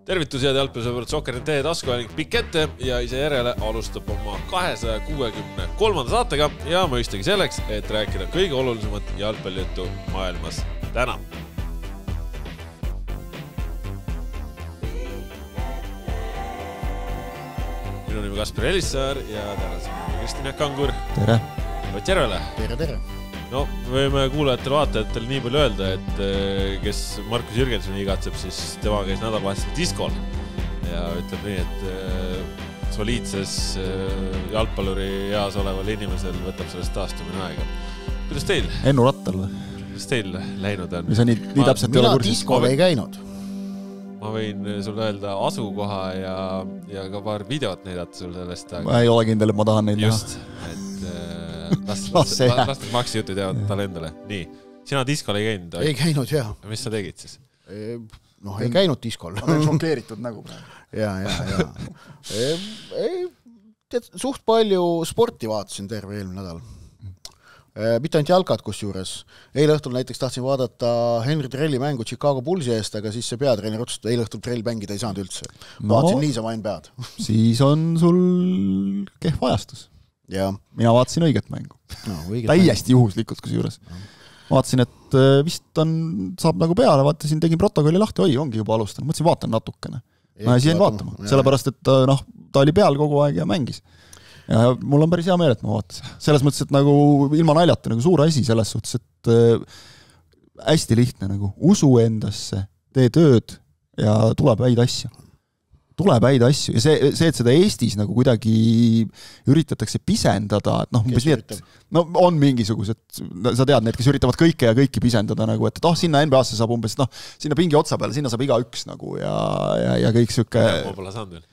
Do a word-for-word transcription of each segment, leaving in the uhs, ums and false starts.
Tervitus head jalgpallisõbrad, Sokker.ee taskuhääling pikk ette ja ise järele alustab oma kahesaja kuuekümne kolmanda saatega ja mõistagi selleks, et rääkida kõige olulisemat jalgpallijuttu maailmas täna. Minu nimi Kaspar Elissaar ja tänasime Kristjan Kangur. Tere. Ott Järvele. Tere, tere. No, võime kuulajatel vaatajatele nii palju öelda, et kes Markus Jürgensoni igatseb, siis tema käis nädalavahetusel diskol ja ütleb nii, et soliidses jalgpalluri eas oleval inimesel võtab sellest taastumine aega. Kuidas teil? Ennu rattal või? Kuidas teil läinud on? Mis on nii, nii täpselt mina diskol ei käinud. Ma võin sulle öelda asukoha ja, ja ka paar videot näidata sulle sellest. Ma ei ole kindel, et ma tahan neid näha. Just, et Las, las, las, las maksi jutud jäävad talle endale. Nii, sina diskol ei käinud? Ei käinud, jah. Mis sa tegid siis? Noh, ei käinud diskol. Ma olen šokeeritud nägu. Ja, ja, ja. Ei, tead, suht palju sporti vaatasin terve eelmine nädal. Mitte ainult jalkad kus juures. Eile õhtul näiteks tahtsin vaadata Henry Trelli mängu Chicago Bullsi eest, aga siis see peatreener otsustas, eile õhtul Trell mängida ei saanud üldse. Vaatasin no, niisama ainult pead. Siis on sul kehv ajastus. Ja. Mina vaatasin õiget mängu. No, täiesti juhuslikult kus juures. No. Vaatasin, et vist on, saab nagu peale, vaatasin, tegin protokolli lahti, oi, ongi juba alustanud. Mõtlesin, vaatan natukene. Ma jäin vaatama, sellepärast, et noh, ta oli peal kogu aeg ja mängis. Ja mul on päris hea meel, et ma vaatasin. Selles mõttes, et nagu ilma naljata nagu suur asi selles suhtes, et hästi lihtne nagu usu endasse, tee tööd ja tuleb häid asju. Tuleb häid asju ja see, see, et seda Eestis nagu kuidagi üritatakse pisendada, et noh, umbes nii, et no, on mingisugused, sa tead need, kes üritavad kõike ja kõiki pisendada nagu, et oh, sinna N B A-sse saab umbes, noh, sinna pingi otsa peale, sinna saab iga üks nagu ja, ja, ja kõik süke... Ma pole saanud veel.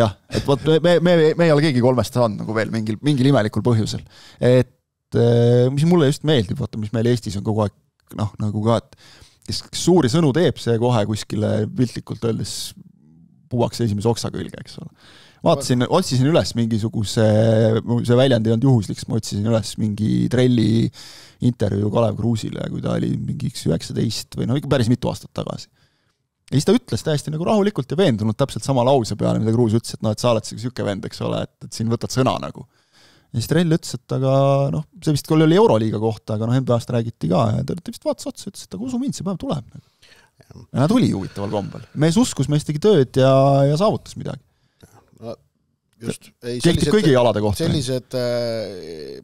Jah, et võt, me, me, me ei ole keegi kolmest saanud nagu veel mingil, mingil imelikul põhjusel. Et mis mulle just meeldib, vaata, mis meil Eestis on kogu aeg, noh, nagu ka, et kes suuri sõnu teeb see kohe kuskile piltlikult öeldes puuakse esimese oksa külge, eks ole. Vaatasin, otsisin üles mingisuguse, see väljandi on juhusliks, ma otsisin üles mingi Trelli intervjuu Kalev Kruusile, kui ta oli mingi üheksateist või no ikka päris mitu aastat tagasi. Ja siis ta ütles täiesti nagu rahulikult ja veendunud täpselt sama lause peale, mida Kruus ütles, et no, et sa oled siuke vend, eks ole, et, et siin võtad sõna nagu. Ja siis Trell ütles, et aga noh, see vist küll oli Euroliiga kohta, aga noh, N B A-st räägiti ka ja ta vist vaatas otsa, ütles, et aga usu mind, see päev tuleb nagu. Ja nad tuli huvitaval kombel. Mees uskus, mees tegi tööd ja, ja saavutas midagi. No, just. Ei, sellised, kõigi jalade kohta. Sellised äh,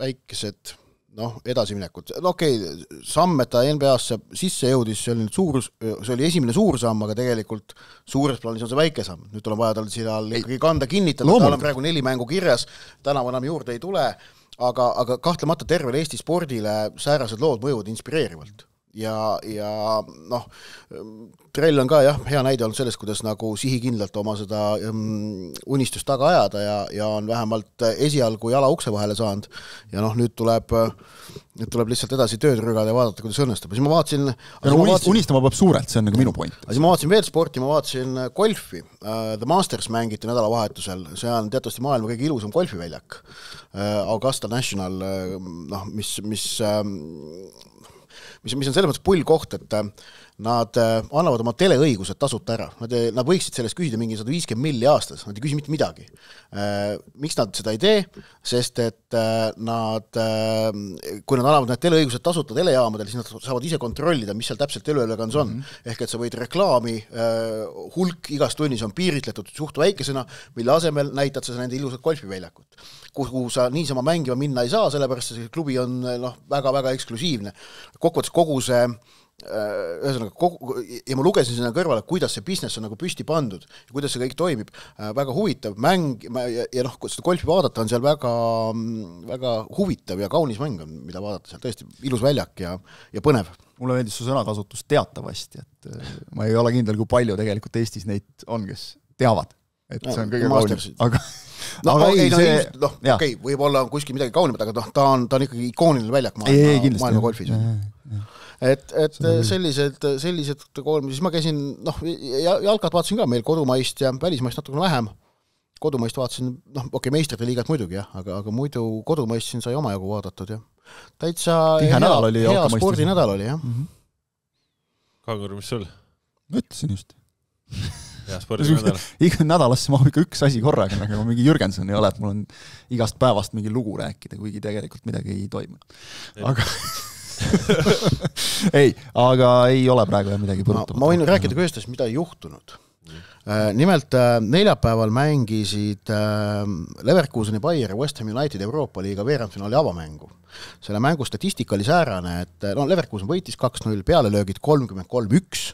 väikesed noh, edasiminekud. No okei, okay, samm, et ta N B A-sse sisse jõudis, see oli, suur, see oli esimene suur samm, aga tegelikult suures plaanis on see väike samm. Nüüd tuleb vaja tal siin ikkagi kanda kinnitada, tal on praegu neli mängu kirjas, tänav enam juurde ei tule, aga, aga kahtlemata tervele Eesti spordile säärased lood mõjuvad inspireerivalt. Ja, ja noh, Trell on ka jah, hea näide olnud sellest, kuidas nagu sihikindlalt oma seda um, unistust taga ajada ja, ja on vähemalt esialgu jala ukse vahele saanud ja noh, nüüd tuleb, nüüd tuleb lihtsalt edasi tööd rügada ja vaadata, kuidas õnnestub. Siis ma vaatasin... Ja no, vaatasin unistama peab suurelt, see on nagu minu point. Siis ma vaatasin veel sporti, ma vaatasin golfi. Uh, The Masters mängiti nädalavahetusel, see on teatavasti maailma kõige ilusam golfiväljak. Uh, Augusta National, uh, noh, mis... mis um, Mis, mis on selles mõttes pull koht, et nad annavad oma teleõigused tasuta ära. Nad, nad võiksid sellest küsida mingi sada viiskümmend milli aastas, nad ei küsi mitte midagi. Miks nad seda ei tee? Sest et nad, kui nad annavad need teleõigused tasuta telejaamadel, siis nad saavad ise kontrollida, mis seal täpselt teleülekandus on. Mm-hmm. Ehk et sa võid reklaami hulk igas tunnis on piiritletud suht väikesena, mille asemel näitad sa nende ilusat golfiväljakut, kuhu sa niisama mängima minna ei saa, sellepärast see klubi on noh, väga-väga eksklusiivne. Kokkuvõttes kogu see ühesõnaga, kogu, ja ma lugesin sinna kõrvale, kuidas see business on nagu püsti pandud ja kuidas see kõik toimib. Väga huvitav mäng ja, ja noh, kui seda golfi vaadata on seal väga, väga huvitav ja kaunis mäng on, mida vaadata seal tõesti ilus väljak ja, ja põnev. Mulle meeldis su sõnakasutus teatavasti, et ma ei ole kindel, kui palju tegelikult Eestis neid on, kes teavad, et see on kõige kaunis. Aga no, aga ei, no, see... no, okei, okay, võib-olla on kuskil midagi kaunimat, aga noh, ta on, ta on ikkagi ikooniline väljak maailma, ei, ei, maailma golfis. Et, et sellised, sellised kolm, siis ma käisin, noh, jalkat vaatasin ka meil kodumaist ja välismaist natukene vähem. Kodumaist vaatasin, noh, okei, okay, meistrite liigat muidugi, jah, aga, aga muidu kodumaist siin sai omajagu vaadatud, jah. Täitsa hea, oli, hea spordinädal oli, jah. Mm-hmm. Kangur, mis sul? Ma ütlesin just. ja spordinädal. Iga nädalasse mahub ikka üks asi korraga, nagu mingi Jürgenson ei ole, et mul on igast päevast mingi lugu rääkida, kuigi tegelikult midagi ei toimu. Aga ei, aga ei ole praegu midagi põrutavat. Ma, ma võin rääkida ka ühest, mida ei juhtunud. Nimelt neljapäeval mängisid Leverkuseni, Bayer ja West Ham United Euroopa liiga veerandfinaali avamängu. Selle mängu statistika oli säärane, et no, Leverkusen võitis kaks null, pealelöögid kolmkümmend kolm üks,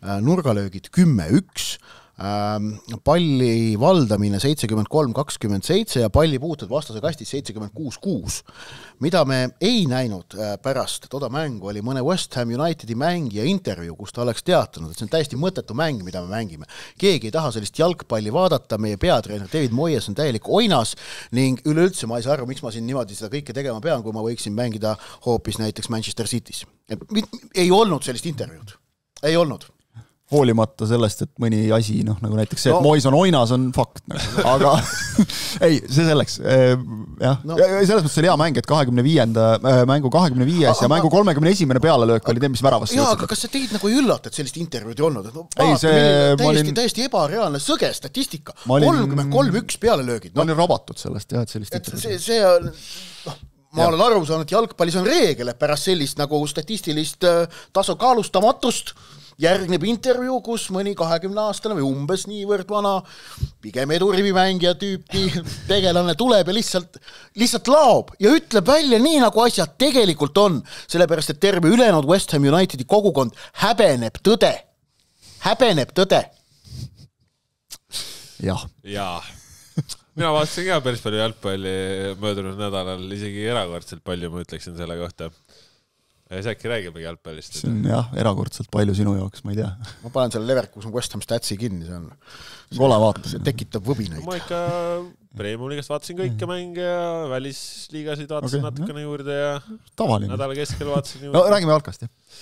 nurgalöögid kümme üks, palli valdamine seitsekümmend kolm kakskümmend seitse ja palli puutud vastase kastis seitsekümmend kuus kuus. Mida me ei näinud pärast toda mängu oli mõne West Ham Unitedi mängija intervjuu, kus ta oleks teatanud, et see on täiesti mõttetu mäng, mida me mängime. Keegi ei taha sellist jalgpalli vaadata, meie peatreener David Moyes on täielik oinas ning üleüldse ma ei saa aru, miks ma siin niimoodi seda kõike tegema pean, kui ma võiksin mängida hoopis näiteks Manchester City's. Ei olnud sellist intervjuud. Ei olnud. Hoolimata sellest, et mõni asi, noh, nagu näiteks see, et no. Mois on oinas, on fakt. Nagu. Aga ei, see selleks. Jah. No. Ja selles mõttes oli hea mäng, et kahekümne viienda mängu kahekümne viies ja mängu kolmekümne esimene pealelöök oli teem, mis väravast. Jaa, aga kas see teid nagu ei üllata, et sellist intervjuud ei olnud? No, ei, see... täiesti, olin... täiesti ebareaalne sõge statistika. kolmkümmend kolm üks pealelöögid. No. Ma olin rabatud sellest, jah, et sellist et see, see on... No, ma olen aru saanud, et jalgpallis on reegel, et pärast sellist nagu statistilist tasakaalustamatust järgneb intervjuu, kus mõni kahekümne aastane või umbes niivõrd vana, pigem edurivimängija tüüpi tegelane tuleb ja lihtsalt, lihtsalt laob ja ütleb välja nii, nagu asjad tegelikult on, sellepärast, et terve ülejäänud West Ham Unitedi kogukond häbeneb tõde. Häbeneb tõde. Jah. Jaa. Mina vaatasin ka päris palju jalgpalli möödunud nädalal, isegi erakordselt palju, ma ütleksin selle kohta. See äkki räägibegi jalgpallist. See on jah, erakordselt palju sinu jaoks, ma ei tea. Ma panen selle Leverkusen West Ham statsi kinni, see on... Kole vaata. See tekitab võbinaid. Ma ikka Premium-liigast vaatasin kõike mänge ja välisliigasid vaatasin okay, natukene juurde ja tavaline. Nädala keskel vaatasin juurde. No räägime jalkast, jah.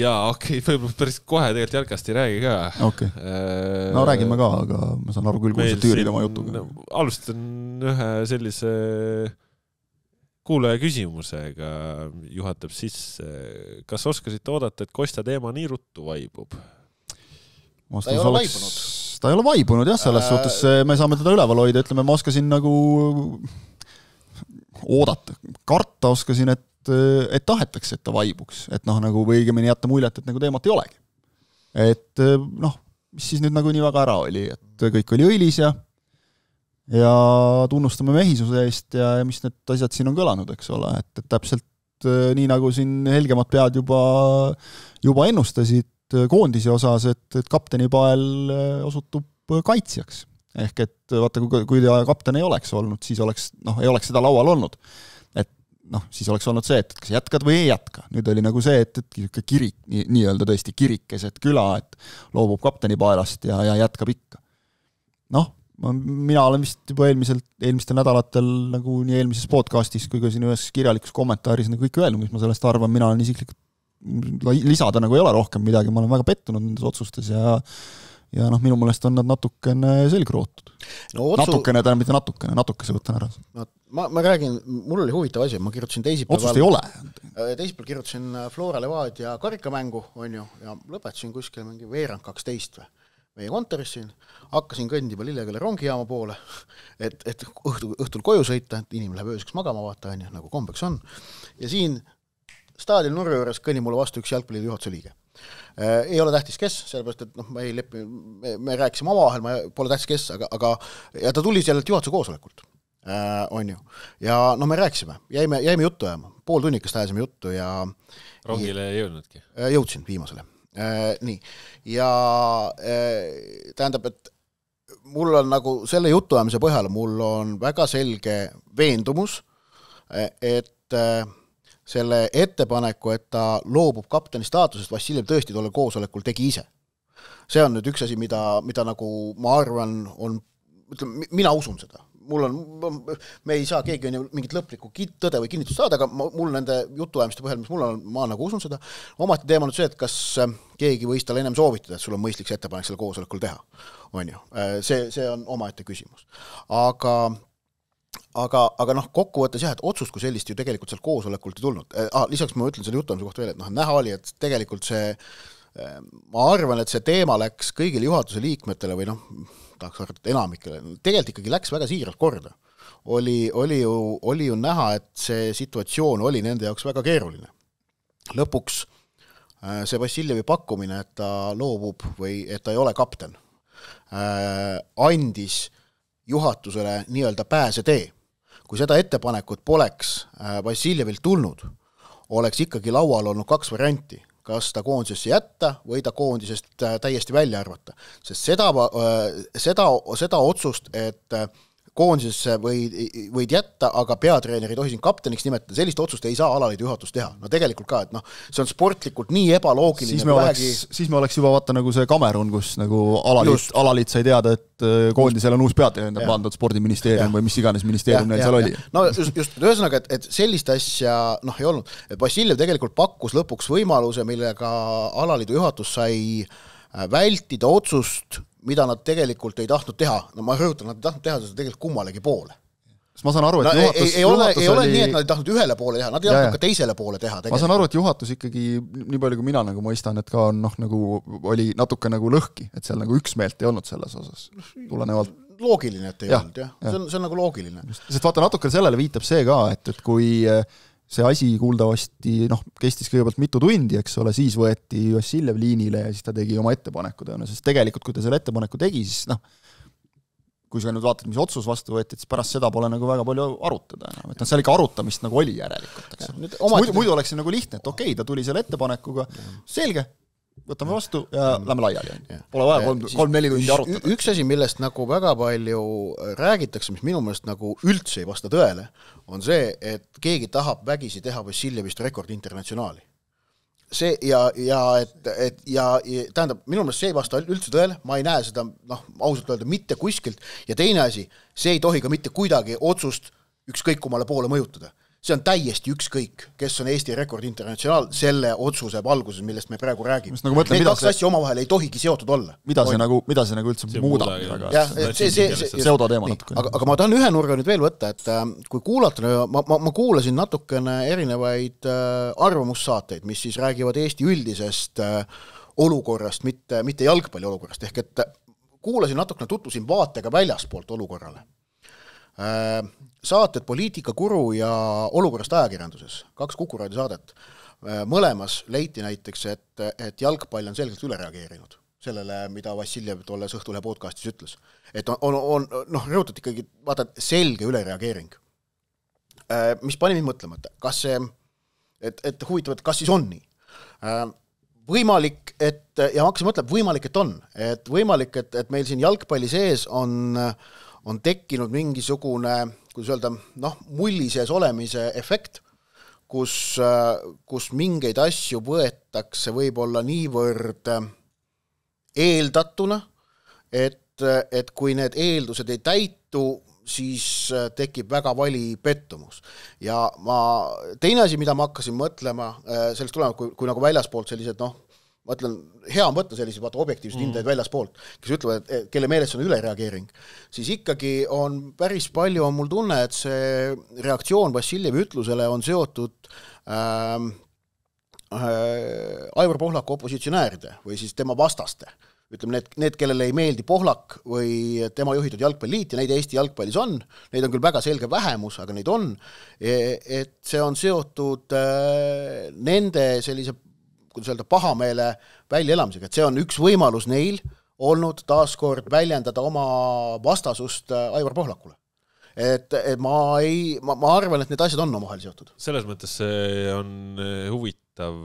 Jaa, okei, okay, päris kohe tegelikult jalkast ei räägi ka. Okei. Okay. No räägime ka, aga ma saan aru küll, kui sa tüürid oma jutuga. Alustan ühe sellise... kuulaja küsimusega juhatab sisse. Kas oskasite oodata, et Kostja teema nii ruttu vaibub? Ta ei ole oleks... vaibunud. Ta ei ole vaibunud, jah, selles äh... suhtes me saame teda üleval hoida. Ütleme, ma oskasin nagu oodata. Karta oskasin, et, et tahetakse, et ta vaibuks. Et noh, nagu või õigemini jätta muljet, et nagu teemat ei olegi. Et noh, mis siis nüüd nagu nii väga ära oli. Et kõik oli õilis ja ja tunnustame mehisuse eest ja, ja mis need asjad siin on kõlanud, eks ole, et, et täpselt nii nagu siin helgemad pead juba, juba ennustasid koondisi osas, et, et kapteni pael osutub kaitsjaks. Ehk et vaata, kui, kui ta kapten ei oleks olnud, siis oleks, noh, ei oleks seda laual olnud. Et noh, siis oleks olnud see, et kas jätkad või ei jätka. Nüüd oli nagu see, et, et kirik, nii, nii-öelda tõesti kirikes, et küla, et loobub kapteni paelast ja, ja jätkab ikka. Noh, mina olen vist juba eelmiselt, eelmistel nädalatel nagu nii eelmises podcastis kui ka siin ühes kirjalikus kommentaaris nagu kõik öelnud, mis ma sellest arvan, mina olen isiklikult lisada nagu ei ole rohkem midagi, ma olen väga pettunud nendes otsustes ja ja noh, minu mõelest on nad natukene selgrootud. No, otsu... Natukene, täna mitte natukene, natukese võtan ära. No, ma, ma räägin, mul oli huvitav asi, ma kirjutasin teisipäeval... Otsust ei ole. Teisipäeval kirjutasin Flora Levadia karikamängu, on ju, ja lõpetasin kuskil mingi veerand kaksteist või meie kontoris siin, hakkasin kõndima Lilleküla rongijaama poole, et, et õhtul, õhtul koju sõita, et inimene läheb ööseks magama vaata, on ju, nagu kombeks on. Ja siin staadioni nurga juures kõnni mulle vastu üks jalgpalliliidu juhatuse liige. Äh, ei ole tähtis kes, sellepärast, et noh, ma ei lepi, me, me rääkisime omavahel, ma pole tähtis kes, aga, aga ja ta tuli sellelt juhatuse koosolekult, äh, on ju. Ja no me rääkisime, jäime, jäime juttu ajama, pool tunnikest ajasime juttu ja... Rongile ei jõudnudki? Jõudsin viimasele. Äh, nii, ja äh, tähendab, et mul on nagu selle jutuajamise põhjal, mul on väga selge veendumus, et äh, selle ettepaneku, et ta loobub kapteni staatusest, Vassiljev tõesti tolle koosolekul tegi ise. See on nüüd üks asi, mida, mida nagu ma arvan on, ütleme, mina usun seda. Mul on, me ei saa keegi on ju mingit lõplikku tõde või kinnitust saada, aga mul nende jutuajamiste põhjal, mis mul on, ma nagu usun seda. Omati teema nüüd see, et kas keegi võis tal ennem soovitada, et sul on mõistlik see ettepanek selle koosolekul teha. On ju. See, see on omaette küsimus. Aga, aga, aga noh, kokkuvõttes jah, et otsust kui sellist ju tegelikult seal koosolekult ei tulnud. Ah, lisaks ma ütlen selle jutuajamise kohta veel, et noh, näha oli, et tegelikult see ma arvan, et see teema läks kõigile juhatuse liikmetele või noh, tahaks arvata, et enamikele, tegelikult ikkagi läks väga siiralt korda. Oli, oli, ju, oli ju näha, et see situatsioon oli nende jaoks väga keeruline. Lõpuks see Vassiljevi pakkumine, et ta loobub või et ta ei ole kapten, andis juhatusele nii-öelda pääsetee. Kui seda ettepanekut poleks Vassiljevilt tulnud, oleks ikkagi laual olnud kaks varianti. Kas ta koondisesse jätta või ta koondisest täiesti välja arvata. Sest seda, seda, seda otsust, et koondisesse võid, võid jätta, aga peatreener ei tohi siin kapteniks nimetada, sellist otsust ei saa alaliidu juhatus teha. No tegelikult ka, et noh, see on sportlikult nii ebaloogiline. Siis me, oleks, vähegi... siis me oleks juba vaata nagu see Kamerun, kus nagu alaliit, alaliit sai teada, et koondisel on uus peatreener pandud spordiministeerium ja. Või mis iganes ministeerium neil seal oli. No just, just ühesõnaga, et, et sellist asja noh, ei olnud. Et Vassiljev tegelikult pakkus lõpuks võimaluse, millega alaliidu juhatus sai vältida otsust, mida nad tegelikult ei tahtnud teha. No ma rõhutan, nad ei tahtnud teha seda tegelikult kummalegi poole. Ma saan aru, et no, juhatus... Ei, ei, ole, ei ole nii, et nad ei tahtnud ühele poole teha, nad ei tahtnud ka teisele poole teha. Tegelikult. Ma saan aru, et juhatus ikkagi, nii palju kui mina nagu mõistan, et ka on, noh, nagu oli natuke nagu lõhki, et seal nagu üksmeelt ei olnud selles osas. Tulenevalt... Loogiline, et ei ja, olnud, jah. Ja. See, on, see on nagu loogiline. Sest vaata, natuke sellele viitab see ka, et, et kui see asi kuuldavasti, noh, kestis kõigepealt mitu tundi, eks ole, siis võeti Vassiljev liinile ja siis ta tegi oma ettepanekud, sest tegelikult, kui ta selle ettepaneku tegi, siis noh, kui sa nüüd vaatad, mis otsus vastu võeti, siis pärast seda pole nagu väga palju arutada. Et no, seal ikka arutamist nagu oli järelikult. Muidu, muidu oleks see nagu lihtne, et okei, ta tuli selle ettepanekuga, selge, võtame vastu ja lähme laiali. Pole vaja kolm, kolm neli tundi arutada. Üks asi, millest nagu väga palju räägitakse, mis minu meelest nagu üldse ei vasta tõele, on see, et keegi tahab vägisi teha Vassiljevist rekord internatsionaali. See ja, ja, et, et, ja, ja tähendab, minu meelest see ei vasta üldse tõele, ma ei näe seda, noh, ausalt öelda, mitte kuskilt, ja teine asi, see ei tohi ka mitte kuidagi otsust ükskõik kummale poole mõjutada. See on täiesti ükskõik, kes on Eesti rekord internatsionaal selle otsuse valguses, millest me praegu räägime. Nagu mõtlen, Need kaks see... asja omavahel ei tohigi seotud olla. Mida see, nagu, mida see nagu üldse see muudab? Ja, see, see, see, Seuda teema natuke. Aga, aga ma tahan ühe nurga nüüd veel võtta, et äh, kui kuulata, ma, ma, ma kuulasin natukene erinevaid äh, arvamussaateid, mis siis räägivad Eesti üldisest äh, olukorrast, mitte, mitte jalgpalli olukorrast, ehk et kuulasin natukene, tutvusin vaatega väljaspoolt olukorrale. Saated Poliitika Kuru ja olukorrast ajakirjanduses, kaks Kukuraadio saadet, mõlemas leiti näiteks, et, et jalgpall on selgelt üle reageerinud sellele, mida Vassiljev tolles Õhtulehe podcastis ütles. Et on, on, on noh, rõhutat ikkagi, vaata, selge ülereageering. Mis pani mind mõtlema, et kas see, et, et huvitav, et kas siis on nii? Võimalik, et, ja ma hakkasin mõtlema, võimalik, et on. Et võimalik, et, et meil siin jalgpalli sees on on tekkinud mingisugune, kuidas öelda, noh, mulli sees olemise efekt, kus, kus mingeid asju võetakse võib-olla niivõrd eeldatuna, et, et kui need eeldused ei täitu, siis tekib väga vali pettumus. Ja ma, teine asi, mida ma hakkasin mõtlema, sellest tulenevalt, kui, kui nagu väljaspoolt sellised, noh, ma ütlen, hea on võtta sellised vaata objektiivsed mm. hindajaid väljaspoolt, kes ütlevad, et kelle meeles on ülereageering, siis ikkagi on päris palju, on mul tunne, et see reaktsioon Vassiljevi ütlusele on seotud ähm, äh, Aivar Pohlaku opositsionääride või siis tema vastaste. Ütleme, need, need, kellele ei meeldi Pohlak või tema juhitud jalgpalliliit ja neid Eesti jalgpallis on, neid on küll väga selge vähemus, aga neid on, et see on seotud äh, nende sellise kuidas öelda, pahameele väljaelamisega, et see on üks võimalus neil olnud taaskord väljendada oma vastasust Aivar Pohlakule. Et, et ma, ei, ma, ma arvan, et need asjad on omavahel seotud. Selles mõttes see on huvitav,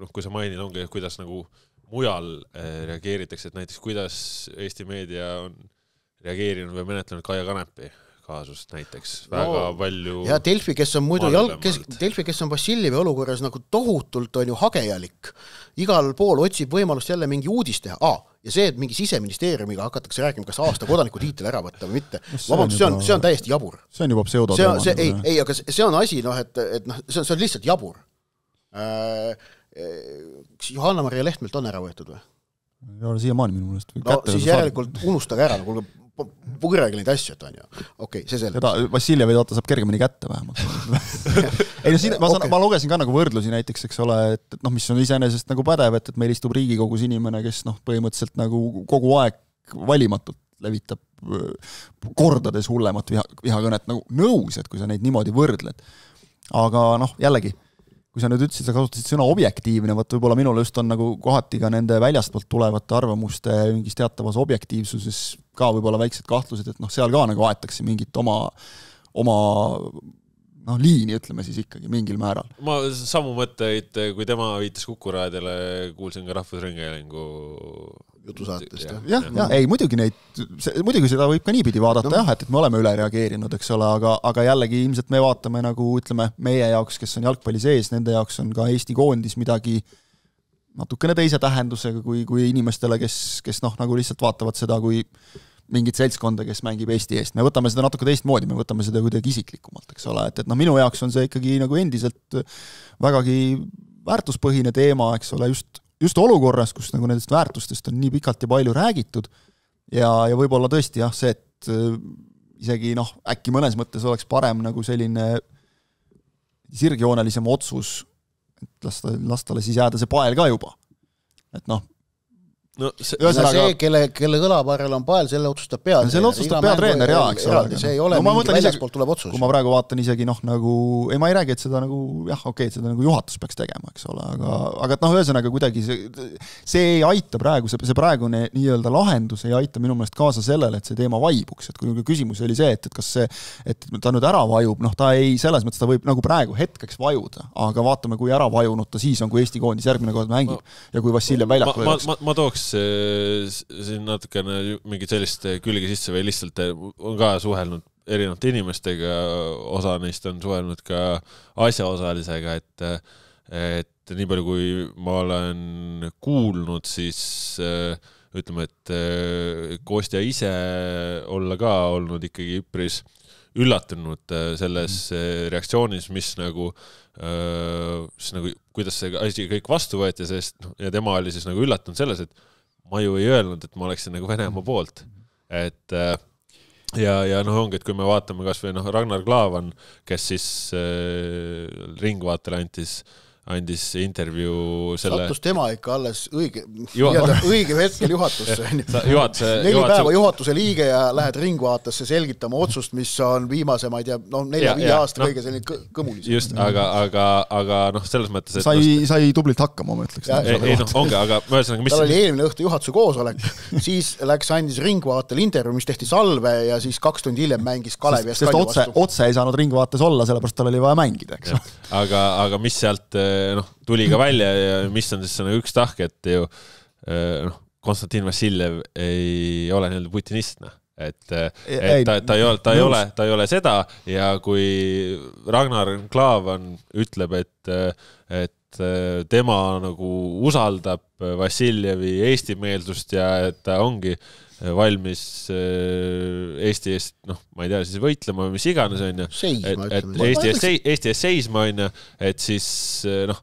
noh, kui sa mainid, ongi, kuidas nagu mujal reageeritakse, et näiteks kuidas Eesti meedia on reageerinud või menetlenud Kaia Kanepi kaasust näiteks, väga no, palju ja Delfi, kes on muidu jalg, kes, Delfi, kes on Vassiljevi olukorras nagu tohutult on ju hagejalik, igal pool otsib võimalust jälle mingi uudis teha, ah, ja see, et mingi siseministeeriumiga hakatakse rääkima, kas aasta kodaniku tiitel ära võtta või mitte, vabandust, see on, see on täiesti jabur. See on juba pseudo see, see, ei, ei, aga see on asi, noh, et, et noh, see on, see on lihtsalt jabur. Äh, kas Johanna-Maria Lehtmelt on ära võetud või? Ei ole siiamaani minu mõelest. No siis järelikult unustage ära, kuulge, purjagi neid asju, et on ju. Okei, okay, see selleks. Seda Vassiljevi vaata saab kergemini kätte vähemalt. ei no siin, ma, saan, okay. ma lugesin ka nagu võrdlusi näiteks, eks ole, et, et noh, mis on iseenesest nagu pädev, et, et meil istub Riigikogus inimene, kes noh, põhimõtteliselt nagu kogu aeg valimatult levitab kordades hullemat viha, vihakõnet nagu nõus, et kui sa neid niimoodi võrdled. Aga noh, jällegi, kui sa nüüd ütlesid, sa kasutasid sõna objektiivne, võt võib-olla minul just on nagu kohati ka nende väljastpoolt tulevate arvamuste mingis teatavas objektiivsuses ka võib-olla väiksed kahtlused, et noh, seal ka nagu aetakse mingit oma, oma noh, liini, ütleme siis ikkagi mingil määral. Ma samu mõtteid, kui tema viitas Kukuraadile, kuulsin ka Rahvusringhäälingu jutusaatest. jah, jah, ja, ei, muidugi neid, muidugi seda võib ka niipidi vaadata no. jah, et, et me oleme üle reageerinud, eks ole, aga, aga jällegi ilmselt me vaatame nagu, ütleme, meie jaoks, kes on jalgpalli sees, nende jaoks on ka Eesti koondis midagi natukene teise tähendusega kui, kui inimestele, kes, kes noh, nagu lihtsalt vaatavad seda kui mingit seltskonda, kes mängib Eesti eest. Me võtame seda natuke teistmoodi, me võtame seda kuidagi isiklikumalt, eks ole, et, et noh, minu jaoks on see ikkagi nagu endiselt vägagi väärtuspõhine teema, eks ole, just, just olukorras, kus nagu nendest väärtustest on nii pikalt ja palju räägitud ja, ja võib-olla tõesti jah, see, et isegi noh, äkki mõnes mõttes oleks parem nagu selline sirgjoonelisem otsus, et lasta, lastale siis jääda see pael ka juba. Et noh, no see, Ühesõnaga, see kelle, kelle kõlaparel on pael, selle otsustab peatreener. Selle otsustab peatreener, jaa, eks ole. See ei ole no, mingi väljaspoolt tuleb otsus. Kui ma praegu vaatan isegi noh, nagu, ei ma ei räägi, et seda nagu, jah, okei, et seda nagu juhatus peaks tegema, eks ole, aga, aga et noh, ühesõnaga kuidagi see, see ei aita praegu, see, see praegune nii-öelda lahendus ei aita minu meelest kaasa sellele, et see teema vaibuks, et kui küsimus oli see, et, et kas see, et ta nüüd ära vajub, noh, ta ei, selles mõttes ta võib nagu praegu hetkeks vajuda, aga vaatame, kui ära vajunud ta siis on, kui Eesti koondis järgmine kord mängib ma, ja kui Vassiljev väljakul ma, ma, ma tooks siin natukene mingit sellist külge sisse või lihtsalt on ka suhelnud erinevate inimestega, osa neist on suhelnud ka asjaosalisega, et, et nii palju kui ma olen kuulnud, siis ütleme, et Kostja ise olla ka olnud ikkagi üpris üllatunud selles reaktsioonis, mis nagu, siis nagu kuidas see asi kõik vastu võeti, sest ja tema oli siis nagu üllatunud selles, et ma ju ei öelnud, et ma oleksin nagu Venemaa poolt. Et ja, ja noh, ongi, et kui me vaatame kas või noh, Ragnar Klavan, kes siis äh, Ringvaatele antis andis intervjuu selle... Sattus tema ikka alles õige, õige hetkel juhatusse. Juhatuse, neli juhatuse... päeva juhatuse liige ja lähed Ringvaatesse selgitama otsust, mis on viimase, ma ei tea, no nelja-viie aasta no, kõige selline kõmulis. Just, aga, aga, aga noh, selles mõttes... Et sai, no, sai tublilt hakkama, ma ütleks. Ja, ei, ei noh, ongi, aga ma ühesõnaga, mis... Tal oli eelmine õhtu juhatuse koosolek, siis läks andis Ringvaatel intervjuu, mis tehti salve ja siis kaks tundi hiljem mängis Kalevi ja Skalju vastu. Sest otse ei saanud Ringvaates olla, sellepärast tal oli vaja mängida, eks. Aga, aga mis sealt noh, tuli ka välja ja mis on siis nagu üks tahk, et ju noh, Konstantin Vassiljev ei ole nii-öelda putinist, et, et ta, ta, ei ole, ta, ei ole, ta ei ole seda ja kui Ragnar Klavan ütleb, et, et tema nagu usaldab Vassiljevi Eesti-meelsust ja et ta ongi valmis Eesti eest, noh, ma ei tea, siis võitlema, mis iganes on ju, et, et Eesti eest, Eesti eest seisma on ju, et siis noh,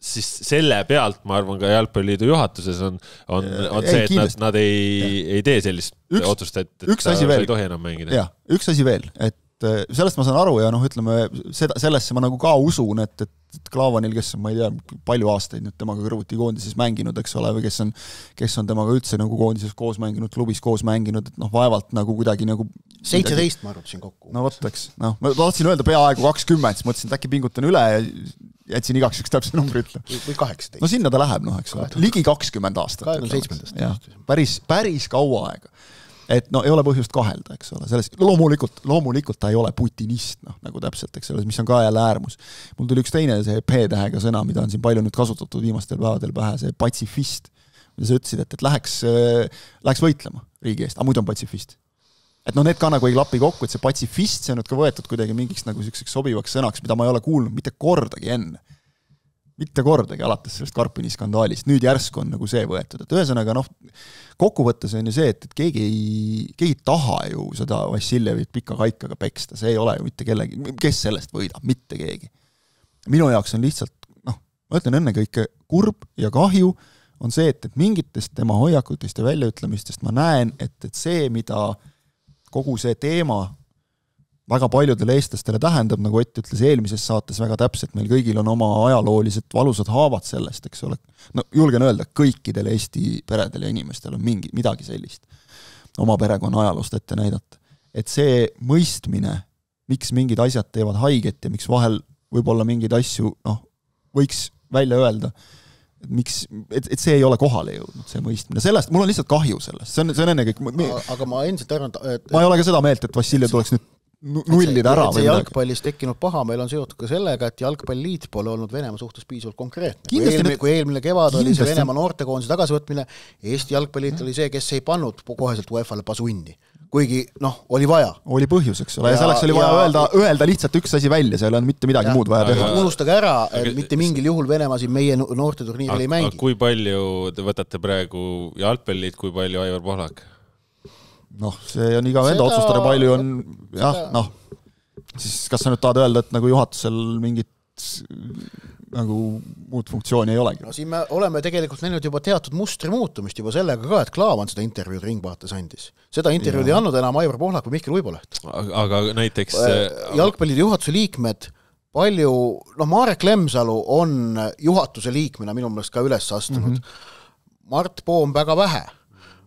siis selle pealt, ma arvan, ka Jalgpalliliidu juhatuses on, on, on see, et nad, nad ei, ei tee sellist üks, otsust, et, et ta ei tohi enam mängida. Ja, üks asi veel, et sellest ma saan aru ja noh, ütleme, seda, sellesse ma nagu ka usun, et, et Klaavanil, kes on, ma ei tea, palju aastaid nüüd temaga kõrvuti koondises mänginud, eks ole, või kes on, kes on temaga üldse nagu koondises koos mänginud, klubis koos mänginud, et noh, vaevalt nagu kuidagi nagu seitseteist ma arvutasin kokku. No võttaks, noh, ma tahtsin öelda peaaegu kakskümmend, siis mõtlesin, et äkki pingutan üle ja jätsin igaks üks täpse numbri ütle. Või kaheksateist. No sinna ta läheb, noh, eks ole. Ligi kakskümmend aastat. kahekümne seitsmendast. Päris, päris kaua aega. Et no ei ole põhjust kahelda, eks ole. Selles, loomulikult, loomulikult ta ei ole putinist, noh, nagu täpselt, eks ole, mis on ka jälle äärmus. Mul tuli üks teine see P-tähega sõna, mida on siin palju nüüd kasutatud viimastel päevadel pähe, see patsifist. Mida sa ütlesid, et, et läheks, läheks võitlema riigi eest, aga muidu on patsifist. Et noh, need ka nagu ei klapi kokku, et see patsifist, see on nüüd ka võetud kuidagi mingiks nagu selliseks sobivaks sõnaks, mida ma ei ole kuulnud mitte kordagi enne. Mitte kordagi alates sellest Karpini skandaalist. Nüüd järsku on nagu see võetud. Et ühesõnaga, noh, kokkuvõttes on ju see, et, et keegi ei, keegi ei taha ju seda Vassiljevit pika kaikaga peksta. See ei ole ju mitte kellegi, kes sellest võidab, mitte keegi. Minu jaoks on lihtsalt, noh, ma ütlen ennekõike kurb ja kahju on see, et, et mingitest tema hoiakutest ja väljaütlemistest ma näen, et, et see, mida kogu see teema väga paljudele eestlastele tähendab, nagu Ott ütles eelmises saates väga täpselt, meil kõigil on oma ajaloolised valusad haavad sellest, eks ole. No julgen öelda, kõikidel Eesti peredel ja inimestel on mingi, midagi sellist oma perekonna ajaloost ette näidata. Et see mõistmine, miks mingid asjad teevad haiget ja miks vahel võib-olla mingeid asju noh, võiks välja öelda, et, miks, et, et see ei ole kohale jõudnud, see mõistmine. Sellest, mul on lihtsalt kahju sellest. See on, see on enne kõik... Me, aga ma endiselt arvan, et... Ma ei ole ka seda meelt, et Vassiljev tuleks nüüd nullida ära. Et see jalgpallis tekkinud paha meil on seotud ka sellega, et jalgpalliliit pole olnud Venemaa suhtes piisavalt konkreetne. Kui eelmine, kui eelmine kevad oli see Venemaa noortekoondise tagasivõtmine, Eesti jalgpalliliit oli see, kes ei pannud koheselt UEFA-le pasunni. Kuigi, noh, oli vaja. Oli põhjus, eks ole. Ja, ja selleks oli vaja ja, öelda, öelda lihtsalt üks asi välja, seal on mitte midagi ja, muud vaja teha. Unustage ära, aga, mitte mingil juhul Venemaa siin meie noorteturniiril ei mängi. Kui palju te võtate praegu jalgpalliliit, kui palju Aivar Pohlak? Noh, see on iga venda otsustada, palju on, jah, noh, siis kas sa nüüd tahad öelda, et nagu juhatusel mingit nagu muud funktsiooni ei olegi? No siin me oleme tegelikult näinud juba teatud mustri muutumist juba sellega ka, et Klaavan seda intervjuud Ringvaates andis. Seda intervjuud ja. ei andnud enam Aivar Pohlak või Mihkel Uiboleht. Aga näiteks... Jalgpallide juhatuse liikmed, palju, noh, Marek Lemsalu on juhatuse liikmena minu meelest ka üles astunud. Mm-hmm. Mart Poom väga vähe.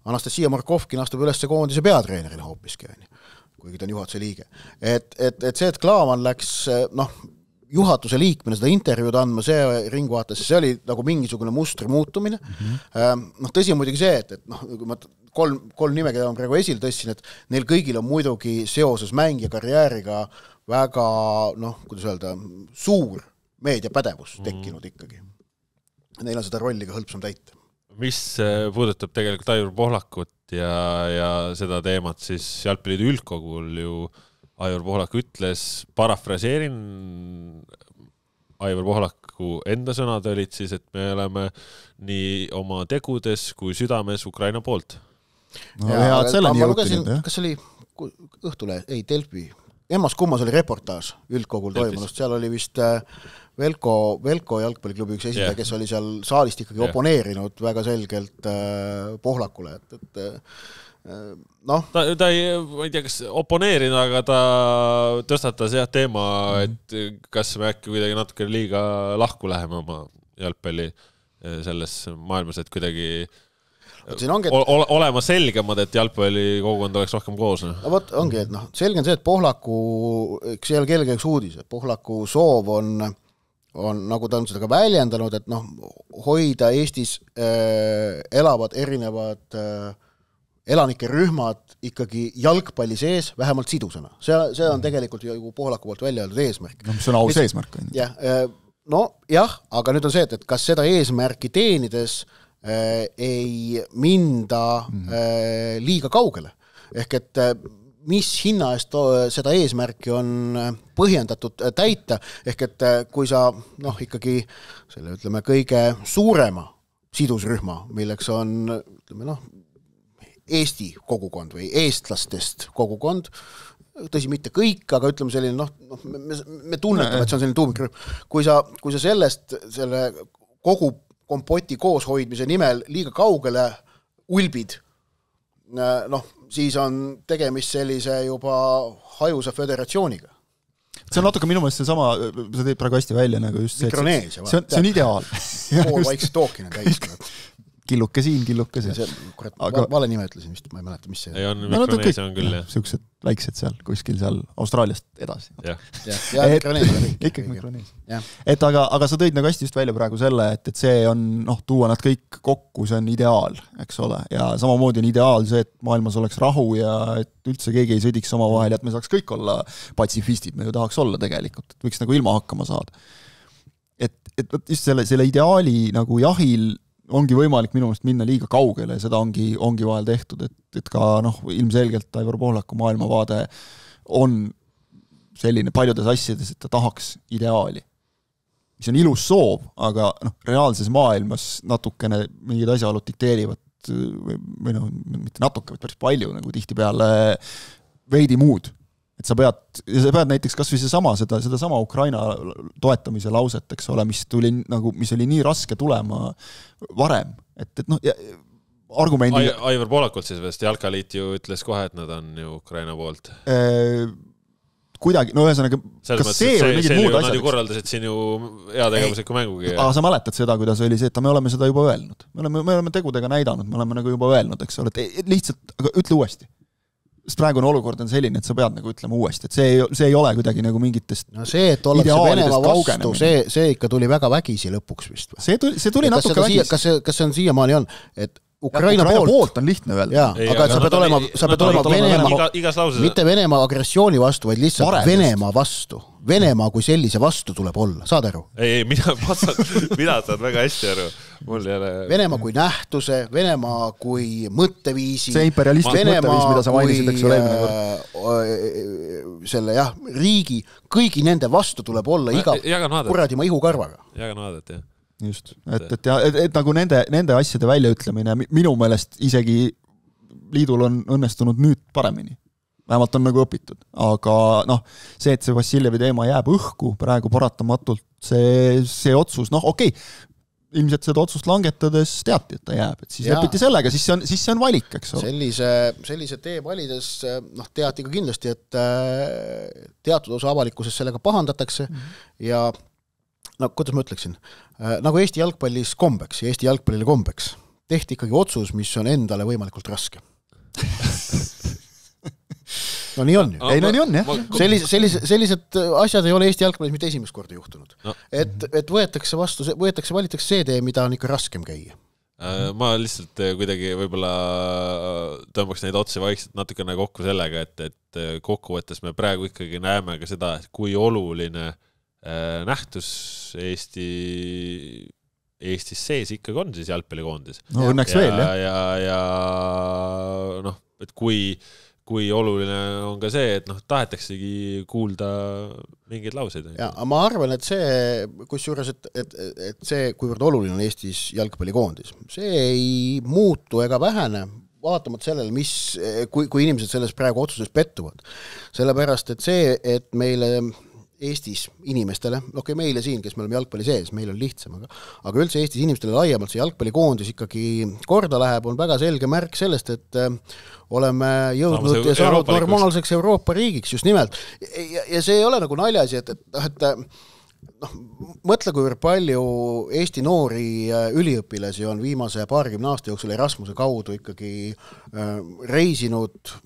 Anastasia Markovkin astub üles koondise peatreenerina hoopiski, kuigi ta on juhatuse liige. Et, et, et see, et Klaavan läks noh, juhatuse liikmena seda intervjuud andma, see Ringvaates, see oli nagu mingisugune mustri muutumine. Mm-hmm. Noh, tõsi on muidugi see, et, et noh, kui ma kolm, kolm nime, keda ma praegu esil tõssin, et neil kõigil on muidugi seoses mängija karjääriga väga, noh, kuidas öelda, suur meediapädevus tekkinud ikkagi. Neil on seda rolli ka hõlpsam täita. Mis puudutab tegelikult Aivar Pohlakut ja, ja seda teemat, siis jalgpalliliidu üldkogul ju Aivar Pohlak ütles, parafraseerin, Aivar Pohlaku enda sõnad olid siis, et me oleme nii oma tegudes kui südames Ukraina poolt. No, ja, hea, et selleni jõutinud, jah? Kas oli Õhtule, ei, Delfi, Emmas kummas oli reportaaž üldkogul toimunust, seal oli vist Velko, Velko jalgpalliklubi üks esindaja, yeah. kes oli seal saalist ikkagi yeah. oponeerinud väga selgelt äh, Pohlakule, et, et äh, noh. Ta, ta ei, ma ei tea, kas oponeerinud, aga ta tõstatas jah teema, et kas me äkki kuidagi natuke liiga lahku läheme oma jalgpalli selles maailmas, et kuidagi ongi, et... Ole, olema selgemad, et jalgpalli kogukond oleks rohkem koos. No, võt, ongi, et noh, selge on see, et Pohlaku, eks ei ole kellegi üks uudis, et Pohlaku soov on on, nagu ta on seda ka väljendanud, et noh, hoida Eestis äh, elavad erinevad äh, elanike rühmad ikkagi jalgpalli sees vähemalt sidusena. See, see on tegelikult ju Pohlaku poolt välja öeldud eesmärk. No, see on aus eesmärk. Jah, äh, no jah, aga nüüd on see, et, et kas seda eesmärki teenides äh, ei minda äh, liiga kaugele. Ehk et äh, mis hinna eest seda eesmärki on põhjendatud täita, ehk et kui sa noh, ikkagi selle ütleme kõige suurema sidusrühma, milleks on ütleme noh, Eesti kogukond või eestlastest kogukond, tõsi mitte kõik, aga ütleme selline noh, noh me, me tunnetame, et see on selline tuumikrühm. Kui sa, kui sa sellest selle kogu kompoti kooshoidmise nimel liiga kaugele ulbid, noh, siis on tegemist sellise juba hajusa föderatsiooniga. See on natuke minu meelest see sama, sa teed praegu hästi välja nagu just see, see, see, on, see on ideaal. Pool vaikse tookine täistunud. Killuke siin, killuke see. see kurat, aga... vale nime ütlesin vist, ma ei mäleta, mis see ei on. Mikroneesia on küll, jah. Siuksed väiksed seal, kuskil seal Austraaliast edasi. Jah, ja Mikroneesia on kõik. Ikkagi Mikroneesia. Et aga, aga sa tõid nagu hästi just välja praegu selle, et, et see on, noh, tuua nad kõik kokku, see on ideaal, eks ole. Ja samamoodi on ideaal see, et maailmas oleks rahu ja et üldse keegi ei sõdiks oma vahel ja et me saaks kõik olla patsifistid, me ju tahaks olla tegelikult, et võiks nagu ilma hakkama saada. Et, et just selle, selle ideaali nagu jahil ongi võimalik minu meelest minna liiga kaugele ja seda ongi, ongi vahel tehtud, et, et ka noh, ilmselgelt Aivar Pohlaku maailmavaade on selline paljudes asjades, et ta tahaks ideaali. Mis on ilus soov, aga noh, reaalses maailmas natukene mingid asjaolud dikteerivad või, või noh, mitte natuke, vaid päris palju nagu tihti peale veidi muud. Et sa pead, sa pead näiteks kas või see sama, seda, seda sama Ukraina toetamise lauset, eks ole, mis tuli nagu, mis oli nii raske tulema varem. Et, et noh, argumendi... Aivar Poolakult siis vast, Jalkaliit ju ütles kohe, et nad on ju Ukraina poolt. Kuidagi, no ühesõnaga, kas see, see või mingid muud asjad? Nad ju korraldasid siin ju heategevusliku mängugi. Aga sa mäletad seda, kuidas oli see, et me oleme seda juba öelnud. Me oleme, me oleme tegudega näidanud, me oleme nagu juba öelnud, eks ole, et lihtsalt, aga ütle uuesti. Sest praegune olukord on selline, et sa pead nagu ütlema uuesti, et see ei, see ei ole kuidagi nagu mingitest no see, et ollakse Venemaa vastu, see, see ikka tuli väga vägisi lõpuks vist. See tuli, see tuli natuke vägisi. Kas see, kas see on siiamaani on, et Ukraina, Ukraina poolt, poolt on lihtne öelda. Jaa, ei, aga, aga sa pead olema, sa pead olema Venemaa, iga, igas lauses. mitte Venemaa agressiooni vastu, vaid lihtsalt Varedest. Venemaa vastu. Venemaa kui sellise vastu tuleb olla, saad aru? Ei, ei, mina, saan, mina saan väga hästi aru. Mul ei ole... Venemaa kui nähtuse, Venemaa kui mõtteviisi. See imperialistlik mõtteviis, mida sa mainisid, eks ole eelmine. Selle jah, riigi, kõigi nende vastu tuleb olla iga kuradi ma ihukarvaga. Jagan aadet, jah. Just, et, et, ja, et, et nagu nende, nende asjade väljaütlemine minu meelest isegi liidul on õnnestunud nüüd paremini. Vähemalt on nagu õpitud. Aga noh, see, et see Vassiljevi teema jääb õhku praegu paratamatult, see, see otsus, noh okei, okay, ilmselt seda otsust langetades teati, et ta jääb. Et siis ja. Lepiti sellega, siis see, on, siis see on valik, eks ole. Sellise, sellise tee valides noh, teati ka kindlasti, et teatud osa avalikkuses sellega pahandatakse mm-hmm. ja no kuidas ma ütleksin, nagu Eesti jalgpallis kombeks ja Eesti jalgpallile kombeks tehti ikkagi otsus, mis on endale võimalikult raske. No nii on ju. Ei, no nii on, jah. Sellise, sellise, sellised asjad ei ole Eesti jalgpallis mitte esimest korda juhtunud. No. Et, et võetakse vastu, võetakse, valitaks see tee, mida on ikka raskem käia. Ma lihtsalt kuidagi võib-olla tõmbaks neid otsi vaikselt natukene kokku sellega, et, et kokkuvõttes me praegu ikkagi näeme ka seda, kui oluline nähtus Eesti, Eestis sees ikkagi on siis jalgpallikoondis. No õnneks ja, veel, jah. Ja, ja noh, et kui, kui oluline on ka see, et noh, tahetaksegi kuulda mingeid lauseid. Ja, ma arvan, et see, kusjuures, et, et, et see, kuivõrd oluline on Eestis jalgpallikoondis, see ei muutu ega vähene, vaatamata sellele, mis, kui, kui inimesed selles praegu otsuses pettuvad. Sellepärast, et see, et meile Eestis inimestele, okei okay, meile siin, kes me oleme jalgpalli sees, meil on lihtsam, aga, aga üldse Eestis inimestele laiemalt see jalgpallikoondis ikkagi korda läheb, on väga selge märk sellest, et äh, oleme jõudnud ja saanud normaalseks Euroopa riigiks just nimelt. Ja, ja see ei ole nagu naljasi, et, et, et noh, mõtle, kui palju Eesti noori üliõpilasi on viimase paarikümne aasta jooksul Erasmuse kaudu ikkagi äh, reisinud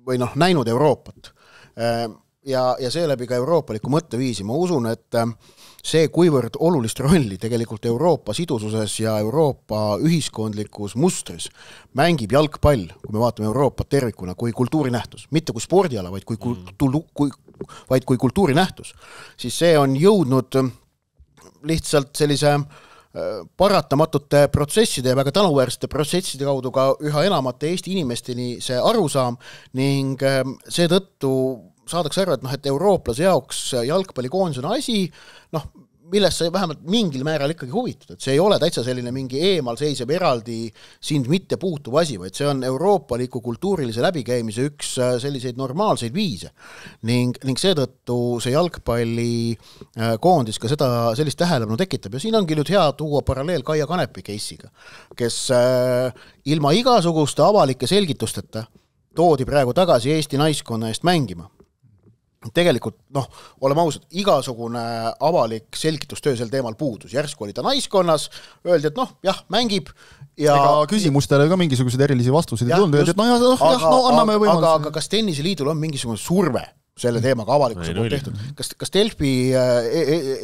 või noh, näinud Euroopat. Äh, ja, ja seeläbi ka euroopaliku mõtteviisi. Ma usun, et see, kuivõrd olulist rolli tegelikult Euroopa sidususes ja Euroopa ühiskondlikus mustris mängib jalgpall, kui me vaatame Euroopat tervikuna, kui kultuurinähtus, mitte kui spordiala, vaid kui, kultu, kui, vaid kui kultuurinähtus, siis see on jõudnud lihtsalt sellise paratamatute protsesside ja väga tänuväärsete protsesside kaudu ka üha enamate Eesti inimesteni see arusaam ning seetõttu saadakse aru, et, noh, et eurooplase jaoks jalgpallikoondis on asi, noh, millest sa vähemalt mingil määral ikkagi huvitud, et see ei ole täitsa selline mingi eemal seisev eraldi sind mitte puutuv asi, vaid see on euroopaliku kultuurilise läbikäimise üks selliseid normaalseid viise ning, ning seetõttu see jalgpalli koondis ka seda sellist tähelepanu tekitab ja siin ongi nüüd hea tuua paralleel Kaia Kanepi case'iga, kes ilma igasuguste avalike selgitusteta toodi praegu tagasi Eesti naiskonna eest mängima. Tegelikult, noh, oleme ausad, igasugune avalik selgitustöö sel teemal puudus. Järsku oli ta naiskonnas, öeldi, et noh, jah, mängib. Ja ega küsimustele ka mingisugused erilisi vastuseid ei tulnud, öeldi, et no, jah, no, aga, no anname võimaluse. Aga, aga kas Tenniseliidul on mingisugune surve selle teemaga avalikkuse poolt tehtud? Kas, kas Delfi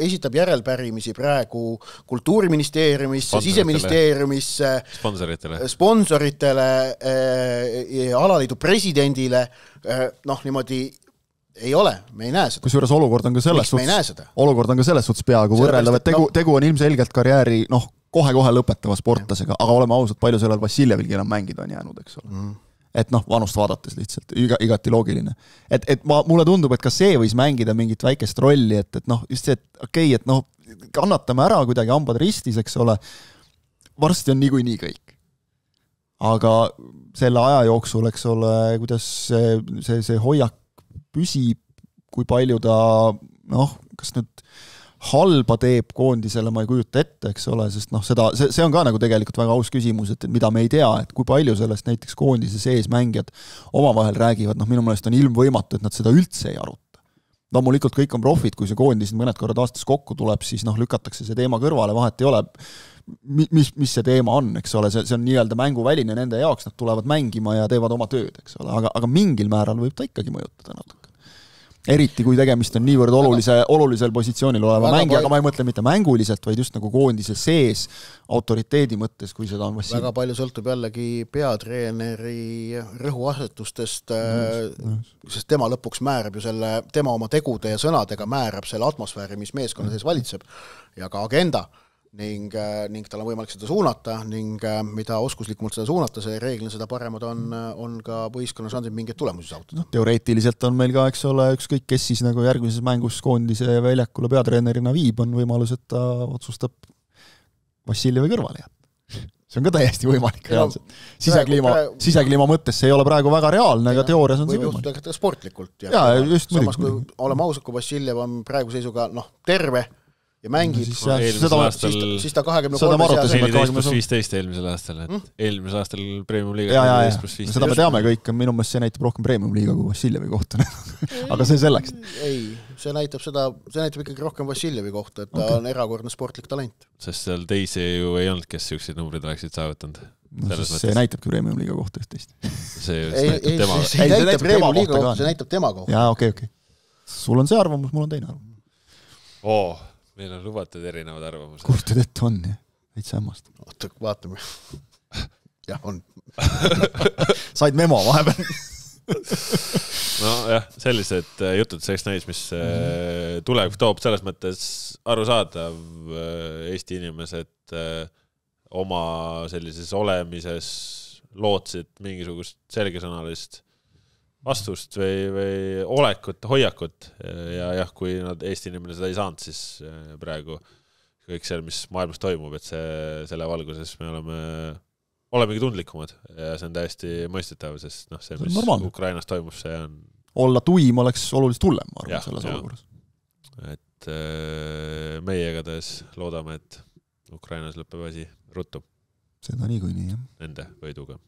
esitab järelpärimisi praegu kultuuriministeeriumisse, siseministeeriumisse, sponsoritele, sponsoritele alaliidu presidendile, noh, niimoodi ei ole, me ei näe seda. Kusjuures olukord on ka selles suhtes, olukord on ka selles suhtes peaaegu võrreldav, et tegu, no, tegu on ilmselgelt karjääri, noh, kohe-kohe lõpetava sportlasega, aga oleme ausad, palju sellel Vassiljevilgi enam mängida on jäänud, eks ole. Mm. Et noh, vanust vaadates lihtsalt, iga, igati loogiline. Et, et ma, mulle tundub, et ka see võis mängida mingit väikest rolli, et, et noh, just see, et okei, okay, et noh, kannatame ära kuidagi hambad ristis, eks ole, varsti on niikuinii kõik. Aga selle aja jooksul, eks ole, kuidas see, see, see hoiak püsib, kui palju ta, noh, kas nüüd halba teeb koondisele, ma ei kujuta ette, eks ole, sest noh, seda, see, see on ka nagu tegelikult väga aus küsimus, et mida me ei tea, et kui palju sellest näiteks koondise sees mängijad omavahel räägivad, noh minu meelest on ilmvõimatu, et nad seda üldse ei aruta. Loomulikult kõik on profid, kui see koondis mõned korrad aastas kokku tuleb, siis noh, lükatakse see teema kõrvale, vahet ei ole, mis, mis see teema on, eks ole, see, see on nii-öelda mänguväline nende jaoks, nad tulevad mängima ja teevad oma tööd, eks ole, aga, aga mingil määral võib ta ikkagi mõjutada natuke. Eriti kui tegemist on niivõrd olulise, olulisel positsioonil oleva mängi, aga ma ei mõtle mitte mänguliselt, vaid just nagu koondise sees autoriteedi mõttes, kui seda on Vassil. Väga palju sõltub jällegi peatreeneri rõhuasetustest, mm, sest tema lõpuks määrab ju selle, tema oma tegude ja sõnadega määrab selle atmosfääri, mis meeskonna sees valitseb ja ka agenda. Ning, ning tal on võimalik seda suunata ning mida oskuslikumalt seda suunata, see reeglina seda paremad on, on ka võistkonna šansid mingeid tulemusi saavutada. No, teoreetiliselt on meil ka, eks ole, ükskõik kes siis nagu järgmises mängus koondise väljakule peatreenerina viib, on võimalus, et ta otsustab Vassiljevi kõrvale jääda. See on ka täiesti võimalik reaalselt. Sisekliima, sisekliima mõttes see ei ole praegu väga reaalne, aga teoorias on see võimalik. Võib juhtuda sportlikult. Ja, ja just samas, kui oleme ausad, kui Vassiljev on praegu seisuga noh, terve ja mängib, no, siis, eelmisel aastal siis ta kahekümne kolme neliteist pluss viisteist eelmisel aastal, et mm? eelmisel aastal Premium Liiga neliteist pluss viisteist. Seda me teame kõik, minu meelest see näitab rohkem Premium Liiga kui Vassiljevi kohta. Aga see selleks. Ei, see näitab seda, see näitab ikkagi rohkem Vassiljevi kohta, et ta okay. on erakordne sportlik talent. Sest seal teisi ju ei olnud, kes sellised numbrid oleksid saavutanud. No, see näitabki Premium Liiga kohta üht-teist. See, ei, näitab ei, tema. see, ei, näitab Premium Liiga kohta, see näitab tema kohta. Jaa, okei, okay, okei. Okay. Sul on see arvamus, mul on teine arvamus. Oo. Meil on lubatud erinevad arvamused. Kurtid ette on, jah. Veits hämmast. Oota, vaatame. Jah, on. Said memo vahepeal. No jah, sellised jutud selleks näis, mis mm-hmm. tulevik toob selles mõttes arusaadav Eesti inimesed oma sellises olemises lootsid mingisugust selgesõnalist vastust või, või olekut, hoiakut ja jah, kui nad Eesti inimene seda ei saanud, siis praegu kõik seal, mis maailmas toimub, et see, selle valguses me oleme, olemegi tundlikumad ja see on täiesti mõistetav, sest noh, see, mis normaalne. Ukrainas toimub, see on... Olla tuim oleks oluliselt hullem, ma arvan, selles olukorras. Et meie igatahes loodame, et Ukrainas lõpeb asi ruttu. Seda nii kui nii, jah. Nende võiduga.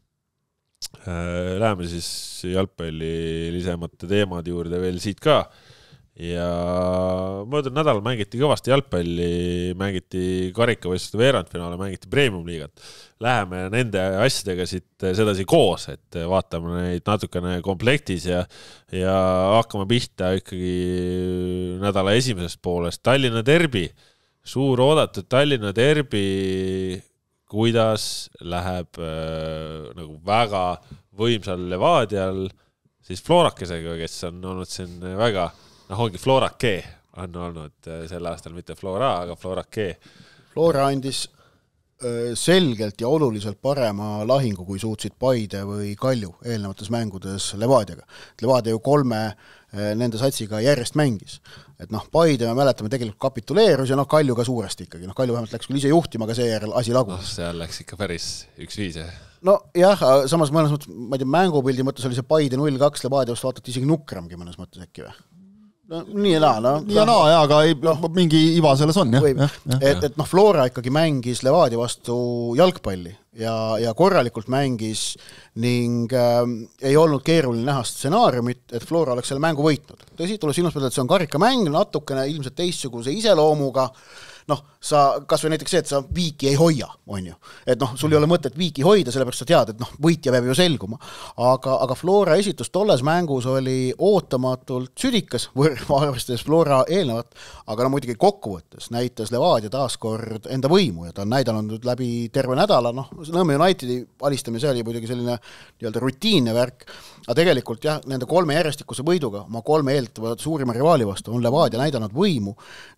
Läheme siis jalgpalli lisemate teemad juurde veel siit ka ja möödunud nädal mängiti kõvasti jalgpalli, mängiti karikavõistluste veerandfinaale, mängiti Premium Liigat. Läheme nende asjadega siit sedasi koos, et vaatame neid natukene komplektis ja, ja hakkame pihta ikkagi nädala esimesest poolest. Tallinna derbi, suur oodatud Tallinna derbi, kuidas läheb äh, nagu väga võimsal Levadial siis Florakesega, kes on olnud siin väga, noh ongi Florake on olnud sel aastal, mitte Flora, aga Florake. Flora andis äh, selgelt ja oluliselt parema lahingu, kui suutsid Paide või Kalju eelnevates mängudes Levadiaga. Levadia ju kolme äh, nende satsiga järjest mängis. Et noh, Paide me mäletame tegelikult kapituleerus ja noh, Kalju ka suuresti ikkagi. Noh, Kalju vähemalt läks küll ise juhtima, aga seejärel asi lagus. No, seal läks ikka päris üks viis. No jah, samas mõnes mõttes, ma ei tea, mängupildi mõttes oli see Paide null kaks Levadia vast vaatati isegi nukramgi mõnes mõttes äkki või? No, nii ja naa, no. Nii ja naa, jaa, aga ei, no, mingi iva selles on, jah. jah, jah. Et, et noh, Flora ikkagi mängis Levadia vastu jalgpalli ja, ja korralikult mängis ning äh, ei olnud keeruline näha stsenaariumit, et Flora oleks selle mängu võitnud. Tõsi, tuleb silmas pidada, et see on karikamäng, natukene ilmselt teistsuguse iseloomuga, noh, sa, kas või näiteks see, et sa viiki ei hoia, on ju. Et noh, sul ei ole mõtet viiki hoida, sellepärast sa tead, et noh, võitja peab ju selguma. Aga, aga Flora esitus tolles mängus oli ootamatult südikas, arvestades Flora eelnevat, aga no muidugi kokkuvõttes näitas Levadia taaskord enda võimu ja ta on näidanud läbi terve nädala, noh, Nõmme Unitedi alistamise oli muidugi selline nii-öelda rutiinne värk, aga tegelikult jah, nende kolme järjestikuse võiduga, oma kolme eeltavad suurima rivaali vastu on Levadia näidanud võimu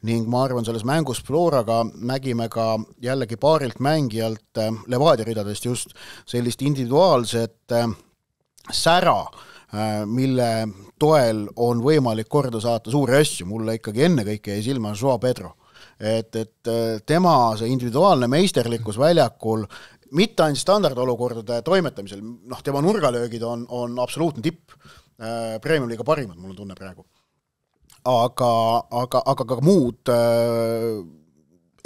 ning ma arvan, selles mängus Floraga nägime ka jällegi paarilt mängijalt Levadia ridadest just sellist individuaalset sära, mille toel on võimalik korda saata suuri asju. Mulle ikkagi enne kõike jäi silma Joao Pedro. Et, et tema see individuaalne meisterlikkus väljakul mitte ainult standardolukordade toimetamisel, noh, tema nurgalöögid on, on absoluutne tipp, Premium Liiga parimad, mul on tunne praegu. aga, aga, aga ka muud äh,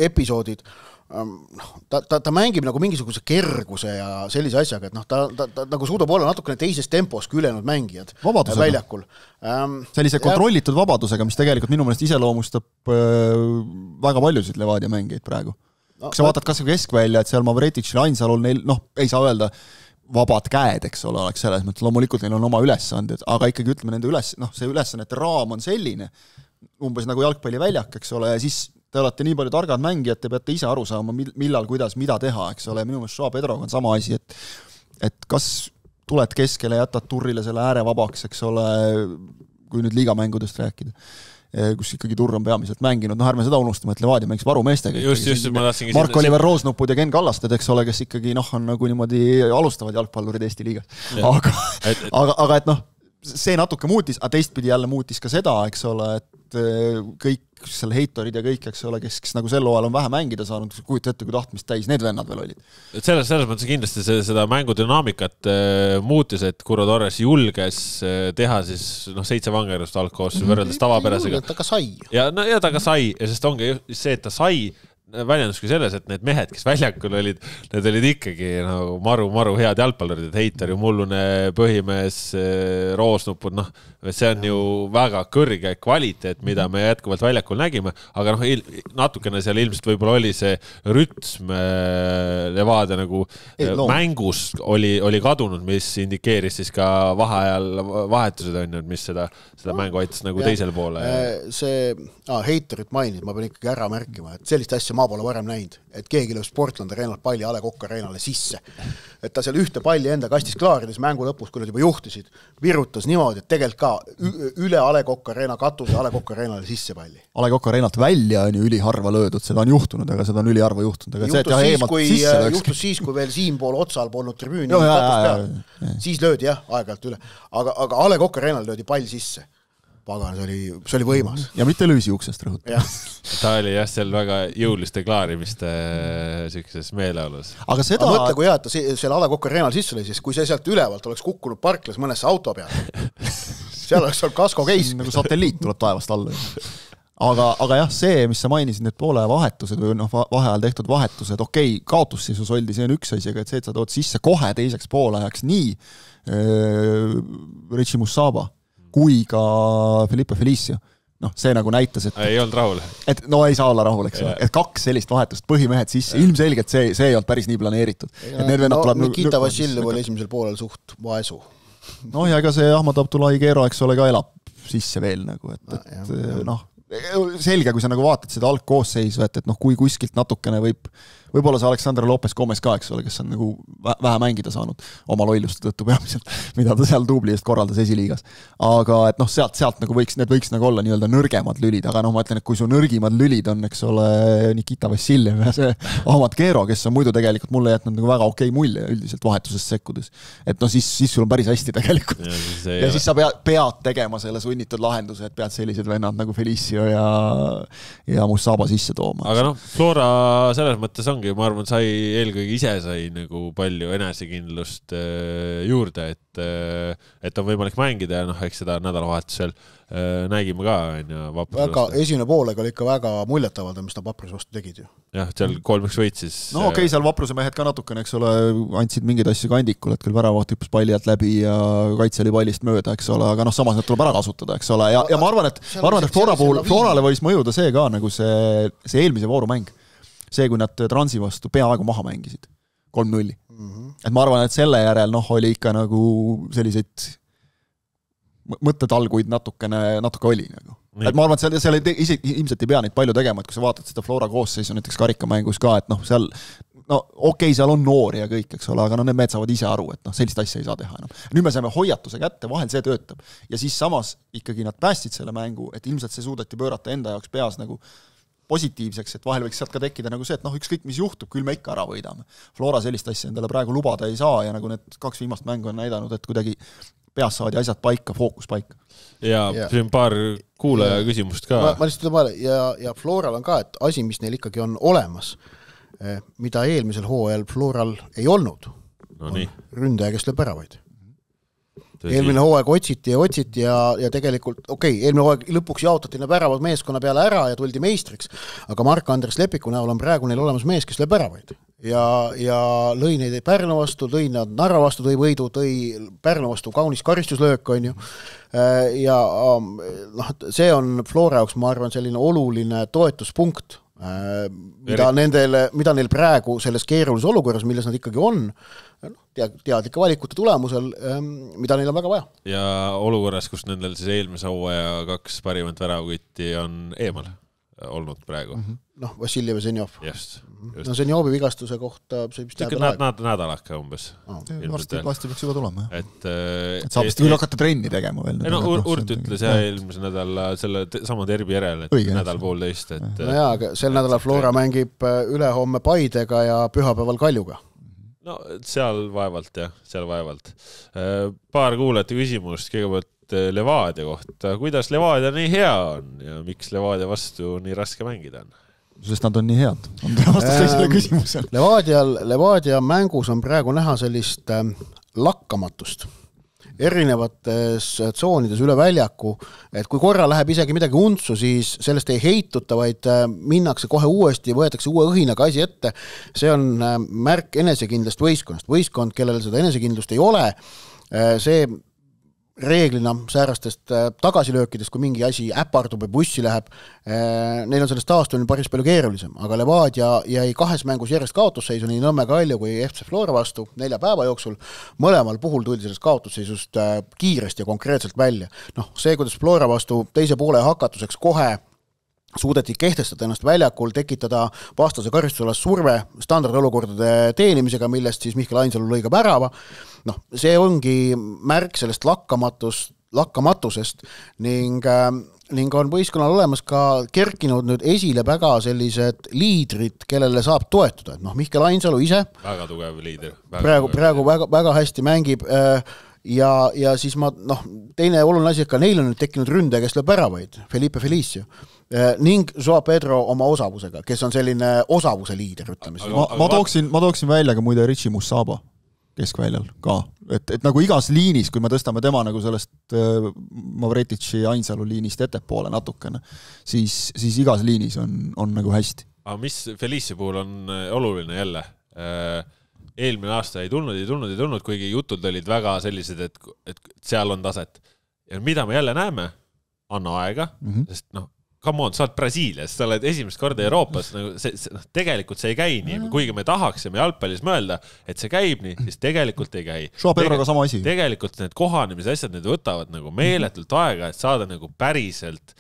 episoodid, ta, ta, ta mängib nagu mingisuguse kerguse ja sellise asjaga, et noh, ta, ta, ta nagu suudab olla natukene teises tempos kui ülejäänud mängijad vabadusega. Väljakul. Ähm, sellise kontrollitud ja... vabadusega, mis tegelikult minu meelest iseloomustab äh, väga paljusid Levadia mängijaid praegu. No, kas sa vaatad kas keskvälja, et seal Mavretitšil Ainsalul neil, noh, ei saa öelda vabad käed, eks ole, oleks selles mõttes, loomulikult neil on oma ülesanded, aga ikkagi ütleme nende üles, noh, see ülesannete raam on selline, umbes nagu jalgpalliväljak, eks ole, ja siis te olete nii palju targad mängijad, te peate ise aru saama, millal, kuidas, mida teha, eks ole, minu meelest Joao Pedroga on sama asi, et et kas tuled keskele, jätad Turrile selle ääre vabaks, eks ole, kui nüüd liigamängudest rääkida, kus ikkagi Turr on peamiselt mänginud, noh, ärme seda unustama, et Levadia mängis varumeestega. Just, just, ma tahtsingi Mark-Oliver Roosnupud ja Ken Kallasted, eks ole, kes ikkagi, noh, on nagu niimoodi alustavad jalgpallurid Eesti liigas. Aga, et, et... aga, aga et noh, see natuke muutis, aga teistpidi jälle muutis ka seda, eks ole, et kõik seal heitorid ja kõik, eks ole, kes, kes nagu sel hooajal on vähe mängida saanud, kujuta ette, kui tahtmist täis, need vennad veel olid. Et selles, selles mõttes kindlasti see, seda mängudünaamikat äh, muutis, et Kurro Torres julges äh, teha siis noh, seitse vangerust algkoos mm-hmm. võrreldes tavapärasega. Ta ka sai. Ja, no, ja ta ka sai, ja sest ongi see, et ta sai väljenduski selles, et need mehed, kes väljakul olid, need olid ikkagi nagu maru, maru head jalgpallurid, et Heitar ju mullune põhimees, Roosnupud, noh, see on ju väga kõrge kvaliteet, mida me jätkuvalt väljakul nägime, aga noh, natukene seal ilmselt võib-olla oli see rütm Levadia nagu Ei, mängus oli, oli kadunud, mis indikeeris siis ka vaheajal vahetused on, mis seda, seda mängu aitas nagu ja, teisele poole. See ah, Heitarit mainid, ma pean ikkagi ära märkima, et sellist asja ma pole varem näinud, et keegi lööb Sportlandi areenalt palli A Le Coq areenale sisse. Et ta seal ühte palli enda kastis klaarides mängu lõpus, kui nad juba juhtisid, virutas niimoodi, et tegelikult ka üle A Le Coq areena katuse A Le Coq areenale sisse palli. A Le Coq areenalt välja on ju üliharva löödud, seda on juhtunud, aga seda on üliharva juhtunud. Aga juhtus, see, siis, kui, juhtus siis, kui veel siinpool otsal polnud tribüüni jo, jah, jah, jah. Siis löödi jah, aeg-ajalt üle. Aga, aga A Le Coq areenal löödi pall sisse. Pagan, see oli, see oli võimas. Ja mitte lüüsi uksest rõhuta. Ta oli jah seal väga jõuliste klaarimiste sellises meeleolus. Aga seda... Aga mõtle, kui jah, ta seal A Le Coq areenal sisse oli, siis kui see sealt ülevalt oleks kukkunud parklas mõnesse auto peale, seal oleks olnud kasko keis. Nagu satelliit tuleb taevast alla. Aga, aga jah, see, mis sa mainisid, need poole vahetused või noh, vaheajal tehtud vahetused, okei, kaotusseisus oldi, see on üks asi, aga et see, et sa tood sisse kohe teiseks poolajaks nii äh, Richie Musaba kui ka Felipe Felicio. Noh, see nagu näitas, et... Ei olnud rahul. Et no ei saa olla rahul, eks ole. Et kaks sellist vahetust põhimehed sisse. Ja. Ilmselgelt see, see ei olnud päris nii planeeritud. Ja, et need no, tuleb, Nikita Vassiljev oli esimesel poolel suht vaesu. No ja ega see Ahmad Abdullahi Keero, eks ole, ka elab sisse veel nagu, et, et ja, ja. noh, selge, kui sa nagu vaatad seda algkoosseisu, et, et noh, kui kuskilt natukene võib, võib-olla see Alexander Lopez Gomez ka, eks ole, kes on nagu vähe mängida saanud oma loiluste tõttu peamiselt, mida ta seal tubli eest korraldas esiliigas. Aga et noh, sealt, sealt nagu võiks, need võiks nagu olla nii-öelda nõrgemad lülid, aga noh, ma ütlen, et kui su nõrgimad lülid on, eks ole, Nikita Vassiljev ja see Ahmad Keero, kes on muidu tegelikult mulle jätnud nagu väga okei mulje üldiselt vahetusest sekkudes. Et noh, siis, siis sul on päris hästi tegelikult. Ja siis, ja siis sa pead, pead tegema selle sunnitud lahenduse, et pead sellised vennad nagu Felicio ja, ja Musaba sisse tooma. Aga noh, Flora selles mõttes ongi, ma arvan, sai eelkõige ise sai nagu palju enesekindlust juurde, et, et on võimalik mängida ja noh, eks seda nädalavahetusel nägime ka Vapruse väga, esimene poolega oli ikka väga muljetavalda, mis ta Vapruse vastu tegid ju. Jah, seal kolmeks võitsis. No okei, okay, seal Vapruse mehed ka natukene, eks ole, andsid mingeid asju kandikul, et küll väravaht hüppes palli alt läbi ja kaitse oli pallist mööda, eks ole, aga noh, samas need tuleb ära kasutada, eks ole, ja, ja ma arvan, et, ma arvan, et Flora puhul, Florale võis mõjuda see ka nagu see, see eelmise voorumäng. See, kui nad Transi vastu peaaegu maha mängisid. kolm nulli. Mm-hmm. Et ma arvan, et selle järel noh, oli ikka nagu selliseid mõttetalguid natukene, natuke oli nagu. Et ma arvan, et seal, seal ei, ise, ilmselt ei pea neid palju tegema, et kui sa vaatad seda Flora koosseisu näiteks karikamängus ka, et noh, seal no okei, seal on noori ja kõik, eks ole, aga no need mehed saavad ise aru, et noh, sellist asja ei saa teha enam. Nüüd me saame hoiatuse kätte, vahel see töötab. Ja siis samas ikkagi nad päästsid selle mängu, et ilmselt see suudeti pöörata enda jaoks peas nagu positiivseks, et vahel võiks sealt ka tekkida nagu see, et noh, ükskõik mis juhtub, küll me ikka ära võidame. Flora sellist asja endale praegu lubada ei saa ja nagu need kaks viimast mängu on näidanud, et kuidagi peas saadi asjad paika, fookus paika. Ja yeah. siin paar kuulaja yeah. küsimust ka. Ma, ma lihtsalt ütlen, ja, ja Floral on ka, et asi, mis neil ikkagi on olemas, mida eelmisel hooajal Floral ei olnud, no, on ründaja, kes lööb ära vaid. eelmine hooaeg otsiti ja otsiti ja, ja tegelikult, okei okay,, eelmine hooaeg lõpuks jaotati need väravad meeskonna peale ära ja tuldi meistriks, aga Mark-Andres Lepiku näol on praegu neil olemas mees, kes lööb väravaid. Ja, ja lõi neid Pärnu vastu, tõi nad Narva vastu, tõi võidu, tõi Pärnu vastu kaunis karistuslöök, on ju. Ja noh, see on Flora jaoks, ma arvan, selline oluline toetuspunkt, mida, nendele, mida neil praegu selles keerulises olukorras, milles nad ikkagi on, teadlike valikute tulemusel, mida neil on väga vaja. Ja olukorras, kus nendel siis eelmise hooaja kaks parimat väravkütti on eemal olnud praegu. Mm-hmm. Noh, Vassiljev ja Zenjov. Just, just. No Zenjovi vigastuse kohta see vist jääb näd, näd, nädalaka umbes. Oh. Varsti, varsti peaks juba tulema. Et, et saab vist küll hakata trenni tegema veel. No, Urt ütles jah eelmise nädala selle sama terbi järel, et Õige, nädal poolteist. Et, no jaa, aga sel nädalal Flora mängib ülehomme Paidega ja pühapäeval Kaljuga. No seal vaevalt jah, seal vaevalt. Paar kuulete küsimust, kõigepealt Levadia kohta. Kuidas Levadia nii hea on ja miks Levadia vastu nii raske mängida on? Sest nad on nii head. On vastus teisele küsimusele. Levadial, Levadia mängus on praegu näha sellist äh, lakkamatust erinevates tsoonides üle väljaku, et kui korra läheb isegi midagi untsu, siis sellest ei heituta, vaid minnakse kohe uuesti, võetakse uue õhinaga asi ette. See on märk enesekindlast võistkonnast. Võistkond, kellel seda enesekindlust ei ole, see reeglina säärastest tagasilöökidest, kui mingi asi äpardub ja bussi läheb, neil on sellest taastumine päris palju keerulisem, aga Levadia jäi kahes mängus järjest kaotusseisu nii Nõmme Kalju kui F C Flora vastu nelja päeva jooksul. Mõlemal puhul tuldi sellest kaotusseisust kiiresti ja konkreetselt välja. Noh, see, kuidas Flora vastu teise poole hakatuseks kohe suudeti kehtestada ennast väljakul, tekitada vastase karistusalas surve standardolukordade teenimisega, millest siis Mihkel Ainsalu lõi ka värava. Noh, see ongi märk sellest lakkamatust, lakkamatusest ning, ning on võistkonnal olemas ka kerkinud nüüd esile väga sellised liidrid, kellele saab toetuda. Noh, Mihkel Ainsalu ise väga tugev liider. Väga praegu, tugev praegu väga, väga hästi mängib ja, ja siis ma, noh, teine oluline asi, et ka neil on nüüd tekkinud ründe, kes lööb väravaid, Felipe Felicio ning Joao Pedro oma osavusega, kes on selline osavuse liider, ütleme siis. Ma, ma, tooksin, ma tooksin välja ka muide Richie Musaba keskväljal ka, et, et nagu igas liinis, kui me tõstame tema nagu sellest äh, Mavretici Ainsalu liinist ettepoole natukene, siis, siis igas liinis on, on nagu hästi. Aga mis Felicio puhul on oluline jälle? Eelmine aasta ei tulnud, ei tulnud, ei tulnud, kuigi jutud olid väga sellised, et, et seal on taset. Ja mida me jälle näeme? Anna aega, mm-hmm. sest noh, come on, sa oled Brasiilias, sa oled esimest korda Euroopas, nagu see, see, no, tegelikult see ei käi nii, kuigi me tahaksime jalgpallis mõelda, et see käib nii, siis tegelikult ei käi. Joao Pedroga sama asi. Tegelikult need kohanemise asjad, need võtavad nagu meeletult aega, et saada nagu päriselt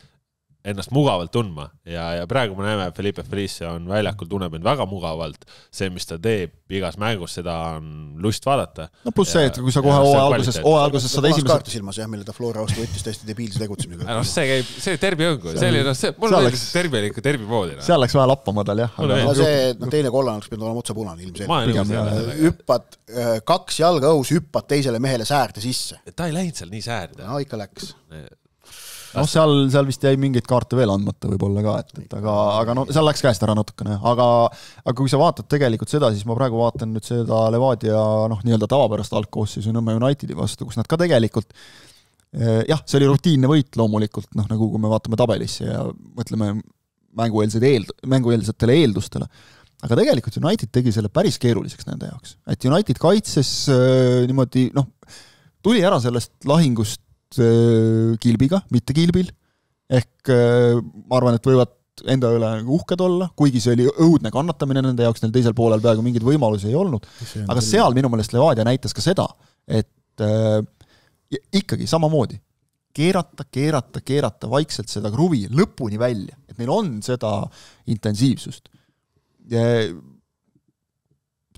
ennast mugavalt tundma ja, ja praegu me näeme, et Felipe Felicio on väljakul, tunneb end väga mugavalt. See, mis ta teeb igas mängus, seda on lust vaadata. No pluss see, et kui sa kohe hooaja alguses, alguses saad esimesed... kaarti silmas, jah, mille ta Flora vastu võttis täiesti debiilse tegutsemisega. No see käib, see terbi õngu. See oli, no see, mul läks terbi oli ikka terbi moodi. Seal läks vaja lappama tal, jah. Aga no see, no teine kollan oleks pidanud olema otsa punane ilmselt. Hüppad, kaks jalga õus, hüppad teisele mehele säärde sisse. Ta ei läinud seal nii säärde. No ikka läks. noh, seal, seal vist jäi mingeid kaarte veel andmata võib-olla ka, et, et aga, aga no seal läks käest ära natukene, aga, aga kui sa vaatad tegelikult seda, siis ma praegu vaatan nüüd seda Levadia noh, nii-öelda tavapärast algkoosseisu Nõmme Unitedi vastu, kus nad ka tegelikult jah, see oli rutiinne võit loomulikult, noh, nagu kui me vaatame tabelisse ja mõtleme mängueelsed eeld, mängueelsetele eeldustele, aga tegelikult United tegi selle päris keeruliseks nende jaoks, et United kaitses äh, niimoodi, noh, tuli ära sellest lahingust äh, kilbiga, mitte kilbil, ehk äh, ma arvan, et võivad enda üle uhked olla, kuigi see oli õudne kannatamine nende jaoks, neil teisel poolel peaaegu mingeid võimalusi ei olnud, aga seal minu meelest Levadia näitas ka seda, et äh, ikkagi samamoodi keerata, keerata, keerata vaikselt seda kruvi lõpuni välja, et neil on seda intensiivsust.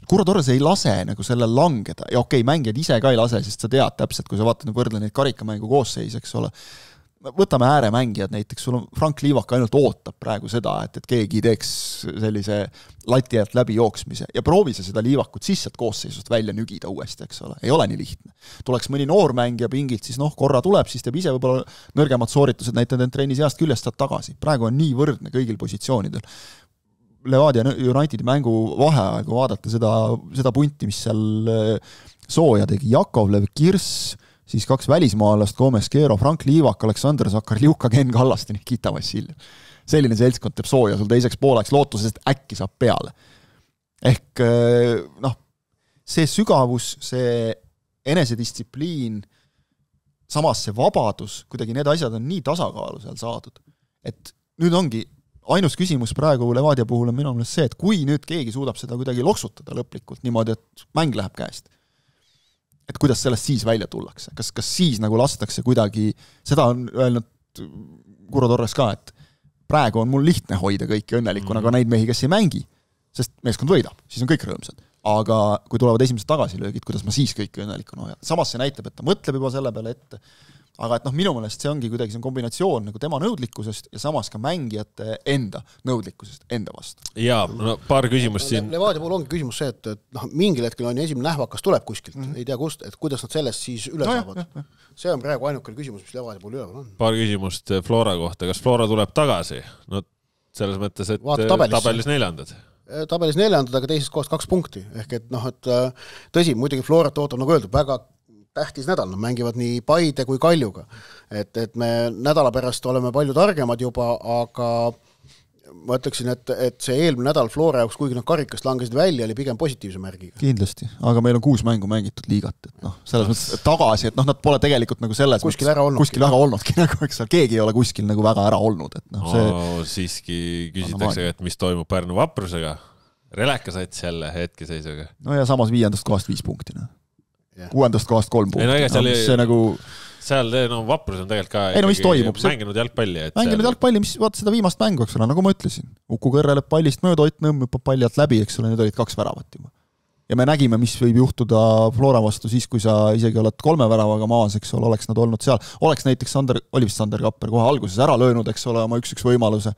Kuro Torres ei lase nagu sellel langeda, ja okei, mängijad ise ka ei lase, sest sa tead täpselt, kui sa vaatad võrdle neid karikamängu koosseis, eks ole, võtame ääremängijad näiteks, sul on Frank Liivak ainult ootab praegu seda, et, et keegi teeks sellise lati alt läbi jooksmise ja proovi sa seda Liivakut sissalt koosseisust välja nügida uuesti, eks ole, ei ole nii lihtne. Tuleks mõni noormängija pingilt, siis noh, korra tuleb, siis teeb ise võib-olla nõrgemad sooritused, näitad end trennis heast küljest saad tagasi. Praegu on nii võrdne kõigil positsioonidel. Levadia Unitedi mängu vaheaegu vaadata seda, seda punti, mis seal Sooja tegi, Jakovlev, Kirs, siis kaks välismaalast, Gomes Kero, Frank Liivak, Aleksander Zakarliuka, Ken Kallaste, Nikita Vassiljev. Selline seltskond teeb sooja sul teiseks pooleks lootuses, et äkki saab peale. Ehk noh, see sügavus, see enesedistsipliin, samas see vabadus, kuidagi need asjad on nii tasakaalu seal saadud. Et nüüd ongi ainus küsimus praegu Levadia puhul on minu meelest see, et kui nüüd keegi suudab seda kuidagi loksutada lõplikult niimoodi, et mäng läheb käest, et kuidas sellest siis välja tullakse, kas, kas siis nagu lastakse kuidagi, seda on öelnud Kuro Torres ka, et praegu on mul lihtne hoida kõiki õnnelikuna, mm-hmm. aga neid mehi, kes ei mängi, sest meeskond võidab, siis on kõik rõõmsad. Aga kui tulevad esimesed tagasilöögid, kuidas ma siis kõiki õnnelikuna hoian. Samas see näitab, et ta mõtleb juba selle peale ette, aga et noh, minu meelest see ongi kuidagi see on kombinatsioon nagu tema nõudlikkusest ja samas ka mängijate enda nõudlikkusest enda vastu. Jaa, no paar küsimust siin. Levadia puhul ongi küsimus see, et, et noh, mingil hetkel on esimene nähvakas tuleb kuskilt, mm. ei tea kust, et kuidas nad sellest siis üle no, saavad. Ja, ja. See on praegu ainukene küsimus, mis Levadia puhul üleval on. Paar küsimust Flora kohta. Kas Flora tuleb tagasi? No selles mõttes, et tabelis, tabelis neljandad. Tabelis neljandad, aga teisest kohast kaks punkti. Ehk et noh, et tõsi, muidugi Florat ootab nagu öeldud, väga tähtis nädal, nad mängivad nii Paide kui Kaljuga. Et, et me nädala pärast oleme palju targemad juba, aga ma ütleksin, et, et see eelmine nädal Flora jaoks, kuigi nad karikast langesid välja, oli pigem positiivse märgiga. Kindlasti, aga meil on kuus mängu mängitud liigat, et noh, selles mõttes tagasi, et noh, nad pole tegelikult nagu selles kuskil ära olnudki. Kuskil väga olnudki, nagu eks keegi ei ole kuskil nagu väga ära olnud. Et noh, see... oh, siiski küsitakse, et mis toimub Pärnu Vaprusega. Releka sats jälle hetkeseisuga. No ja samas viiendast kohast viis punkti. No. Kuuendast kohast kolm punkti. No, no, oli... see nagu... seal no, Vaprus on tegelikult ka ei, no, mis toimub? Mänginud jalgpalli. Et mänginud seal... jalgpalli, mis vaata seda viimast mängu, eks ole, nagu ma ütlesin. Uku kõrreleb pallist mööda, Ott Nõmm hüppab palli alt läbi, eks ole, need olid kaks väravat juba. Ja me nägime, mis võib juhtuda Flora vastu siis, kui sa isegi oled kolme väravaga maas, eks ole, oleks nad olnud seal. Oleks näiteks Sander, oli vist Sander Kapper kohe alguses ära löönud, eks ole, oma üks-üks võimaluse.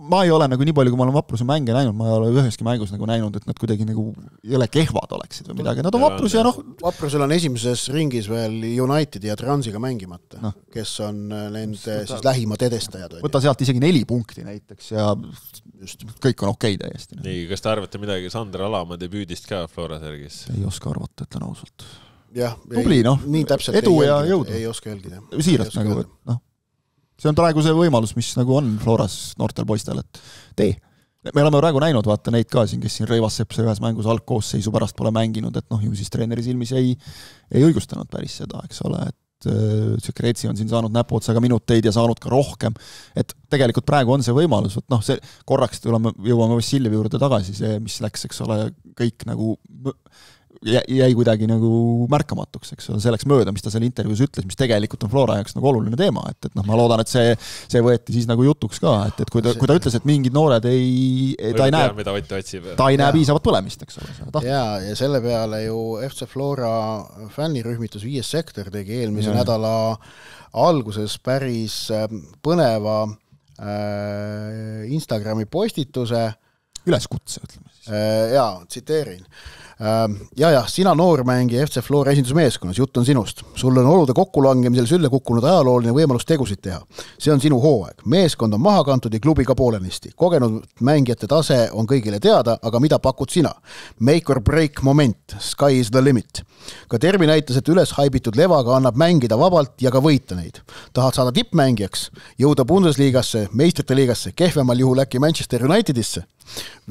Ma ei ole nagu nii palju, kui ma olen Vapruse mänge näinud, ma ei ole üheski mängus nagu näinud, et nad kuidagi nagu ei ole kehvad oleksid või midagi. Nad on Vaprus ja noh... Vaprusel on esimeses ringis veel United ja Transiga mängimata, no. Kes on nende siis lähimad edestajad. Võta sealt isegi neli punkti näiteks ja just kõik on okei täiesti. Nii, kas te arvate midagi Sander Alamaa debüüdist ka Flora Sergis? Ei oska arvata, ütlen ausalt. Jah, Tubli, ei, noh. Nii täpselt edu ei, ja jälgida, jõudu. Ei oska jälgida. Siirast nagu, et noh. See on praegu see võimalus, mis nagu on Floras noortel poistel, et tee. Me oleme praegu näinud, vaata neid ka siin, kes siin Reivas Sepse ühes mängus algkoosseisu pärast pole mänginud, et noh, ju siis treeneri silmis ei, ei õigustanud päris seda, eks ole, et Tšekretsi on siin saanud näpuotsaga minuteid ja saanud ka rohkem, et tegelikult praegu on see võimalus, et noh, see korraks tuleme, jõuame Vassiljevi juurde tagasi, see, mis läks, eks ole, kõik nagu jäi kuidagi nagu märkamatuks, eks ole, selleks mööda, mis ta seal intervjuus ütles, mis tegelikult on Flora jaoks nagu oluline teema, et, et noh, ma loodan, et see, see võeti siis nagu jutuks ka, et, et kui ta, kui ta ütles, et mingid noored ei, ta ei näe, ta ei näe piisavat põlemist, eks ole. Ja, ja selle peale ju F C Flora fännirühmitus viies sektor tegi eelmise ja. nädala alguses päris põneva äh, Instagrami postituse. Üleskutse, ütleme siis. Äh, jaa, tsiteerin. Ja, ja, sina noormängi F C Flora esindusmeeskonnas, jutt on sinust. Sul on olude kokkulangemisel sülle kukkunud ajalooline võimalus tegusid teha. See on sinu hooaeg. Meeskond on maha kantud ja klubi ka poolenisti. Kogenud mängijate tase on kõigile teada, aga mida pakud sina? Make or break moment. Sky is the limit. Ka Tervi näitas, et üles haibitud Levaga annab mängida vabalt ja ka võita neid. Tahad saada tippmängijaks? Jõuda Bundesligasse, meistrite liigasse, kehvemal juhul äkki Manchester Unitedisse?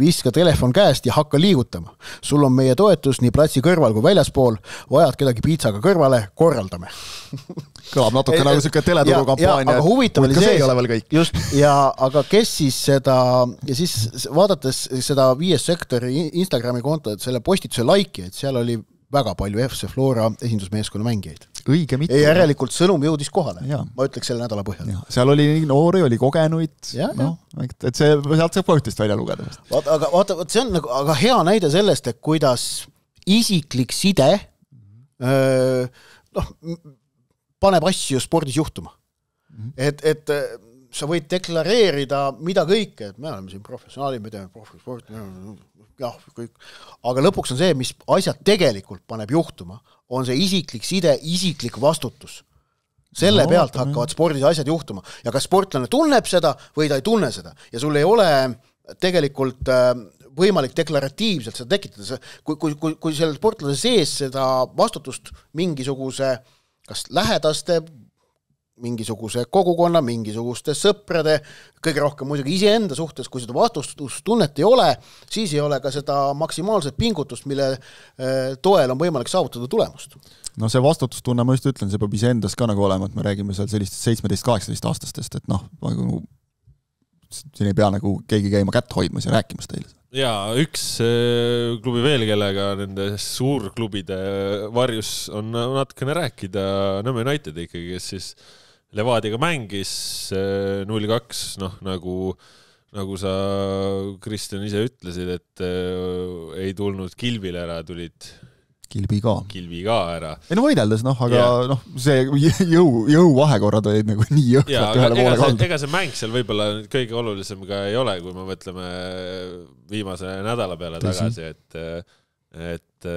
Viska telefon käest ja hakka liigutama. Sul on meie toetus nii platsi kõrval kui väljaspool, vajad kedagi piitsaga kõrvale, korraldame. Kõlab natuke et, nagu selline teleturukampaania. Aga huvitav oli see, ei ole veel kõik. Just, ja aga kes siis seda, ja siis vaadates seda viies sektori Instagrami konto, et selle postituse laiki, et seal oli väga palju F C Flora esindusmeeskonna mängijaid. Õige mitte. Ja järelikult sõnum jõudis kohale. Ja. Ma ütleks selle nädala põhjal. Ja. Seal oli noori, oli kogenuid. No, et see, sealt saab põhjustist välja lugeda. Vaata, aga vaata, see on nagu, aga hea näide sellest, et kuidas isiklik side öö, noh, paneb asju spordis juhtuma. Mm-hmm. Et, et sa võid deklareerida mida kõike, et me oleme siin professionaalid, me teeme profisporti, jah, kõik. Aga lõpuks on see, mis asjad tegelikult paneb juhtuma, on see isiklik side, isiklik vastutus. Selle no, pealt hakkavad spordis asjad juhtuma. Ja kas sportlane tunneb seda või ta ei tunne seda. Ja sul ei ole tegelikult võimalik deklaratiivselt seda tekitada, kui, kui, kui, kui selle sportlase sees seda vastutust mingisuguse kas lähedaste, mingisuguse kogukonna, mingisuguste sõprade, kõige rohkem muidugi iseenda suhtes, kui seda vastustustunnet ei ole, siis ei ole ka seda maksimaalset pingutust, mille toel on võimalik saavutada tulemust. No see vastutustunne, ma just ütlen, see peab iseendas ka nagu olema, et me räägime seal sellistest seitsmeteist kaheksateist aastastest, et noh, siin ei pea nagu keegi käima kätt hoidmas ja rääkimas teile. Jaa, üks klubi veel, kellega nende suurklubide varjus on natukene rääkida, Nõmme United ikkagi, kes siis Levadiga mängis null kaks, noh, nagu, nagu sa, Kristjan, ise ütlesid, et ei tulnud Kilvile ära, tulid Kilbi ka. Kilbi ka ära. Ei no võideldes, noh, aga yeah. noh, see jõu, jõu vahekorrad olid nagu nii jõhkralt ühele poole kaldu. Ega see mäng seal võib-olla kõige olulisem ka ei ole, kui me mõtleme viimase nädala peale tagasi, et, et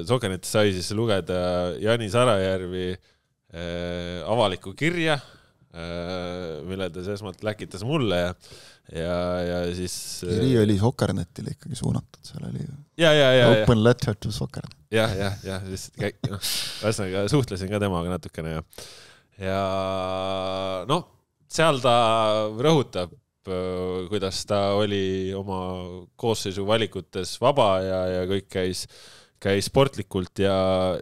Sokenetis sai siis lugeda Jani Sarajärvi avaliku kirja, mille ta esmalt läkitas mulle ja ja, ja siis kiri oli Sokkernetile ikkagi suunatud, seal oli ja, ja, ja, open ja. letter to Sokkernet. Jah, jah, jah, lihtsalt no, väsnaga suhtlesin ka temaga natukene ja, ja noh, seal ta rõhutab, kuidas ta oli oma koosseisu valikutes vaba ja, ja kõik käis, käis sportlikult ja,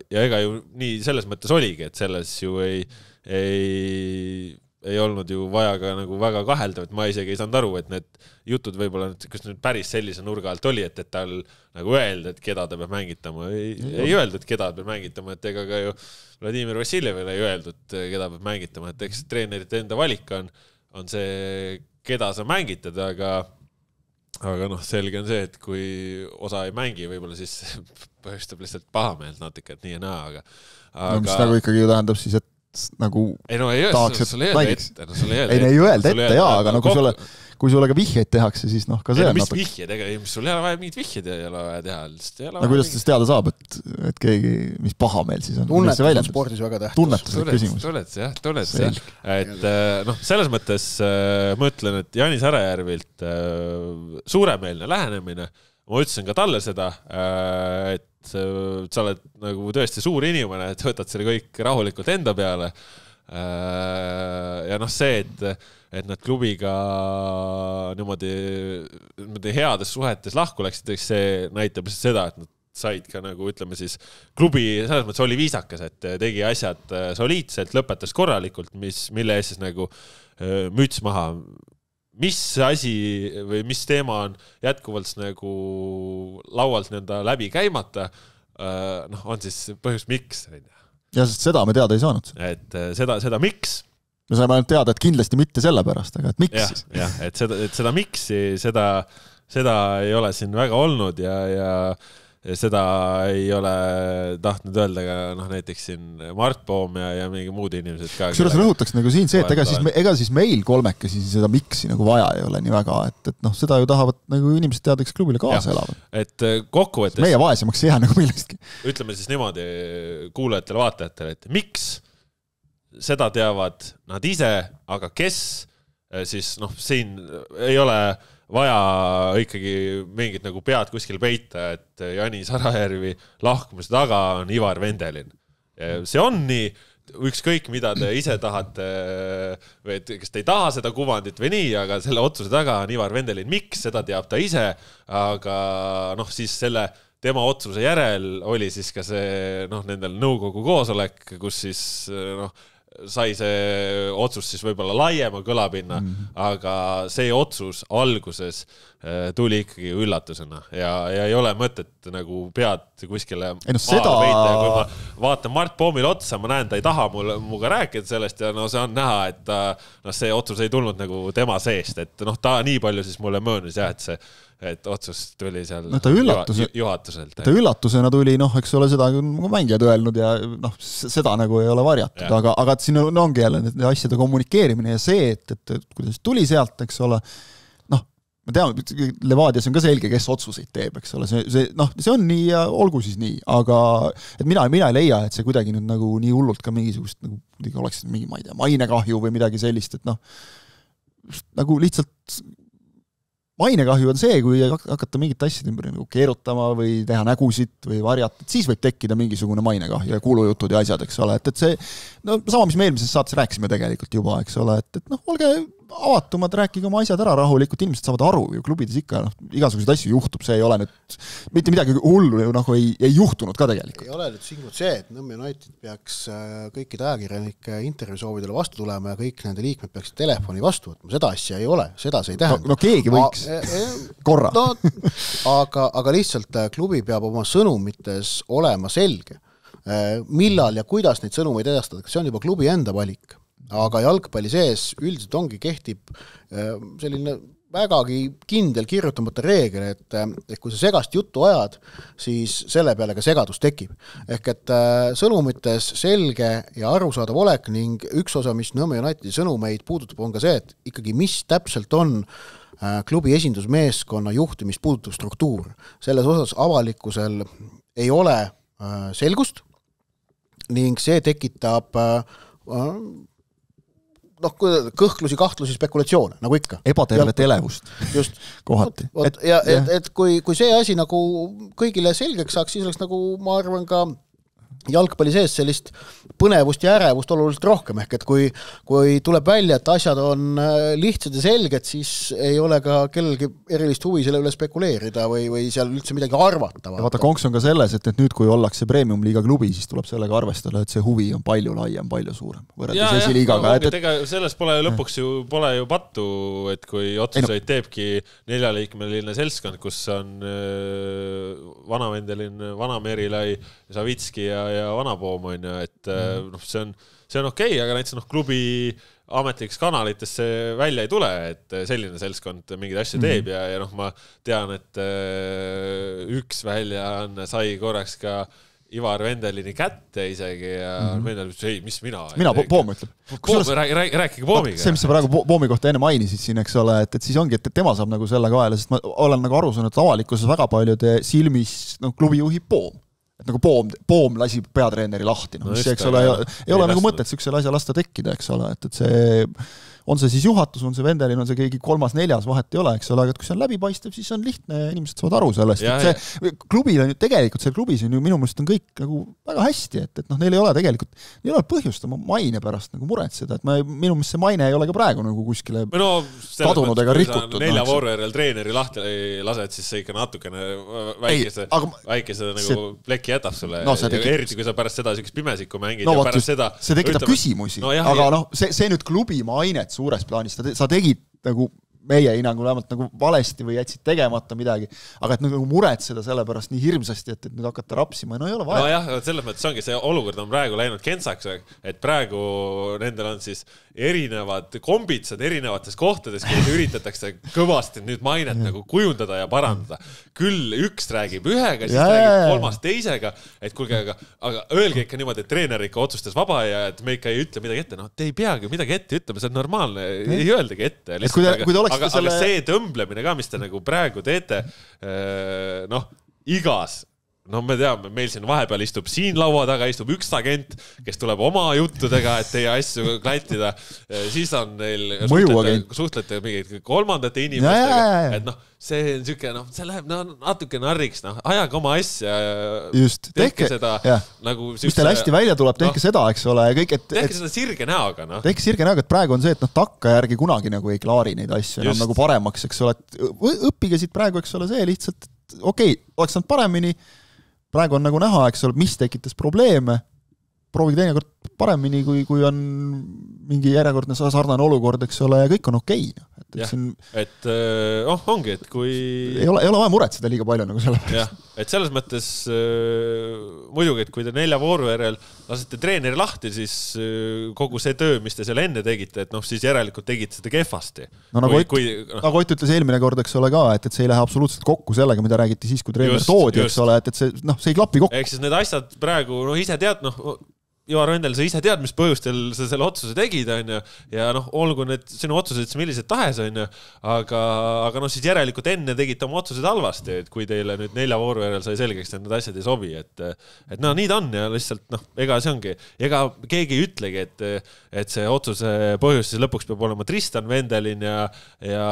ja ega ju nii selles mõttes oligi, et selles ju ei, ei ei olnud ju vaja ka nagu väga kahelda, et ma isegi ei saanud aru, et need jutud võib-olla, kas nüüd päris sellise nurga alt oli, et, et tal nagu öelda, et keda ta peab mängitama. Ei, ei öeldud, et keda peab mängitama, et ega ka ju Vladimir Vassiljevile ei öeldud, keda peab mängitama, et eks treenerite enda valik on, on see, keda sa mängitad, aga, aga noh, selge on see, et kui osa ei mängi, võib-olla siis põhjustab lihtsalt pahameelt natuke, et nii ja naa, aga, aga... No, mis nagu ikkagi ju tähendab siis, et nagu ei no ei tahaks, öelda, sul ei öelda ette, no sul ei öelda ette. Ei, ei öelda ette, ette jaa, aga no kui sulle, kui sulle ka vihjeid tehakse, siis noh, ka see ei, on mis natuke. Vihjed, ega mis sul ei ole vaja mingid vihjed ei ole vaja teha. No kuidas siis teada saab, et, et keegi, mis paha meil siis on? Tunnetus on spordis väga tähtis. Tunnetuslik küsimus. Tunnetus, jah, tunnetus, jah. Et noh, selles mõttes ma ütlen, et Jani Sarajärvilt suuremeelne lähenemine, ma ütlesin ka talle seda, et sa oled nagu tõesti suur inimene, et võtad selle kõik rahulikult enda peale. Ja noh see, et, et nad klubiga niimoodi, niimoodi heades suhetes lahku läksid, see näitab seda, et nad said ka nagu ütleme siis klubi selles mõttes oli viisakas, et tegi asjad soliidselt, lõpetas korralikult, mis, mille ees siis nagu müts maha. Mis asi või mis teema on jätkuvalt nagu laualt nende läbi käimata, noh, on siis põhjus miks. Ja sest seda me teada ei saanud. Et seda, seda miks. Me saime ainult teada, et kindlasti mitte selle pärast, aga et miks ja, siis? Jah, et seda, et seda miksi, seda, seda ei ole siin väga olnud ja, ja, ja seda ei ole tahtnud öelda ka noh, näiteks siin Mart Poom ja, ja mingi muud inimesed ka. Kusjuures rõhutaks nagu siin see, et ega siis, me, ega siis meil kolmekesi seda miksi nagu vaja ei ole nii väga, et, et noh, seda ju tahavad nagu inimesed teada, kes klubile kaasa ja, elavad. Et kokkuvõttes meie vaesemaks ei jää nagu millestki. Ütleme siis niimoodi kuulajatele, vaatajatele, et miks seda teavad nad ise, aga kes siis noh, siin ei ole vaja ikkagi mingit nagu pead kuskil peita, et Jani Sarajärvi lahkumise taga on Ivar Vendelin. See on nii, ükskõik mida te ise tahate, või et kes te ei taha seda kuvandit või nii, aga selle otsuse taga on Ivar Vendelin. Miks, seda teab ta ise, aga noh, siis selle tema otsuse järel oli siis ka see noh, nendel nõukogu koosolek, kus siis noh, sai see otsus siis võib-olla laiema kõlapinna, mm-hmm. aga see otsus alguses tuli ikkagi üllatusena ja, ja ei ole mõtet nagu pead kuskile ei, no, seda... peita ja kui ma vaatan Mart Poomile otsa, ma näen, ta ei taha mul, muga rääkida sellest ja no see on näha, et ta, no, see otsus ei tulnud nagu tema seest, et noh, ta nii palju siis mulle möönis jah, et see et otsus tuli seal no, ta üllatuse, juhatuselt. Ta üllatusena tuli, noh, eks ole, seda on mängijad öelnud ja noh, seda nagu ei ole varjatud, aga, aga siin on, ongi jälle need asjade kommunikeerimine ja see, et, et, et kuidas tuli sealt, eks ole, noh, me teame, Levadias on ka selge, kes otsuseid teeb, eks ole, see, see, noh, see on nii ja olgu siis nii, aga et mina, mina ei leia, et see kuidagi nüüd nagu nii hullult ka mingisugust, nagu oleks mingi, ma ei tea, mainekahju või midagi sellist, et noh, nagu lihtsalt mainekahju on see, kui hakata mingit asjad ümber nagu keerutama või teha nägusid või varjata, et siis võib tekkida mingisugune mainekahju ja kuulujutud ja asjad, eks ole, et, et see, no sama, mis me eelmises saates rääkisime tegelikult juba, eks ole, et, et noh, olge avatumad, rääkige oma asjad ära rahulikult, inimesed saavad aru ju, klubides ikka, noh, igasuguseid asju juhtub, see ei ole nüüd, mitte midagi hullu ju nagu ei, ei juhtunud ka tegelikult. Ei ole nüüd siin see, et Nõmme United peaks kõikide ajakirjanike intervjuusoovidele vastu tulema ja kõik nende liikmed peaks telefoni vastu võtma, seda asja ei ole, seda see ei tähenda. No, no keegi võiks A, e, korra. No, aga, aga lihtsalt klubi peab oma sõnumites olema selge, millal ja kuidas neid sõnumeid edastada, see on juba klubi enda valik. Aga jalgpalli sees üldiselt ongi kehtib selline vägagi kindel kirjutamata reegel, et, et kui sa segast juttu ajad, siis selle peale ka segadus tekib. Ehk et sõnumites selge ja arusaadav olek ning üks osa, mis Nõmme Unitedi sõnumeid puudutab, on ka see, et ikkagi mis täpselt on klubi esindusmeeskonna juhtimist puudutav struktuur. Selles osas avalikkusel ei ole selgust ning see tekitab noh, kõhklusi, kahtlusi, spekulatsioone, nagu ikka. Ebatervet elevust. Just. Kohati. Et, ja, et, et kui, kui see asi nagu kõigile selgeks saaks, siis oleks nagu, ma arvan ka jalgpalli sees sellist põnevust ja ärevust oluliselt rohkem, ehk et kui, kui tuleb välja, et asjad on lihtsad ja selged, siis ei ole ka kellelgi erilist huvi selle üle spekuleerida või, või seal üldse midagi arvata. Ja vaata, konks on ka selles, et, et nüüd, kui ollakse premium-liiga klubi, siis tuleb sellega arvestada, et see huvi on palju laiem, palju suurem. Ja, ja, no, et, ega selles pole lõpuks ju, pole ju pattu, et kui otsuseid teebki neljaliikmeline seltskond, kus on Vanavendelin, Vana-Merilai, Savitski ja ja vanapoom on ju, et mm. noh, see on, see on okei, aga näiteks noh, klubi ametlikes kanalites see välja ei tule, et selline seltskond mingid asja teeb mm. ja, ja noh, ma tean, et üks väljaanne sai korraks ka Ivar Vendelini kätte isegi ja mm. Vendel ütles, ei, mis mina? Mina, Poom ütleb. Poom, rääk, rääkige Poomiga. See, mis sa praegu Poomi kohta enne mainisid siin, eks ole, et, et siis ongi, et tema saab nagu selle kaela, sest ma olen nagu aru saanud, et avalikkuses väga paljude silmis no, klubi juhib Poom. Et nagu poom, poom lasi peatreeneri lahti, no, mis no, eks ole, ei, ei ole nagu mõtet siuksele asja lasta tekkida, eks ole, et, et see on see siis juhatus, on see Vendelin, on see keegi kolmas, neljas, vahet ei ole, eks ole, aga kui see on läbipaistev, siis on lihtne ja inimesed saavad aru sellest, ja, et see ja. Klubil on ju tegelikult, see klubis on ju minu mõelest on kõik nagu väga hästi, et, et noh, neil ei ole tegelikult, neil ei ole põhjust oma maine pärast nagu muretseda, et ma, minu mõelest see maine ei ole ka praegu nagu kuskile no, kadunud ega rikutud. Nelja voorverel treeneri lahti lased, siis see ikka natukene väikese, ei, aga, väikese nagu see, pleki jätab sulle, no, tekib, eriti kui sa pärast seda sükest pimesikku mängid no, ja pärast just, seda see tekitab ütleme, küsimusi, no, jah, aga jah. noh, see, see nüüd klubi mainet suures plaanis, sa tegid nagu meie hinnangul vähemalt nagu valesti või jätsid tegemata midagi, aga et nagu muretseda selle pärast nii hirmsasti, et, et nüüd hakata rapsima, no ei ole vaja. No jah, selles mõttes ongi see olukord on praegu läinud kentsaks, et praegu nendel on siis erinevad kombitsad erinevates kohtades, kus üritatakse kõvasti nüüd mainet ja. nagu kujundada ja parandada. Küll üks räägib ühega, siis ja, räägib kolmas teisega, et kuulge, aga, aga öelge ikka niimoodi, et treener ikka otsustas vaba ja et me ikka ei ütle midagi ette. No te ei peagi midagi ette ütlema, see on normaalne, ei öeldagi ette. Kui te, kui te aga, selle... aga see tõmblemine ka, mis te nagu praegu teete, noh, igas no me teame, meil siin vahepeal istub siin laua taga, istub üks agent, kes tuleb oma juttudega, et teie asju klattida. Siis on neil suhtlete, suhtlete mingid kolmandate inimestega, ja, ja, ja. et noh, see on siuke, noh, see läheb no, natuke narriks, noh, ajaga oma asja, just, tehke, tehke seda ja. nagu mis teil hästi välja tuleb, tehke no, seda, eks ole, kõik, et tehke et, seda sirge näoga, noh. Tehke sirge näoga, et praegu on see, et noh, takka järgi kunagi nagu ei klaari neid asju enam nagu paremaks, eks ole, et õppige siit praegu, eks ole, see lihtsalt, okei, okay, oleks saanud paremini. Praegu on nagu näha, eks ole, mis tekitas probleeme, proovige teinekord paremini, kui, kui on mingi järjekordne sarnane olukord, eks ole, ja kõik on okei. Okay. Et, et, siin... et oh, ongi, et kui... Ei ole, ei ole vaja muretseda liiga palju nagu selle pärast. Jah, et selles mõttes äh, muidugi, et kui te nelja voorverel lasete treeneri lahti, siis äh, kogu see töö, mis te seal enne tegite, et noh, siis järelikult tegite seda kehvasti. No nagu, kui, Ott, kui, no. nagu Ott ütles eelmine kord, eks ole ka, et, et see ei lähe absoluutselt kokku sellega, mida räägiti siis, kui treener just, toodi, eks ole, et, et see, noh, see ei klapi kokku. Ehk siis need asjad praegu, noh, ise tead, noh, Ivar Vendel, sa ise tead, mis põhjustel sa selle otsuse tegid, on ju, ja noh, olgu need sinu otsused, millised tahes, on ju, aga, aga noh, siis järelikult enne tegite oma otsused halvasti, et kui teile nüüd nelja vooru järel sai selgeks, et need asjad ei sobi, et, et no nii ta on ja lihtsalt, noh, ega see ongi, ega keegi ei ütlegi, et, et see otsuse põhjus siis lõpuks peab olema Tristan Vendelin ja, ja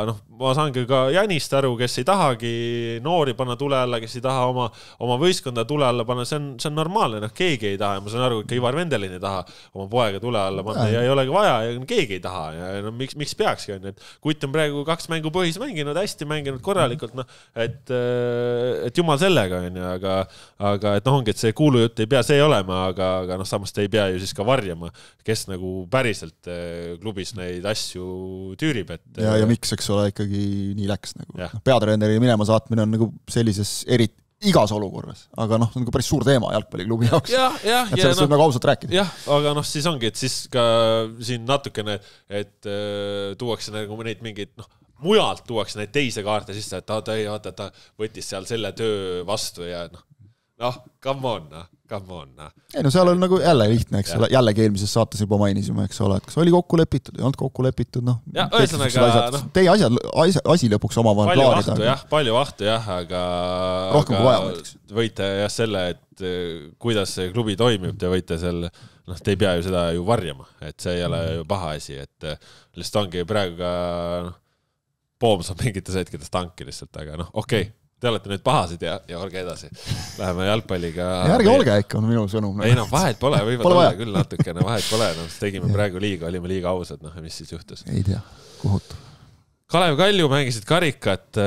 noh, ma saangi ka Janist aru, kes ei tahagi noori panna tule alla, kes ei taha oma, oma võistkonda tule alla panna, see on, see on normaalne, noh, keegi ei taha ja ma saan aru, ka Ivar Vendelin ei taha oma poega tule alla panna ja ei olegi vaja ja keegi ei taha ja no, miks, miks peakski on, et Kutt on praegu kaks mängu põhis mänginud, hästi mänginud korralikult, noh, et, et jumal sellega on ja, aga, aga et noh, ongi, et see kuulujutt ei pea see olema, aga, aga noh, samas te ei pea ju siis ka varjama, kes nagu päriselt klubis neid asju tüürib, et ja, ja miks, eks ole, ikkagi nii läks nagu. No, peatreeneri minema saatmine on nagu sellises eriti igas olukorras, aga noh, see on nagu päris suur teema jalgpalliklubi jaoks. Ja, ja, et sellest võib no, nagu ausalt rääkida. Jah, aga noh, siis ongi, et siis ka siin natukene, et äh, tuuakse nagu neid mingeid, noh, mujalt tuuakse neid teise kaarte sisse, et ta, ta, ta, ta võttis seal selle töö vastu ja noh, noh, come on, noh, come on. Noh. Ei, no seal on nagu jälle lihtne, eks ole, jällegi eelmises saates juba mainisime, eks ole, et kas oli kokku lepitud, ei olnud kokku lepitud, noh. Ja, ühesõnaga, noh. Teie asjad, asi lõpuks omavahel palju klaarida. Vahtu, jah, palju vahtu, jah, aga... Rohkem kui vaja võiks. Võite jah selle, et kuidas see klubi toimib, te võite selle, noh, te ei pea ju seda ju varjama, et see ei ole ju paha asi, et lihtsalt ongi praegu ka, noh, Poom saab mingites hetkedes tanki lihtsalt, aga noh, okei. Okay. Te olete nüüd pahasid ja, ja olge edasi. Läheme jalgpalliga. Ja ärge olge ikka, on minu sõnum. Ei noh, vahet pole, võivad olla küll natukene, vahet pole. No, tegime praegu liiga, olime liiga ausad, noh, mis siis juhtus? Ei tea, kuhutu. Kalev Kalju mängisid karikat,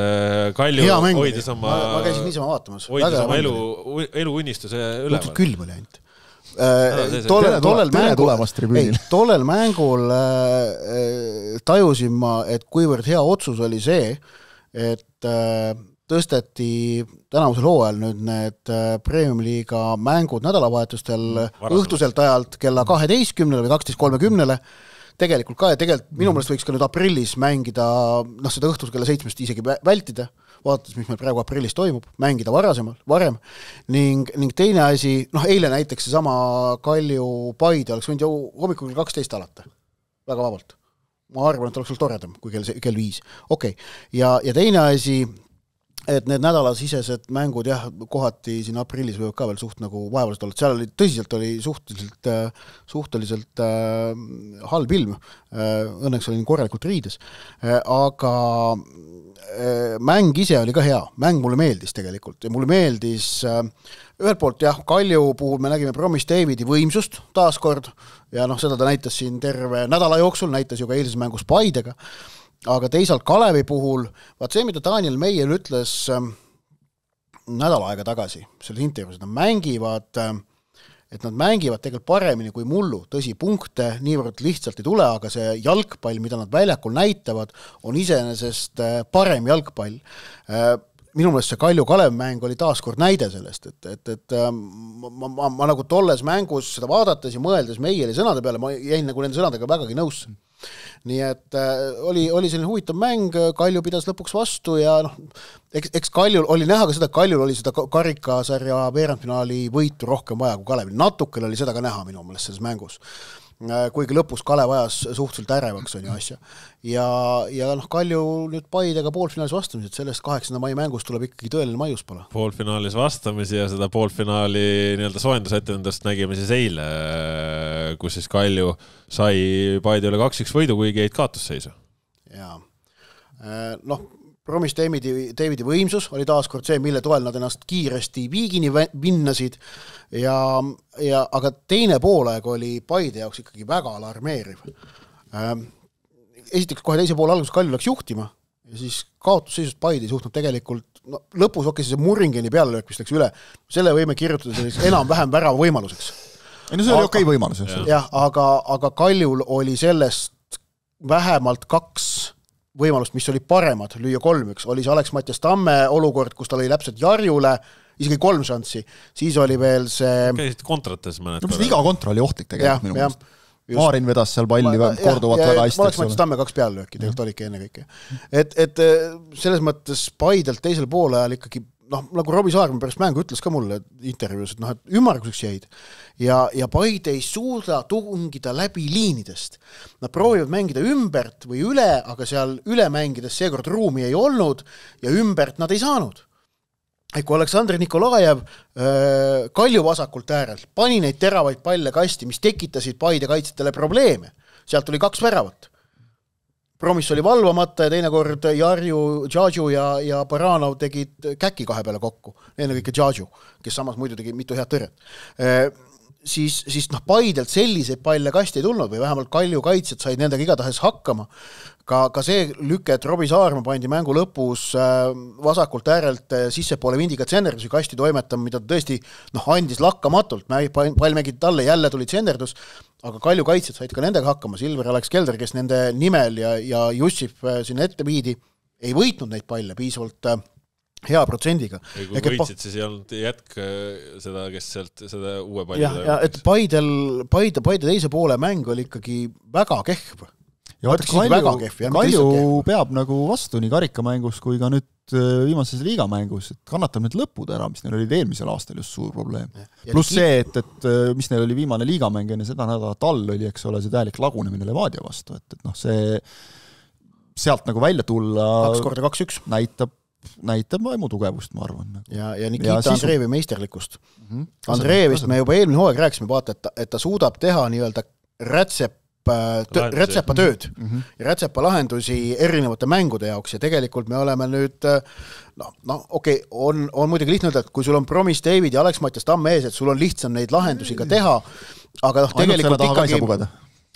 Kalju hoidis oma... Ma, ma käisin niisama vaatamas. Hoidis oma elu, elu unnistuse üleval. Külm oli ainult. Tollel, tollel, mängul, ei, tollel mängul äh, tajusin ma, et kuivõrd hea otsus oli see, et äh, tõsteti tänavusel hooajal nüüd need Premium-liiga mängud nädalavahetustel Varasemalt. Õhtuselt ajalt kella kaheteistkümnele või kaksteist kolmekümnele. Tegelikult ka ja tegelikult minu meelest võiks ka nüüd aprillis mängida, noh seda õhtus kella seitsmest isegi vältida, vaadates, mis meil praegu aprillis toimub, mängida varasemal, varem. Ning, ning teine asi, noh eile näiteks see sama Kalju Paide oleks võinud ju hommikul kell kaksteist alata. Väga vabalt. Ma arvan, et oleks olnud toredam, kui kell, kell viis. Okei. Okay. Ja, ja teine asi, et need nädalasisesed mängud jah, kohati siin aprillis võivad ka veel suht nagu vaevaliselt olla. Seal oli, tõsiselt oli suhteliselt, suhteliselt äh, halb ilm. Äh, õnneks oli korralikult riides. Äh, aga äh, mäng ise oli ka hea. Mäng mulle meeldis tegelikult. Ja mulle meeldis äh, ühelt poolt jah, Kalju puhul me nägime Promis Davidi võimsust taaskord. Ja noh, seda ta näitas siin terve nädala jooksul, näitas ju ka eilses mängus Paidega. Aga teisalt Kalevi puhul, vaat see, mida Daniel Meier ütles äh, nädal aega tagasi, selles intervjuus, nad mängivad, äh, et nad mängivad tegelikult paremini kui mullu, tõsi, punkte niivõrd lihtsalt ei tule, aga see jalgpall, mida nad väljakul näitavad, on iseenesest äh, parem jalgpall. Äh, minu meelest see Kalju Kalev mäng oli taaskord näide sellest, et, et, et äh, ma, ma, ma nagu tolles mängus seda vaadates ja mõeldes Meieri sõnade peale, ma jäin nagu nende sõnadega vägagi nõusse. Nii et äh, oli, oli selline huvitav mäng, Kalju pidas lõpuks vastu ja noh, eks, eks Kaljul oli näha ka seda, Kaljul oli seda karikasarja veerandfinaali võitu rohkem vaja kui Kalevil. Natukene oli seda ka näha minu meelest selles mängus. Kuigi lõpus Kalev ajas suhteliselt ärevaks on ju asja. Ja, ja noh, Kalju nüüd Paidega poolfinaalis vastamised, sellest kaheksanda mai mängus tuleb ikkagi tõeline maiuspala. Poolfinaalis vastamisi ja seda poolfinaali nii-öelda soendusetendust nägime siis eile, kus siis Kalju sai Paide üle kaks üks võidu, kuigi jäid kaotusseisu. Jaa. Noh, Promis Davidi, Davidi võimsus oli taaskord see, mille toel nad ennast kiiresti viigini vinnasid, ja, ja, aga teine poolaeg oli Paide jaoks ikkagi väga alarmeeriv. Esiteks kohe teise poole alguses Kalju läks juhtima ja siis kaotusseisust Paide ei suhtnud tegelikult, no, lõpus okei, see Murringeni pealelöök, mis läks üle, selle võime kirjutada selliseks enam-vähem värava võimaluseks. Ei, no see oli okei okay võimalus. Jah, aga, aga Kaljul oli sellest vähemalt kaks võimalust, mis oli paremad, lüüa kolm üks, oli see Alex Mattias Tamme olukord, kus ta lõi läpselt Jarjule, isegi kolm šanssi, siis oli veel see... Käisid kontrates mõned. No, iga kontra oli ohtlik tegelikult minu mõelest. Maarin vedas seal palli ma, korduvalt ja, väga hästi. Ma oleks Mattias Tamme kaks peale lööki, tegelikult oligi enne kõike. Et, et selles mõttes Paidelt teisel poole ajal ikkagi noh, nagu Robbie Saarma pärast mängu ütles ka mulle intervjuus, et noh, et ümmarguseks jäid ja, ja Paide ei suuda tungida läbi liinidest. Nad proovivad mängida ümbert või üle, aga seal üle mängides seekord ruumi ei olnud ja ümbert nad ei saanud. Et kui Aleksandr Nikolajev äh, Kalju vasakult äärelt pani neid teravaid palle kasti, mis tekitasid Paide kaitsjatele probleeme, sealt tuli kaks väravat. Promis oli valvamata ja teine kord Jarju, Džadžu ja, ja Baranov tegid käki kahe peale kokku. Enne kõike Džadžu, kes samas muidu tegi mitu head tõrjet. E, siis siis noh, Paidelt selliseid palle kasti ei tulnud või vähemalt Kalju kaitsjad said nendega igatahes hakkama. Ka, ka see lüke, et Robbie Saarma pandi mängu lõpus vasakult äärelt sissepoole vindiga tsenderdusi kasti toimetama, mida tõesti noh, andis lakkamatult. Pall mängid talle, jälle tuli tsenderdus, aga Kalju kaitsjad said ka nendega hakkama. Silver Alex Kelder, kes nende nimel ja, ja Jussif sinna ette viidi, ei võitnud neid palle piisavalt hea protsendiga. Ja kui Eke võitsid, siis ei olnud jätk seda, kes sealt seda uue palli ja, ja et Paidel, Paide, Paide teise poole mäng oli ikkagi väga kehv. Ja vaata, Kalju, kehv, ja Kalju peab nagu vastu nii karikamängus kui ka nüüd viimases liigamängus, et kannatab need lõpud ära, mis neil olid eelmisel aastal just suur probleem. Pluss see, et, et mis neil oli viimane liigamäng enne seda nädala tall oli, eks ole, see täielik lagunemine Levadia vastu, et, et noh, see sealt nagu välja tulla kaks korda kaks üks näitab näitab vaimu tugevust, ma arvan. Ja, ja Nikita ja Andreevi sisu... meisterlikkust. Mm-hmm. Andreevist me juba eelmine hooaeg rääkisime, vaata, et ta, et ta suudab teha nii-öelda rätsep Tõ, rätsepa tööd mm-hmm. ja rätsepa lahendusi erinevate mängude jaoks ja tegelikult me oleme nüüd noh, no, okei, okay, on, on muidugi lihtne öelda, et kui sul on Promis David ja Alex Mattias Tamme ees, et sul on lihtsam neid lahendusi ka teha, aga noh, tegelikult ikkagi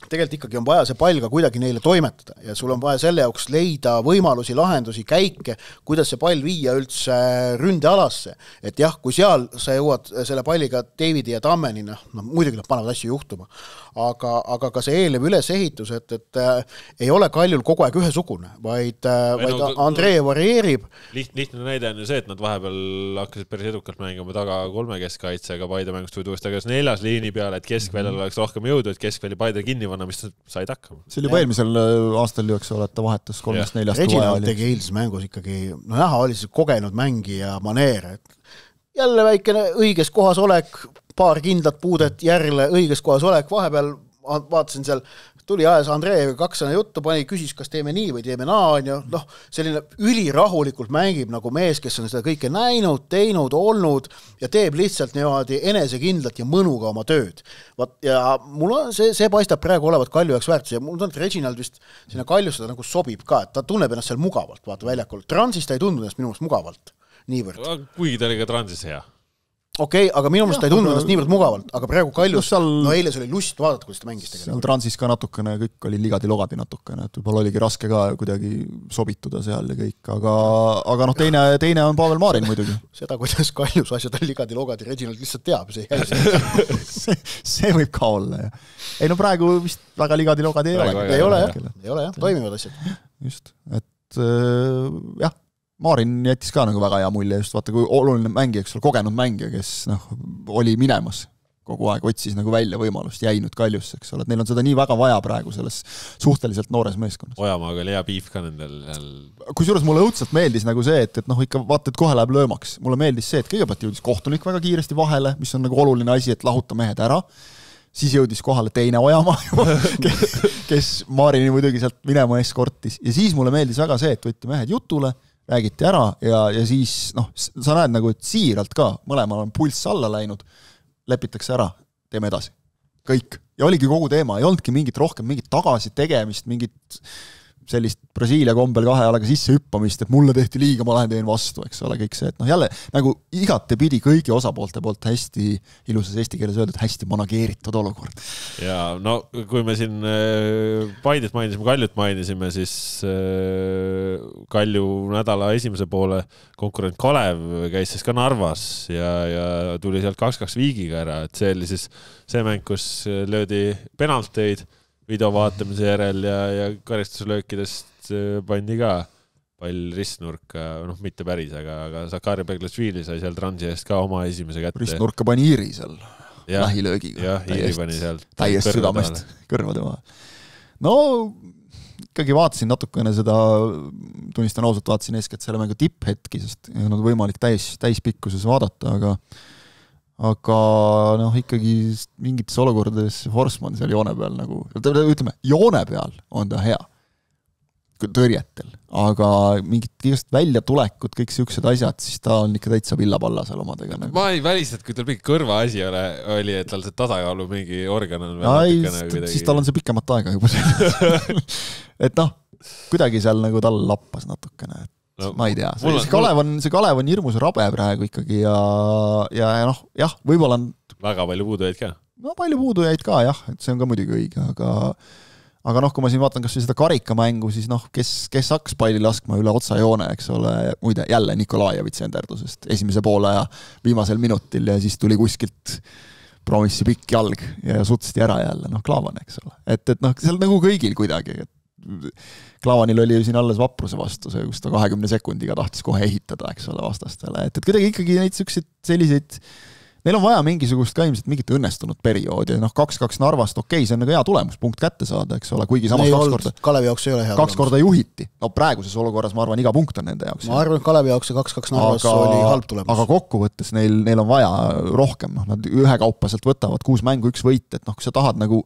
tegelikult ikkagi on vaja see pall ka kuidagi neile toimetada ja sul on vaja selle jaoks leida võimalusi, lahendusi, käike, kuidas see pall viia üldse ründealasse. Et jah, kui seal sa jõuad selle palliga Davidi ja Tammeni, noh, no, muidugi nad panevad asju juhtuma, aga, aga ka see eelnev ülesehitus, et, et äh, ei ole Kaljul kogu aeg ühesugune, vaid, äh, vaid no, Andrei varieerib. Liht, lihtne näide on ju see, et nad vahepeal hakkasid päris edukalt mängima taga kolme keskkaitsega Paide mängust või tuuest tagasi neljas liini peale, et keskväljal oleks rohkem jõudu, et keskvälja Paide kinni vanna, mis said hakkama. See oli juba eelmisel aastal ju, eks ole, et ta vahetas kolmest neljast. Reginald tegi eilses mängus ikkagi, no näha oli see kogenud mängija maneer, et jälle väikene õiges kohas olek, paar kindlat puudet järele õiges kohas olek, vahepeal vaatasin seal, tuli ajas Andreeviga kaksana juttu, pani, küsis, kas teeme nii või teeme naa, ja noh, selline ülirahulikult mängib nagu mees, kes on seda kõike näinud, teinud, olnud ja teeb lihtsalt niimoodi enesekindlat ja mõnuga oma tööd. Vaat, ja mul on, see, see paistab praegu olevat Kalju jaoks väärtus ja mul on, et Reginald vist sinna Kaljusse nagu sobib ka, et ta tunneb ennast seal mugavalt, vaata väljakul. Transis ta ei tundu ennast minu mõttes mugavalt, niivõrd. Kuigi ta oli ka Transis hea. Okei, okay, aga minu mõttes ta ei tundu ennast niivõrd mugavalt, aga praegu Kaljus, seal, no eile see oli lust vaadata, kuidas ta mängis tegelikult. Seal Transis ka natukene, kõik oli ligadi-logadi natukene, et võib-olla oligi raske ka kuidagi sobituda seal ja kõik, aga, aga noh, teine, teine on Pavel Maarin muidugi. Seda, kuidas Kaljus asjad on ligadi-logadi, Reginald lihtsalt teab, see ei see, see võib ka olla, jah. Ei no praegu vist väga ligadi-logadi ei ole. Ei ole, jah, ei ole, jah, toimivad asjad. Just, et jah, Maarin jättis ka nagu väga hea mulje, just vaata, kui oluline mängija, eks ole, kogenud mängija, kes noh, oli minemas kogu aeg, otsis nagu välja võimalust, jäinud Kaljusse, eks ole, et neil on seda nii väga vaja praegu selles suhteliselt noores meeskonnas. Ojamaaga oli hea piif ka nendel. Kusjuures mulle õudselt meeldis nagu see, et, et noh, ikka vaata, et kohe läheb löömaks. Mulle meeldis see, et kõigepealt jõudis kohtunik väga kiiresti vahele, mis on nagu oluline asi, et lahuta mehed ära. Siis jõudis kohale teine Ojamaa, kes, kes Maarini muidugi sealt minema eskortis. Ja siis mulle meeldis väga see, et võtti mehed jutule, räägiti ära ja, ja siis noh, sa näed nagu, et siiralt ka, mõlemal on pulss alla läinud, lepitakse ära, teeme edasi. Kõik. Ja oligi kogu teema, ei olnudki mingit rohkem, mingit tagasi tegemist, mingit sellist Brasiilia kombel kahe alaga sisse hüppamist, et mulle tehti liiga, ma lähen teen vastu, eks ole, kõik see, et noh jälle nagu igate pidi kõigi osapoolte poolt hästi ilusas eesti keeles öeldud, hästi manageeritud olukord. Ja no kui me siin Paidet mainisime, Kaljut mainisime, siis Kalju nädala esimese poole konkurent Kalev käis siis ka Narvas ja, ja tuli sealt kaks kaks viigiga ära, et see oli siis see mäng, kus löödi penalteid video vaatamise järel ja, ja karistuslöökidest pandi ka pall ristnurka, noh mitte päris, aga, aga Sakari Beglasvili sai seal Transi eest ka oma esimese kätte. Ristnurka pani Iiri seal ja, lähilöögiga. Jah, Iiri pani seal. Täiest südamest kõrvade maha. No ikkagi vaatasin natukene seda, tunnistan ausalt, vaatasin eeskätt selle mängu tipphetki, sest ei olnud võimalik täis, täispikkuses vaadata, aga aga noh, ikkagi mingites olukordades Forsman seal joone peal nagu, ütleme, joone peal on ta hea tõrjetel, aga mingid igast väljatulekut, kõik siuksed asjad, siis ta on ikka täitsa villapalla seal omadega. Nagu. Ma ei välista, et kui tal mingi kõrva asi ole, oli, et tal see tasakaalu mingi organ on veel natukene. Siis tal on see pikemat aega juba selles. Et noh, kuidagi seal nagu tal lappas natukene, et no, ma ei tea. See, see, Kalev on, see Kalev on hirmus rabe praegu ikkagi ja, ja, ja noh, jah, võib-olla on... Väga palju puudujaid ka. No palju puudujaid ka, jah, et see on ka muidugi õige, aga aga noh, kui ma siin vaatan kas või seda karikamängu, siis noh, kes, kes hakkas palli laskma üle otsajoone, eks ole, muide jälle Nikolajevitsi enderdusest esimese poole ja viimasel minutil ja siis tuli kuskilt promissi pikk jalg ja sutsiti ära jälle, noh, Klaavan, eks ole. Et, et noh, seal nagu kõigil kuidagi, et Klaavanil oli ju siin alles vapruse vastu, see, kus ta kahekümne sekundiga tahtis kohe ehitada, eks ole, vastastele, et, et kuidagi ikkagi neid selliseid neil on vaja mingisugust ka ilmselt mingit õnnestunud perioodi, noh kaks kaks Narvast, okei, see on nagu hea tulemus, punkt kätte saada, eks ole, kuigi samas kaks korda, Kalevi jaoks ei ole hea kaks korda juhiti. No praeguses olukorras ma arvan, iga punkt on nende jaoks. Ma arvan, et Kalevi jaoks see kaks kaks Narvas aga, oli halb tulemus. Aga kokkuvõttes neil, neil on vaja rohkem, noh, nad ühekaupaselt võtavad kuus mängu, üks võit, et noh, kui sa tahad nagu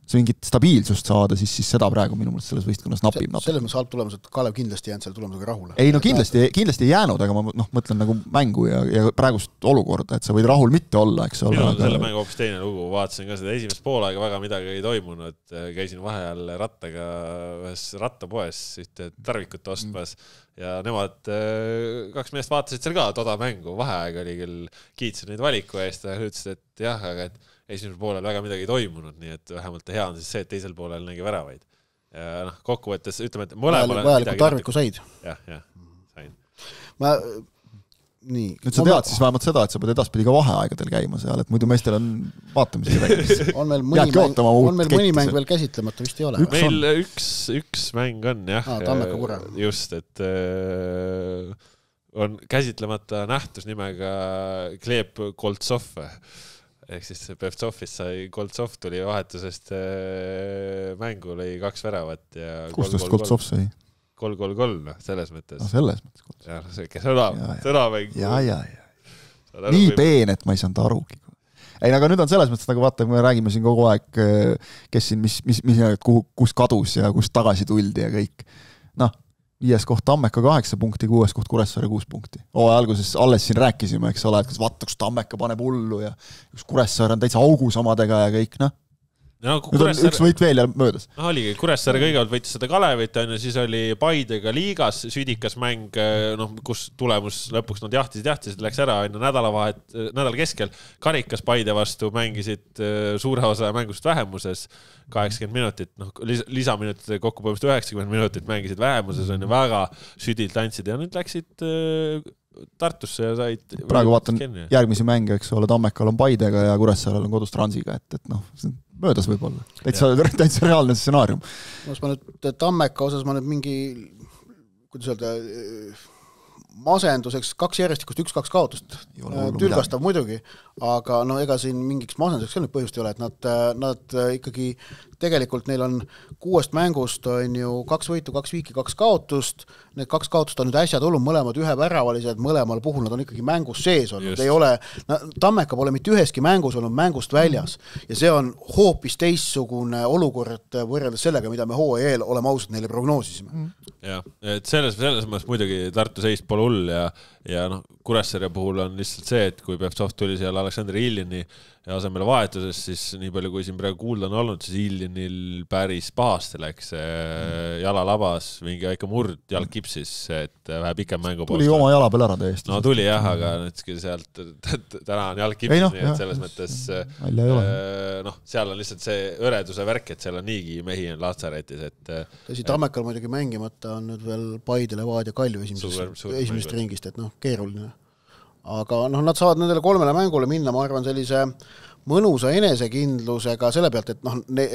see mingit stabiilsust saada, siis, siis seda praegu minu mõttes selles võistkonnas napib. Se, selles mõttes halb tulemus, et Kalev kindlasti jäänud selle tulemusega rahule. Ei, no kindlasti, kindlasti ei jäänud, aga ma noh, mõtlen nagu mängu ja, ja praegust olukorda, et sa võid rahul mitte olla, eks ole. Minu on selle mängu hoopis teine lugu, vaatasin ka seda esimest poolaega väga midagi ei toimunud, käisin vaheajal rattaga ühes rattapoes ühte tarvikut ostmas ja nemad kaks meest vaatasid seal ka toda mängu, vaheaeg oli küll, kiitsin neid valiku eest ja ütlesid, et jah, aga et esimesel poolel väga midagi ei toimunud, nii et vähemalt hea on siis see, et teisel poolel nägi väravaid. Ja noh, kokkuvõttes ütleme, et mõlemale vajaliku tarviku said. Jah, jah, sain. Ma, nii. Nüüd sa tead siis vähemalt seda, et sa pead edaspidi ka vaheaegadel käima seal, et muidu meestel on vaatamisega rääkis. on meil mõni, mäng, on meil mõni mäng veel käsitlemata, vist ei ole. Üks meil on. üks, üks mäng on, jah. Ah, Tammeka Kure. Just, et äh, on käsitlemata nähtus nimega Kleeb Koltsov. Ehk siis Pevtsovist sai, Koltsov tuli vahetusest mängu, lõi kaks väravat ja kus tast Koltsov sai? kolm kolm kolm, selles mõttes. No selles mõttes. Ja, see sõna, sõnamäng. Ja, ja, ja. Nii peen, et ma ei saanud arugi. Ei, aga nüüd on selles mõttes, nagu vaata, me räägime siin kogu aeg, kes siin, mis, mis, mis, kuhu, kus kadus ja kus tagasi tuldi ja kõik. Noh, viies koht Tammeka kaheksa punkti, kuues koht Kuressaare kuus punkti. Oo, alguses alles siin rääkisime, eks ole, et kas vaata, kus Tammeka paneb hullu ja kus Kuressaare on täitsa augus omadega ja kõik, noh. No, nüüd on Kuressaare... üks võit veel ja möödas. No, oligi, Kuressaare kõigepealt võitis seda Kalevit, on, ja siis oli Paidega liigas südikas mäng, no, kus tulemus lõpuks nad jahtisid, jahtisid, läks ära enne nädalavahet, nädala keskel. Karikas Paide vastu mängisid suure osa mängust vähemuses, kaheksakümmend minutit, noh, lisaminutit kokku põhimõtteliselt üheksakümmend minutit mängisid vähemuses, on ju väga südilt andsid ja nüüd läksid Tartusse ja said... Praegu vaatan järgmisi mänge, eks ole, Tammekal on Paidega ja Kuressaarel on kodus Transiga, et, et noh, möödas võib-olla. Täitsa, täitsa reaalne stsenaarium. Ma nüüd Tammeka osas ma nüüd mingi, kuidas öelda, masenduseks kaks järjestikust, üks, kaks kaotust. Tülgastav muidugi, aga no ega siin mingiks masenduseks nüüd põhjust ei ole, et nad, nad ikkagi tegelikult neil on kuuest mängust on ju kaks võitu, kaks viiki, kaks kaotust. Need kaks kaotust on nüüd äsja tulnud, mõlemad ühe väravalised, mõlemal puhul nad on ikkagi mängus sees olnud. Ei ole, no, Tammeka pole mitte üheski mängus olnud mängust väljas ja see on hoopis teissugune olukord võrreldes sellega, mida me H E L oleme ausalt neile prognoosisime. Mm. Ja, et selles, selles mõttes muidugi Tartu seist pole hull ja, ja noh, Kuressaare puhul on lihtsalt see, et kui Pevtsov tuli seal Aleksandr Iljini ja asemele vahetuses, siis nii palju kui siin praegu kuulda on olnud, siis Iljanil päris pahasti läks jala labas, mingi väike murd jalg kipsis, et vähe pikem mängu tuli oma jala peal ära täiesti. No tuli jah, aga nüüd sealt täna on jalg kipsis, no, nii et selles mõttes noh, seal on lihtsalt see õreduse värk, et seal on niigi mehi on Laatsaretis, et tõsi, Tammekal muidugi mängimata on nüüd veel Paide, Levadia ja Kalju esimesest, esimesest ringist, et noh, keeruline. Aga noh, nad saavad nendele kolmele mängule minna, ma arvan, sellise mõnusa enesekindlusega selle pealt, et, noh, ne,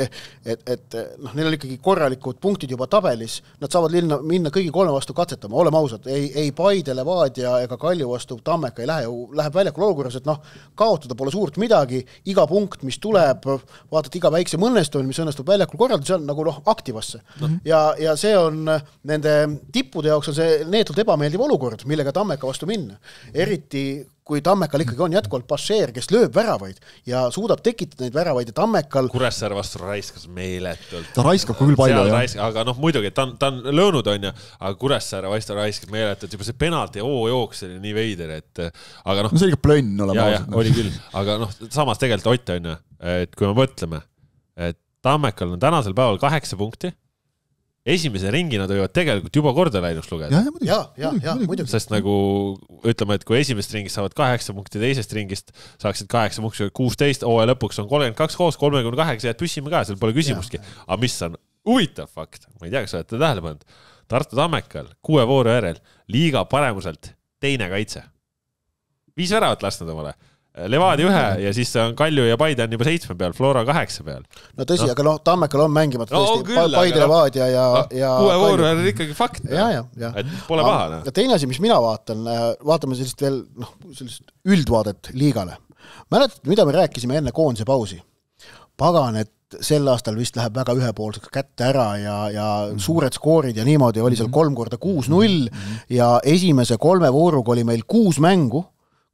et, et noh, neil oli ikkagi korralikud punktid juba tabelis, nad saavad linna, minna kõigi kolme vastu katsetama, oleme ausad, ei, ei Paide, Levadia ega Kalju vastu Tammeka ei lähe, läheb väljakul olukorras, et noh, kaotada pole suurt midagi, iga punkt, mis tuleb, vaatad iga väikse mõnnestumine, mis õnnestub väljakul korraldada, see on nagu noh, aktivasse. Mm-hmm. Ja, ja see on nende tippude jaoks on see neetult ebameeldiv olukord, millega Tammeka vastu minna. Eriti kui Tammekal ikkagi on jätkuvalt Passeer, kes lööb väravaid ja suudab tekitada neid väravaid ja Tammekal... Kuressaare vastu raiskas meeletult. Ta raiskab küll palju, jah. Raisk, aga noh, muidugi, ta on, ta on löönud, on ja, aga Kuressaare vastu raiskab meeletult. Juba see penalt ja oo jooks oli nii veider, et... Aga noh, no see oli ka plönn olema. Ja, ja, oli küll. Aga noh, samas tegelikult Ott on ja, et kui me mõtleme, et Tammekal on tänasel päeval kaheksa punkti, esimese ringina toivad tegelikult juba korda läinuks lugeda. Ja, ja, ja, ja, muidugi. Sest nagu ütleme, et kui esimest ringist saavad kaheksa punkti, teisest ringist saaksid kaheksa punkti, kuusteist, hooaja lõpuks on kolmkümmend kaks koos, kolmkümmend kaheksa jääd püssime ka, seal pole küsimustki. Aga mis on huvitav fakt, ma ei tea, kas olete tähele pannud, Tartu Tammekal kuue vooru järel liiga paremuselt teine kaitse. Viis väravat lastnud omale. Levadia ühe ja siis on Kalju ja Paide on juba seitsme peal, Flora kaheksa peal. No tõsi, no. Aga noh, Tammekal on mängimata tõesti no, küll, Paide, Levadia ja, no, ja kuue vooru on ikkagi fakt. Ja, ja, ja. Et pole paha. No. Ja teine asi, mis mina vaatan, vaatame sellist veel noh, sellist üldvaadet liigale. Mäletad, mida me rääkisime enne koondise pausi? Pagan, et sel aastal vist läheb väga ühepoolseks kätte ära ja, ja mm. suured skoorid ja niimoodi oli seal kolm korda kuus null mm. ja esimese kolme vooruga oli meil kuus mängu,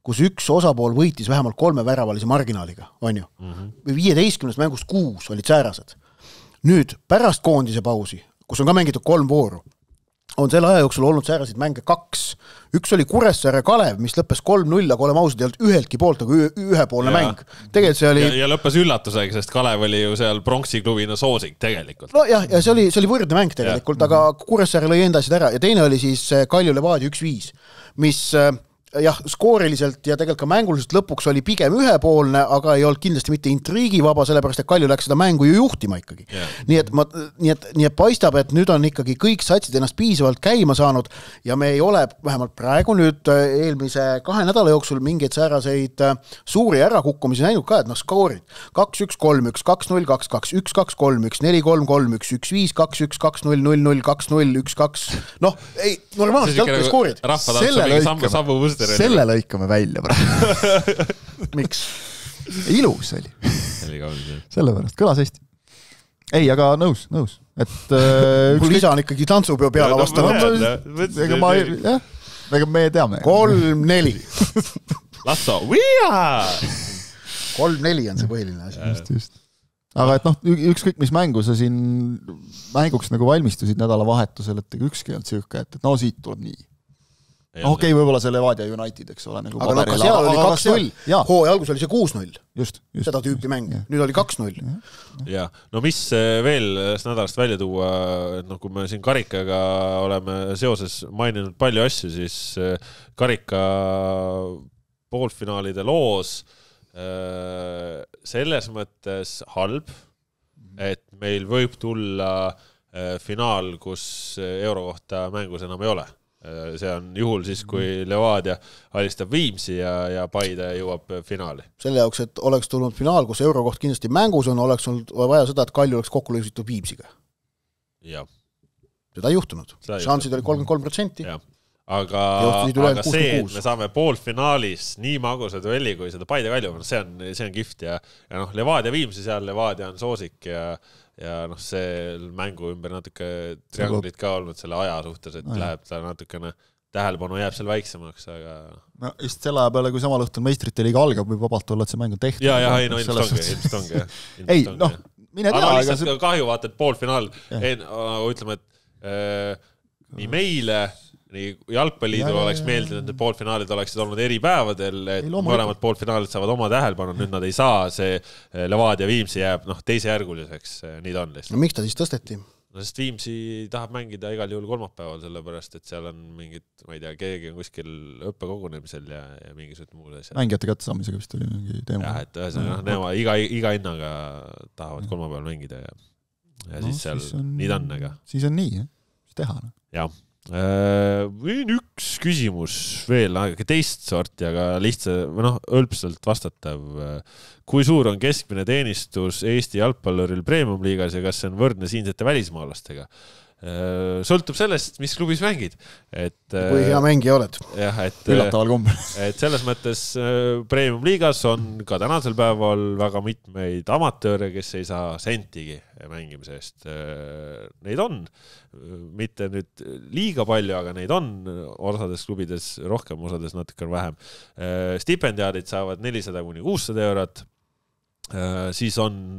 kus üks osapool võitis vähemalt kolme väravalise marginaaliga, on ju? Mm-hmm. viieteistkümnest mängust kuus olid säärased. Nüüd, pärast koondise pausi, kus on ka mängitud kolm vooru, on selle aja jooksul olnud säärasid mänge kaks. Üks oli Kuressaare Kalev, mis lõppes kolm null, aga oleme ausad, ei olnud üheltki poolt, aga ühepoolne ja. Mäng. Tegelikult see oli... Ja, ja lõppes üllatusega, sest Kalev oli ju seal pronksi klubina soosik tegelikult. No jah, ja see oli, see oli võrdne mäng tegelikult, ja. Aga Kuressaare lõi enda asjad ära ja teine oli siis Kalju Levadia üks viis, mis... jah, skooriliselt ja tegelikult ka mänguliselt lõpuks oli pigem ühepoolne, aga ei olnud kindlasti mitte intriigivaba, sellepärast et Kalju läks seda mängu ju juhtima ikkagi. Yeah. Nii, et ma, nii, et, nii et paistab, et nüüd on ikkagi kõik satsid ennast piisavalt käima saanud ja me ei ole vähemalt praegu nüüd eelmise kahe nädala jooksul mingeid sääraseid suuri ärakukkumisi näinud ka, et noh, skoorid kaks üks kolm üks, kaks null kaks kaks, üks kaks kolm üks, neli kolm kolm üks, üks viis kaks üks, kaks null null null, kaks null üks kaks, noh, ei, normaalselt jalgpalli skoorid. Rahva selle lõikame välja praegu. Miks? Ilus oli. Sellepärast, kõlas hästi. Ei, aga nõus, nõus. Et, äh, mul isa on ikkagi tantsupeo peale vastanud. Ega ma, jah, ega me teame. kolm neli. Lasso, viia! kolm neli on see põhiline asi. Just, just. Aga et noh, ükskõik mis mängu sa siin mänguks nagu valmistusid nädalavahetusel, et ükski on tsühka, et no siit tuleb nii. Okei, okay, võib-olla see Levadia United, eks ole. Nagu aga no, ka seal oli kaks null. Hooaja algus oli see kuus null. Just, just. Seda tüüpi mäng. Ja. Nüüd oli kaks null. Ja, no mis veel nädalast välja tuua, no kui me siin Karikaga oleme seoses maininud palju asju, siis Karika poolfinaalide loos selles mõttes halb, et meil võib tulla finaal, kus euro kohta mängus enam ei ole. See on juhul siis, kui Levadia alistab Viimsi ja, ja Paide jõuab finaali. Selle jaoks, et oleks tulnud finaal, kus eurokoht kindlasti mängus on, oleks olnud vaja seda, et Kalju oleks kokku lõisitud Viimsiga. Ja. Seda ei juhtunud. Šansid oli kolmkümmend kolm protsenti. Ja. Aga, aga see, et me saame poolfinaalis nii magusa duelli, kui seda Paide Kalju, see on, see on kift ja, ja noh, Levadia Viimsi seal, Levadia on soosik ja, ja noh, see mängu ümber natuke trianglit ka olnud selle aja suhtes, et Aja. Läheb ta natukene tähelepanu jääb seal väiksemaks, aga... No just selle aja peale, kui sama lõht on meistrite liiga algab, võib vabalt olla, et see mäng on tehtud. Ja, ja, ei, no ilmselt ongi, ilmselt ongi. Ei, noh, mine tea. Aga lihtsalt see... kahju vaata, et poolfinaal, ütleme, et äh, nii meile... nii jalgpalliidul oleks meeldinud, et poolfinaalid oleksid olnud eri päevadel, et mõlemad poolfinaalid saavad oma tähelepanu, nüüd nad ei saa, see Levadia Viimsi jääb noh, teisejärguliseks, nii ta on lihtsalt. No miks ta siis tõsteti? No sest Viimsi tahab mängida igal juhul kolmapäeval, sellepärast, et seal on mingid, ma ei tea, keegi on kuskil õppekogunemisel ja, ja mingisugused muud asjad. Mängijate kättesaamisega vist oli mingi teema. Jah, et ühesõnaga, nema iga, iga hinnaga tahavad kolmapäeval mängida ja, ja no, siis seal siis on, nii ta on, aga... Siis on nii, jah, siis teha. No. Jah. Üks küsimus veel, aga teist sorti, aga lihtsa, või noh, õlpselt vastatav. Kui suur on keskmine teenistus Eesti jalgpalluril Premium-liigas ja kas see on võrdne siinsete välismaalastega? Sõltub sellest, mis klubis mängid. Et, kui hea mängija oled. Jah, et, üllataval kombel. Et selles mõttes Premium-liigas on ka tänasel päeval väga mitmeid amatööre, kes ei saa sentigi mängimise eest. Neid on, mitte nüüd liiga palju, aga neid on osades klubides rohkem, osades natuke vähem. Stipendiaadid saavad nelisada kuni kuussada eurot. Siis on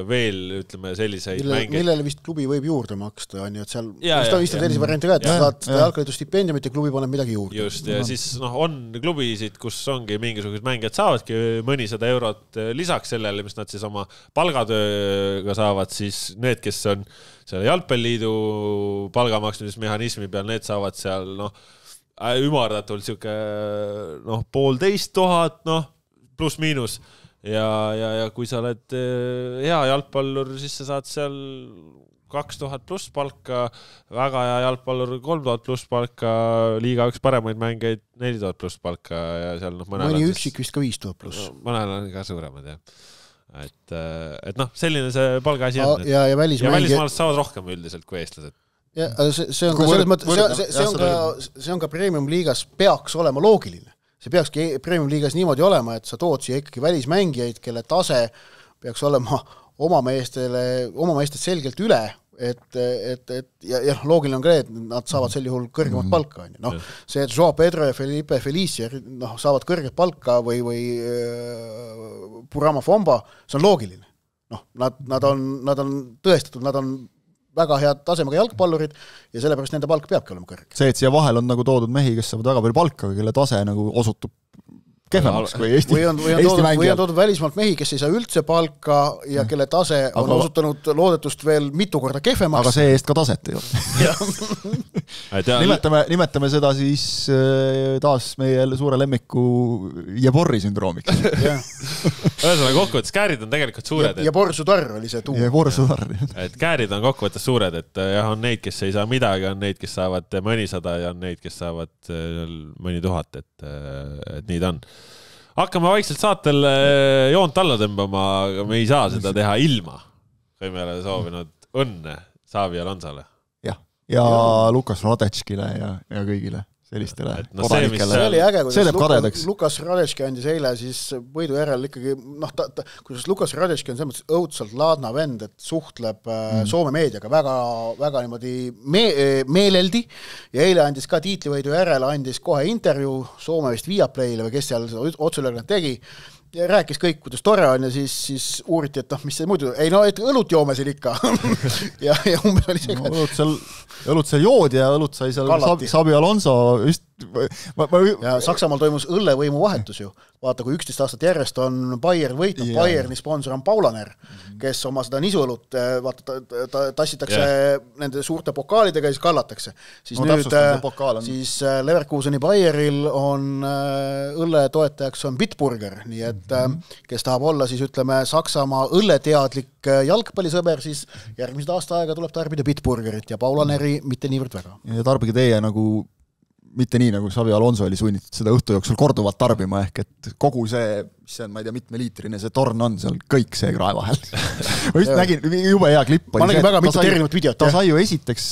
veel, ütleme, selliseid Mille, mänge. Millele vist klubi võib juurde maksta, on ju, et seal ja, vist on vist sellise varianti ka, et ja, saad ja. jalgpallitu stipendiumit ja klubi paneb midagi juurde. Just, ja no. Siis no, on klubisid, kus ongi mingisugused mängijad saavadki mõnisada eurot lisaks sellele, mis nad siis oma palgatööga saavad, siis need, kes on selle jalgpalliliidu palgamaksmismehhanismi peal, need saavad seal noh, ümardatult siuke noh, poolteist tuhat, noh, pluss miinus. Ja, ja, ja kui sa oled hea jalgpallur, siis sa saad seal kaks tuhat pluss palka, väga hea jalgpallur kolm tuhat pluss palka, liiga üks paremaid mängeid neli tuhat pluss palka ja seal noh, mõnel mõni üksik vist ka viis tuhat pluss. Mõnel on ka suuremad, jah. Et, et noh, selline see palgaasi on. Ja, ja, välismängi... ja välismaalast saavad rohkem üldiselt kui eestlased. Ja, see, see, on ka, võrd, mõttes, võrd, see, see, on ka, see on ka Premium-liigas peaks olema loogiline. See peakski Premium-liigas niimoodi olema, et sa tood siia ikkagi välismängijaid, kelle tase peaks olema oma meestele, oma meestest selgelt üle, et, et, et ja, ja loogiline on ka, et nad saavad sel juhul kõrgemat palka. No, see, et Joao Pedro ja Felipe Felicia no, saavad kõrget palka või, või äh, Burama Fomba, see on loogiline. No, nad, nad, on, nad on tõestatud, nad on väga head tasemega jalgpallurid ja sellepärast nende palk peabki olema kõrge. See, et siia vahel on nagu toodud mehi, kes saavad väga palju palka, kelle tase nagu osutub kehvemaks kui Eesti, või on, või on Eesti toodud, mängijad. Või on toodud välismaalt mehi, kes ei saa üldse palka ja kelle tase on aga, osutanud loodetust veel mitu korda kehvemaks. Aga see eest ka taset ei ole. nimetame, nimetame seda siis taas meie suure lemmiku Jeborri sündroomiks. Ühesõnaga kokkuvõttes käärid on tegelikult suured. Ja, ja Borsudar oli see tuu. Ja Borsudar. Et käärid on kokkuvõttes suured, et jah, on neid, kes ei saa midagi, on neid, kes saavad mõnisada ja on neid, kes saavad mõni tuhat, et, et nii ta on. Hakkame vaikselt saatel joont alla tõmbama, aga me ei saa seda teha ilma. Kui me oleme soovinud õnne Xavi Alonsole. Ja, ja Lukas Radetškile ja, ja kõigile sellistele no kodanikele. See oli äge, kuidas Lukas, Lukas Radetški andis eile siis võidu järel ikkagi, noh, ta, ta, kuidas Lukas Radetški on selles mõttes õudselt laadna vend, et suhtleb mm. Soome meediaga väga, väga niimoodi me, meeleldi ja eile andis ka tiitlivõidu järel, andis kohe intervjuu Soome vist Viaplay'le või kes seal otsulöög tegi ja rääkis kõik, kuidas tore on ja siis, siis uuriti, et noh, mis see muidu, ei no, et õlut joome siin ikka ja, ja umbes oli see no, õlut seal, õlut seal joodi ja õlut sai seal Xabi, Xabi Alonso just ma, ma... ja Saksamaal toimus õllevõimu vahetus ju, vaata kui üksteist aastat järjest on Bayern võitnud, yeah. Bayerni sponsor on Paulaner, kes oma seda nisuõlut vaata, ta, ta, ta, tassitakse yeah. nende suurte pokaalidega ja siis kallatakse siis no, nüüd on... siis Leverkuseni Bayeril on õlle toetajaks on Bitburger, nii et mm-hmm. kes tahab olla siis ütleme Saksamaa õlleteadlik jalgpallisõber, siis järgmised aasta aega tuleb tarbida Bitburgerit ja Paulaneri mm-hmm. mitte niivõrd väga. Ja tarbige teie nagu mitte nii, nagu Xavi Alonso oli sunnitud seda õhtu jooksul korduvalt tarbima, ehk et kogu see, mis see on, ma ei tea, mitme liitrine see torn on, seal kõik see krae vahel. ma just nägin, jube hea klipp. Ma nägin väga mitu erinevat videot. Ta sai ju esiteks,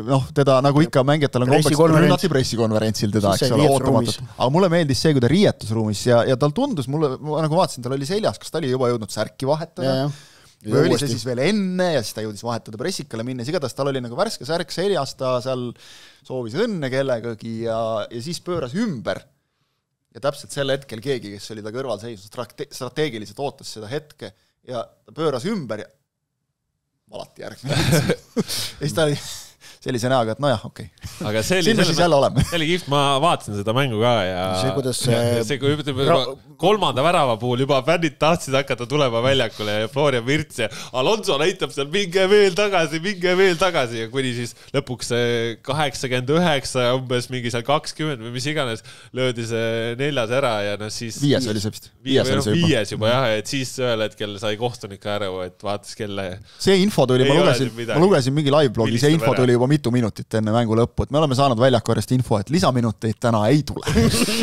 noh, teda nagu ikka mängijatel on kombeks rünnati pressikonverentsil teda, eks ole, ootamatult. Aga mulle meeldis see, kui ta riietusruumis ja, ja tal tundus, mulle, ma nagu vaatasin, tal oli seljas, kas ta oli juba jõudnud särki vahetada. või oli see siis veel enne ja siis ta jõudis vahetada pressikale minnes, igatahes tal oli nagu värske särk seljas, ta seal soovis õnne kellegagi ja, ja siis pööras ümber ja täpselt sel hetkel keegi, kes oli ta kõrval seisnud, strate- strateegiliselt ootas seda hetke ja ta pööras ümber ja valati järgmine ja siis ta oli sellise näoga, et nojah, okei. Okay. Aga see oli, siis jälle oleme. See oli kift, ma vaatasin seda mängu ka ja see, kuidas see... see kui ütleme, ra... kolmanda värava puhul juba fännid tahtsid hakata tulema väljakule ja Florian Virts ja Alonso näitab seal minge veel tagasi, minge veel tagasi ja kuni siis lõpuks kaheksakümmend üheksa umbes mingi seal kakskümmend või mis iganes löödi see neljas ära ja no siis... Viies oli see vist. Viies, viies, oli juba. viies juba jah, et siis ühel hetkel sai kohtunik aru, et vaatas kelle... See info tuli, ma lugesin, ma lugesin mingi live-blogi, see info tuli juba mitu minutit enne mängu lõppu, et me oleme saanud väljakorjast info, et lisaminuteid täna ei tule.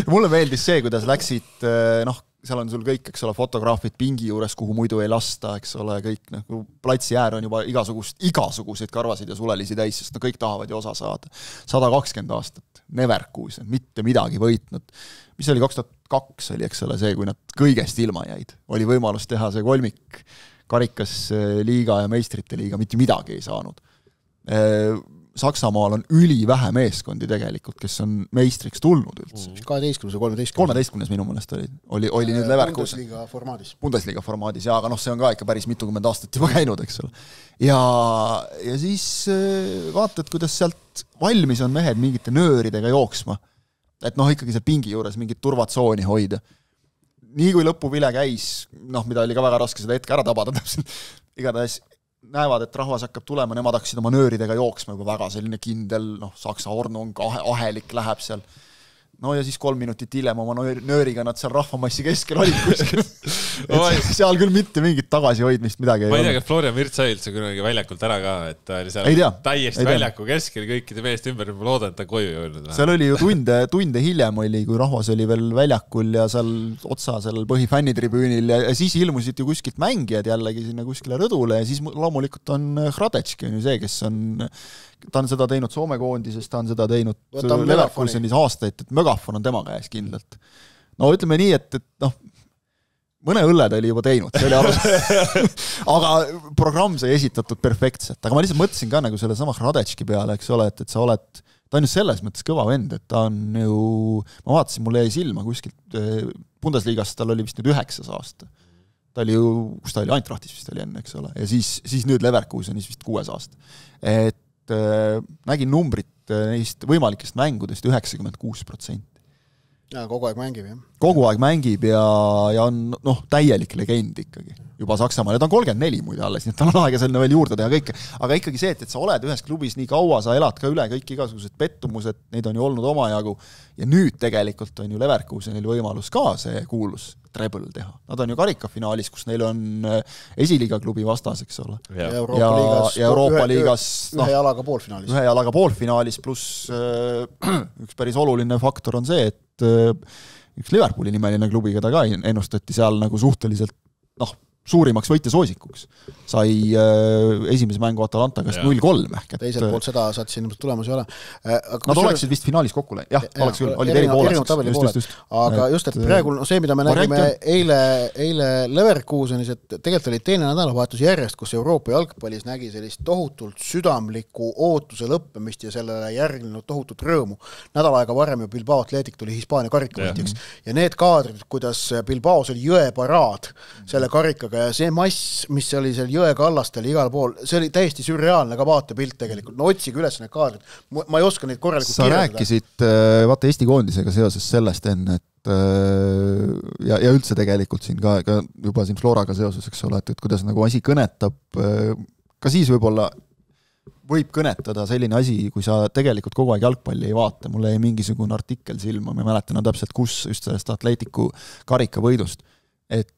Mulle meeldis see, kuidas läksid, noh, seal on sul kõik, eks ole, fotograafid pingi juures, kuhu muidu ei lasta, eks ole, kõik, noh, platsi äär on juba igasugust, igasuguseid karvasid ja sulelisi täis, sest no kõik tahavad ju osa saada. sada kakskümmend aastat, Neverkusen, mitte midagi võitnud. Mis oli kaks tuhat kaks oli, eks ole, see, kui nad kõigest ilma jäid. Oli võimalus teha see kolmik, karikas liiga ja meistrite liiga, mitte midagi ei saanud. Saksamaal on üli vähe meeskondi tegelikult, kes on meistriks tulnud üldse. kaheteistkümnes ja kolmeteistkümnes. kolmeteistkümnes minu mõnest oli. Oli, oli nüüd Leverkusen. Bundesliga formaadis. Bundesliga formaadis, jaa, aga noh, see on ka ikka päris mitukümmend aastat juba käinud, eks ole. Ja, ja siis vaatad, kuidas sealt valmis on mehed mingite nööridega jooksma. Et noh, ikkagi see pingi juures mingit turvatsooni hoida. Nii kui lõpuvile käis, noh, mida oli ka väga raske seda hetke ära tabada, igatahes näevad, et rahvas hakkab tulema, nemad hakkasid oma nööridega jooksma juba väga selline kindel, noh, Saksa ornung, ahelik läheb seal. No ja siis kolm minutit hiljem oma nööriga nad seal rahvamassi keskel olid kuskil. seal küll mitte mingit tagasihoidmist midagi ei ma ei tea, et Florian Virts sai üldse kunagi väljakult ära ka, et ta oli seal tea, täiesti väljaku keskel kõikide meest ümber, ma loodan, et ta koju jõudnud. Seal oli ju tunde, tunde hiljem oli, kui rahvas oli veel väljakul ja seal otsa seal põhifännitribüünil ja, ja siis ilmusid ju kuskilt mängijad jällegi sinna kuskile rõdule ja siis loomulikult on Hradečki on ju see, kes on ta on seda teinud Soome koondises, ta on seda teinud Leverkusenis aastaid, et Mögafon on tema käes kindlalt. No ütleme nii, et, et noh, mõne õlle ta oli juba teinud, see oli alus. aga programm sai esitatud perfektselt, aga ma lihtsalt mõtlesin ka nagu selle sama Hradečki peale, eks ole, et, et sa oled, ta on ju selles mõttes kõva vend, et ta on ju, ma vaatasin, mulle jäi silma kuskilt Bundesligas, tal oli vist nüüd üheksas aasta. Ta oli ju, kus ta oli, Eintrachtis vist oli enne, eks ole, ja siis, siis nüüd Leverkusenis vist kuues aasta. Et nägin numbrit neist võimalikest mängudest üheksakümmend kuus protsenti. Ja kogu aeg mängib, jah. Kogu aeg mängib ja, ja on noh, täielik legend ikkagi. Juba Saksamaal. Ja ta on kolmkümmend neli muide alles, nii et tal on aega selline veel juurde teha kõike. Aga ikkagi see, et, et sa oled ühes klubis nii kaua, sa elad ka üle kõik igasugused pettumused, neid on ju olnud omajagu. Ja nüüd tegelikult on ju Leverkusenil võimalus ka see kuulus treble teha. Nad on ju karikafinaalis, kus neil on esiliiga klubi vastas, eks ole. Ja Euroopa ja, liigas, ja Euroopa ühe, liigas ühe, ühe jalaga poolfinaalis. Ühe jalaga poolfinaalis, pluss äh, üks päris oluline faktor on see, et äh, üks Liverpooli nimeline klubi, keda ka ennustati seal nagu suhteliselt noh, suurimaks võitjasoosikuks. Sai äh, esimese mängu Atalanta käest null kolm ehk. Teiselt poolt seda saad siin ilmselt tulemus ei ole. Nad no, oleksid vist finaalis kokku läinud. Jah, ja, oleks küll. Oli eri pooleks. Aga just, et praegu no, see, mida me nägime eile, eile Leverkusenis, et tegelikult oli teine nädalavahetus järjest, kus Euroopa jalgpallis nägi sellist tohutult südamlikku ootuse lõppemist ja sellele järgnenud tohutut rõõmu. Nädal aega varem ju Bilbao Athletic tuli Hispaania karikavõitjaks. Ja need kaadrid, kuidas Bilbaos oli jõeparaad selle karikaga ja see mass, mis oli seal jõe kallastel igal pool, see oli täiesti sürreaalne ka vaatepilt tegelikult. No otsige üles need kaadrid. Ma ei oska neid korralikult sa kirjeldada. Sa rääkisid vaata Eesti koondisega seoses sellest enne, et ja, ja üldse tegelikult siin ka, ka juba siin Floraga seoses, eks ole, et, et kuidas nagu asi kõnetab, ka siis võib-olla võib kõnetada selline asi, kui sa tegelikult kogu aeg jalgpalli ei vaata. Mulle jäi mingisugune artikkel silma, ma mäletan täpselt, kus just sellest Atletiku karikavõidust, et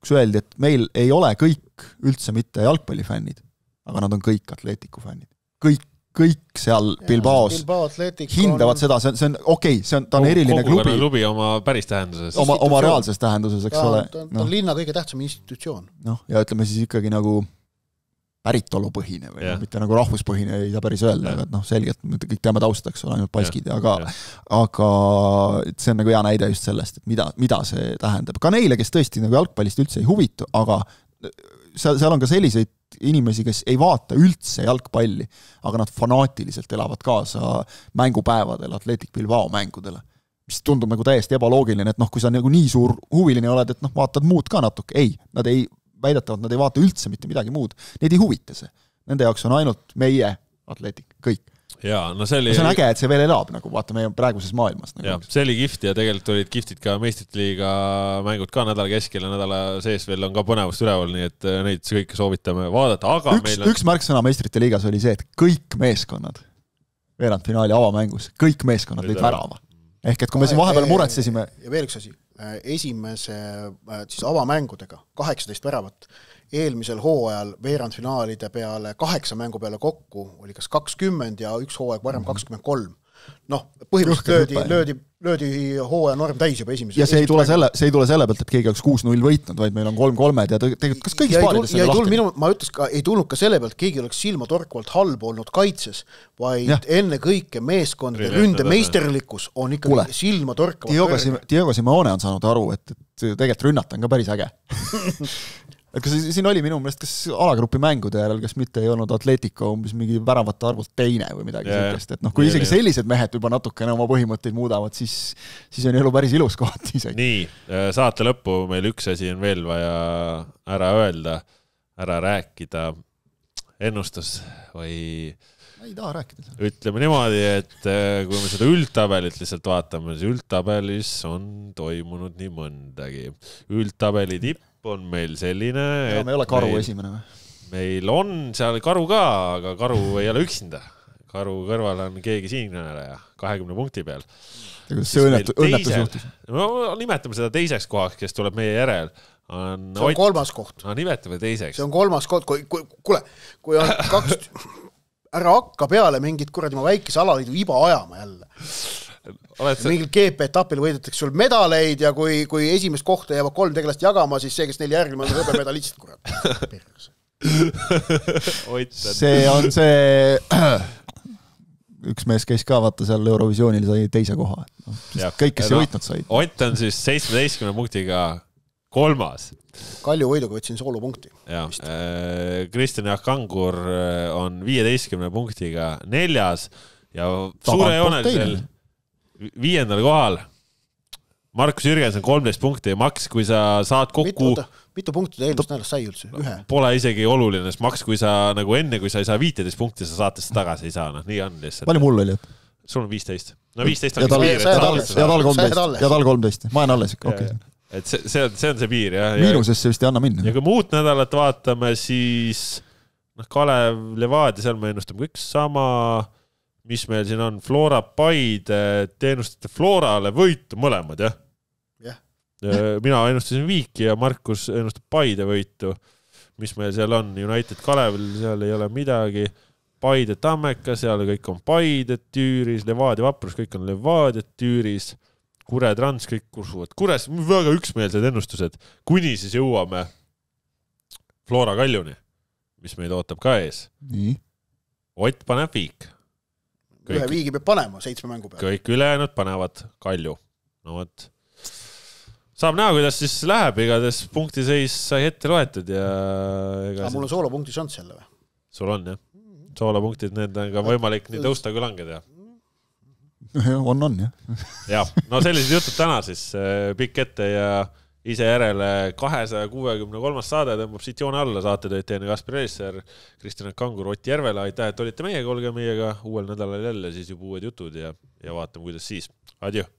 kus öeldi, et meil ei ole kõik üldse mitte jalgpallifännid, aga nad on kõik Atletiku fännid. Kõik, kõik seal Bilbaos Bilbao hindavad on... seda, see on, see on okei, okay, see on, ta on eriline klubi. Kogu klubi oma päris tähenduses. Oma, oma reaalses tähenduses, eks ta, ole. Ta, ta no. on linna kõige tähtsam institutsioon. Noh, ja ütleme siis ikkagi nagu päritolupõhine või yeah. mitte nagu rahvuspõhine ei saa päris öelda, yeah. aga noh, selgelt kõik teame taustaks, ole ainult paskid, yeah. aga, yeah. aga see on nagu hea näide just sellest, et mida, mida see tähendab. Ka neile, kes tõesti nagu jalgpallist üldse ei huvitu, aga seal, seal on ka selliseid inimesi, kes ei vaata üldse jalgpalli, aga nad fanaatiliselt elavad kaasa mängupäevadel Athletic Bilbao mängudele, mis tundub nagu täiesti ebaloogiline, et noh, kui sa nagu nii suur huviline oled, et noh, vaatad muud ka natuke, ei, nad ei väidetavad, nad ei vaata üldse mitte midagi muud. Neid ei huvita see. Nende jaoks on ainult meie Athletic, kõik. Jaa, no see oli... See on äge, et see veel elab, nagu vaata meie praeguses maailmas. Nagu. Jaa, see oli kihvt ja tegelikult olid kiftid ka meistrite-liiga mängud ka nädala keskel ja nädala sees veel on ka põnevust üleval, nii et neid kõike soovitame vaadata, aga üks, meil on... Üks märksõna meistrite-liigas oli see, et kõik meeskonnad veerandfinaali avamängus, kõik meeskonnad lõid värava. Ehk et kui me siin vahepeal muretsesime... Ja veel üks asi. esimese siis avamängudega kaheksateist väravat, eelmisel hooajal veerandfinaalide peale kaheksa mängu peale kokku oli kas kakskümmend ja üks hooaeg varem kakskümmend kolm. Noh, põhimõtteliselt löödi, löödi, löödi hooaja norm täis juba esimese. Ja see ei tule selle, see ei tule selle pealt, et keegi oleks kuus null võitnud, vaid meil on kolm kolmed ja tegelikult kas kõigis paarides ja ei tulnud minu, ma ütles ka, ei tulnud ka selle pealt, keegi oleks silma torkuvalt halb olnud kaitses, vaid ja. enne kõike meeskondade ründe meisterlikkus on ikkagi Kule. silma torkuvalt. Diego Simeone on saanud aru, et, et tegelikult rünnata on ka päris äge. Et kas siin oli minu meelest, kas alagrupi mängude järel, kas mitte ei olnud Atletico umbes mingi väravate arvult teine või midagi sellist, et noh, kui isegi sellised mehed juba natukene oma põhimõtteid muudavad, siis, siis on elu päris ilus kohati isegi. Nii, saate lõppu meil üks asi on veel vaja ära öelda, ära rääkida ennustus või ei taha rääkida. Ütleme niimoodi, et kui me seda üldtabelit lihtsalt vaatame, siis üldtabelis on toimunud nii mõndagi. Üldtabeli tipp on meil selline, ja, me ei ole Karu meil, esimene või? Meil on seal Karu ka, aga Karu ei ole üksinda. Karu kõrval on keegi siinkõneleja kahekümne punkti peal. See õnnetu, õnnetus juhtus. No, nimetame seda teiseks kohaks, kes tuleb meie järel. On see on Ott... kolmas koht. No, nimetame teiseks. See on kolmas koht. Kui, kui, kuule, kui on kaks... ära hakka peale mingit kuradi ma väikese alaliidu iba ajama jälle. Sa... mingil G P-etapil võidetakse sul medaleid ja kui, kui esimest kohta jäävad kolm tegelast jagama, siis see, kes neil järgmine on hõbe medalistid, kurat. see on see üks mees käis ka vaata seal Eurovisioonil sai teise koha. No, kõik, kes no, ei võitnud said. Ott on siis seitsmeteistkümne punktiga kolmas. Kalju võiduga võtsin soolupunkti. Ja, äh, Kristjan Jaak Kangur on viieteistkümne punktiga neljas ja suure joonelisel viiendal kohal Markus Jürgensen kolmteist punkti ja Max, kui sa saad kokku mitu, mitu punkti eelmist nädalast sai üldse? Ühe? Pole isegi oluline, sest Max, kui sa nagu enne, kui sa ei saa viiteist punkti, sa saatest tagasi ei saa, noh, nii on lihtsalt. Palju mul oli? Sul on viisteist. No viisteist on ja tal, piir, ja tal, ja tal kolmteist. Ja tal kolmteist. Ma olen alles, okei. Okay. Et see, see, on, see on see piir, jah. Miinusesse vist ei anna minna. Ja kui muud nädalat vaatame, siis noh, Kalev, Levadia, seal me ennustame kõik sama, mis meil siin on, Flora Paide, teenustate Florale võitu mõlemad, jah? jah. Mina ennustasin Viiki ja Markus ennustab Paide võitu. Mis meil seal on? United Kalevil, seal ei ole midagi. Paide Tammeka, seal kõik on Paide tüüris, Levadia Vaprus, kõik on Levadia tüüris. Kure Trans, kõik kursuvad. Kures, väga üksmeelsed ennustused. Kuni siis jõuame Flora Kaljuni, mis meid ootab ka ees. Nii. Ott paneb Viik. Kõik, ühe Viigi peab panema seitsme mängu peale. Kõik ülejäänud panevad Kalju. No võt. Saab näha, kuidas siis läheb, igades punktiseis sai ette loetud ja... Ega mul on soolopunkti šants jälle või? Sul on, jah. Soolopunktid, need on ka võimalik nii tõusta kui langeda. on, on, jah. ja, no sellised jutud täna siis pikk ette ja ise järele kahesaja kuuekümne kolmas saade tõmbab siit joone alla saatetööd teine Kaspar Elisser, Kristjan Kangur, Ott Järvela. Aitäh, et olite meiega, olge meiega uuel nädalal jälle siis juba uued jutud ja, ja vaatame, kuidas siis. Adjö!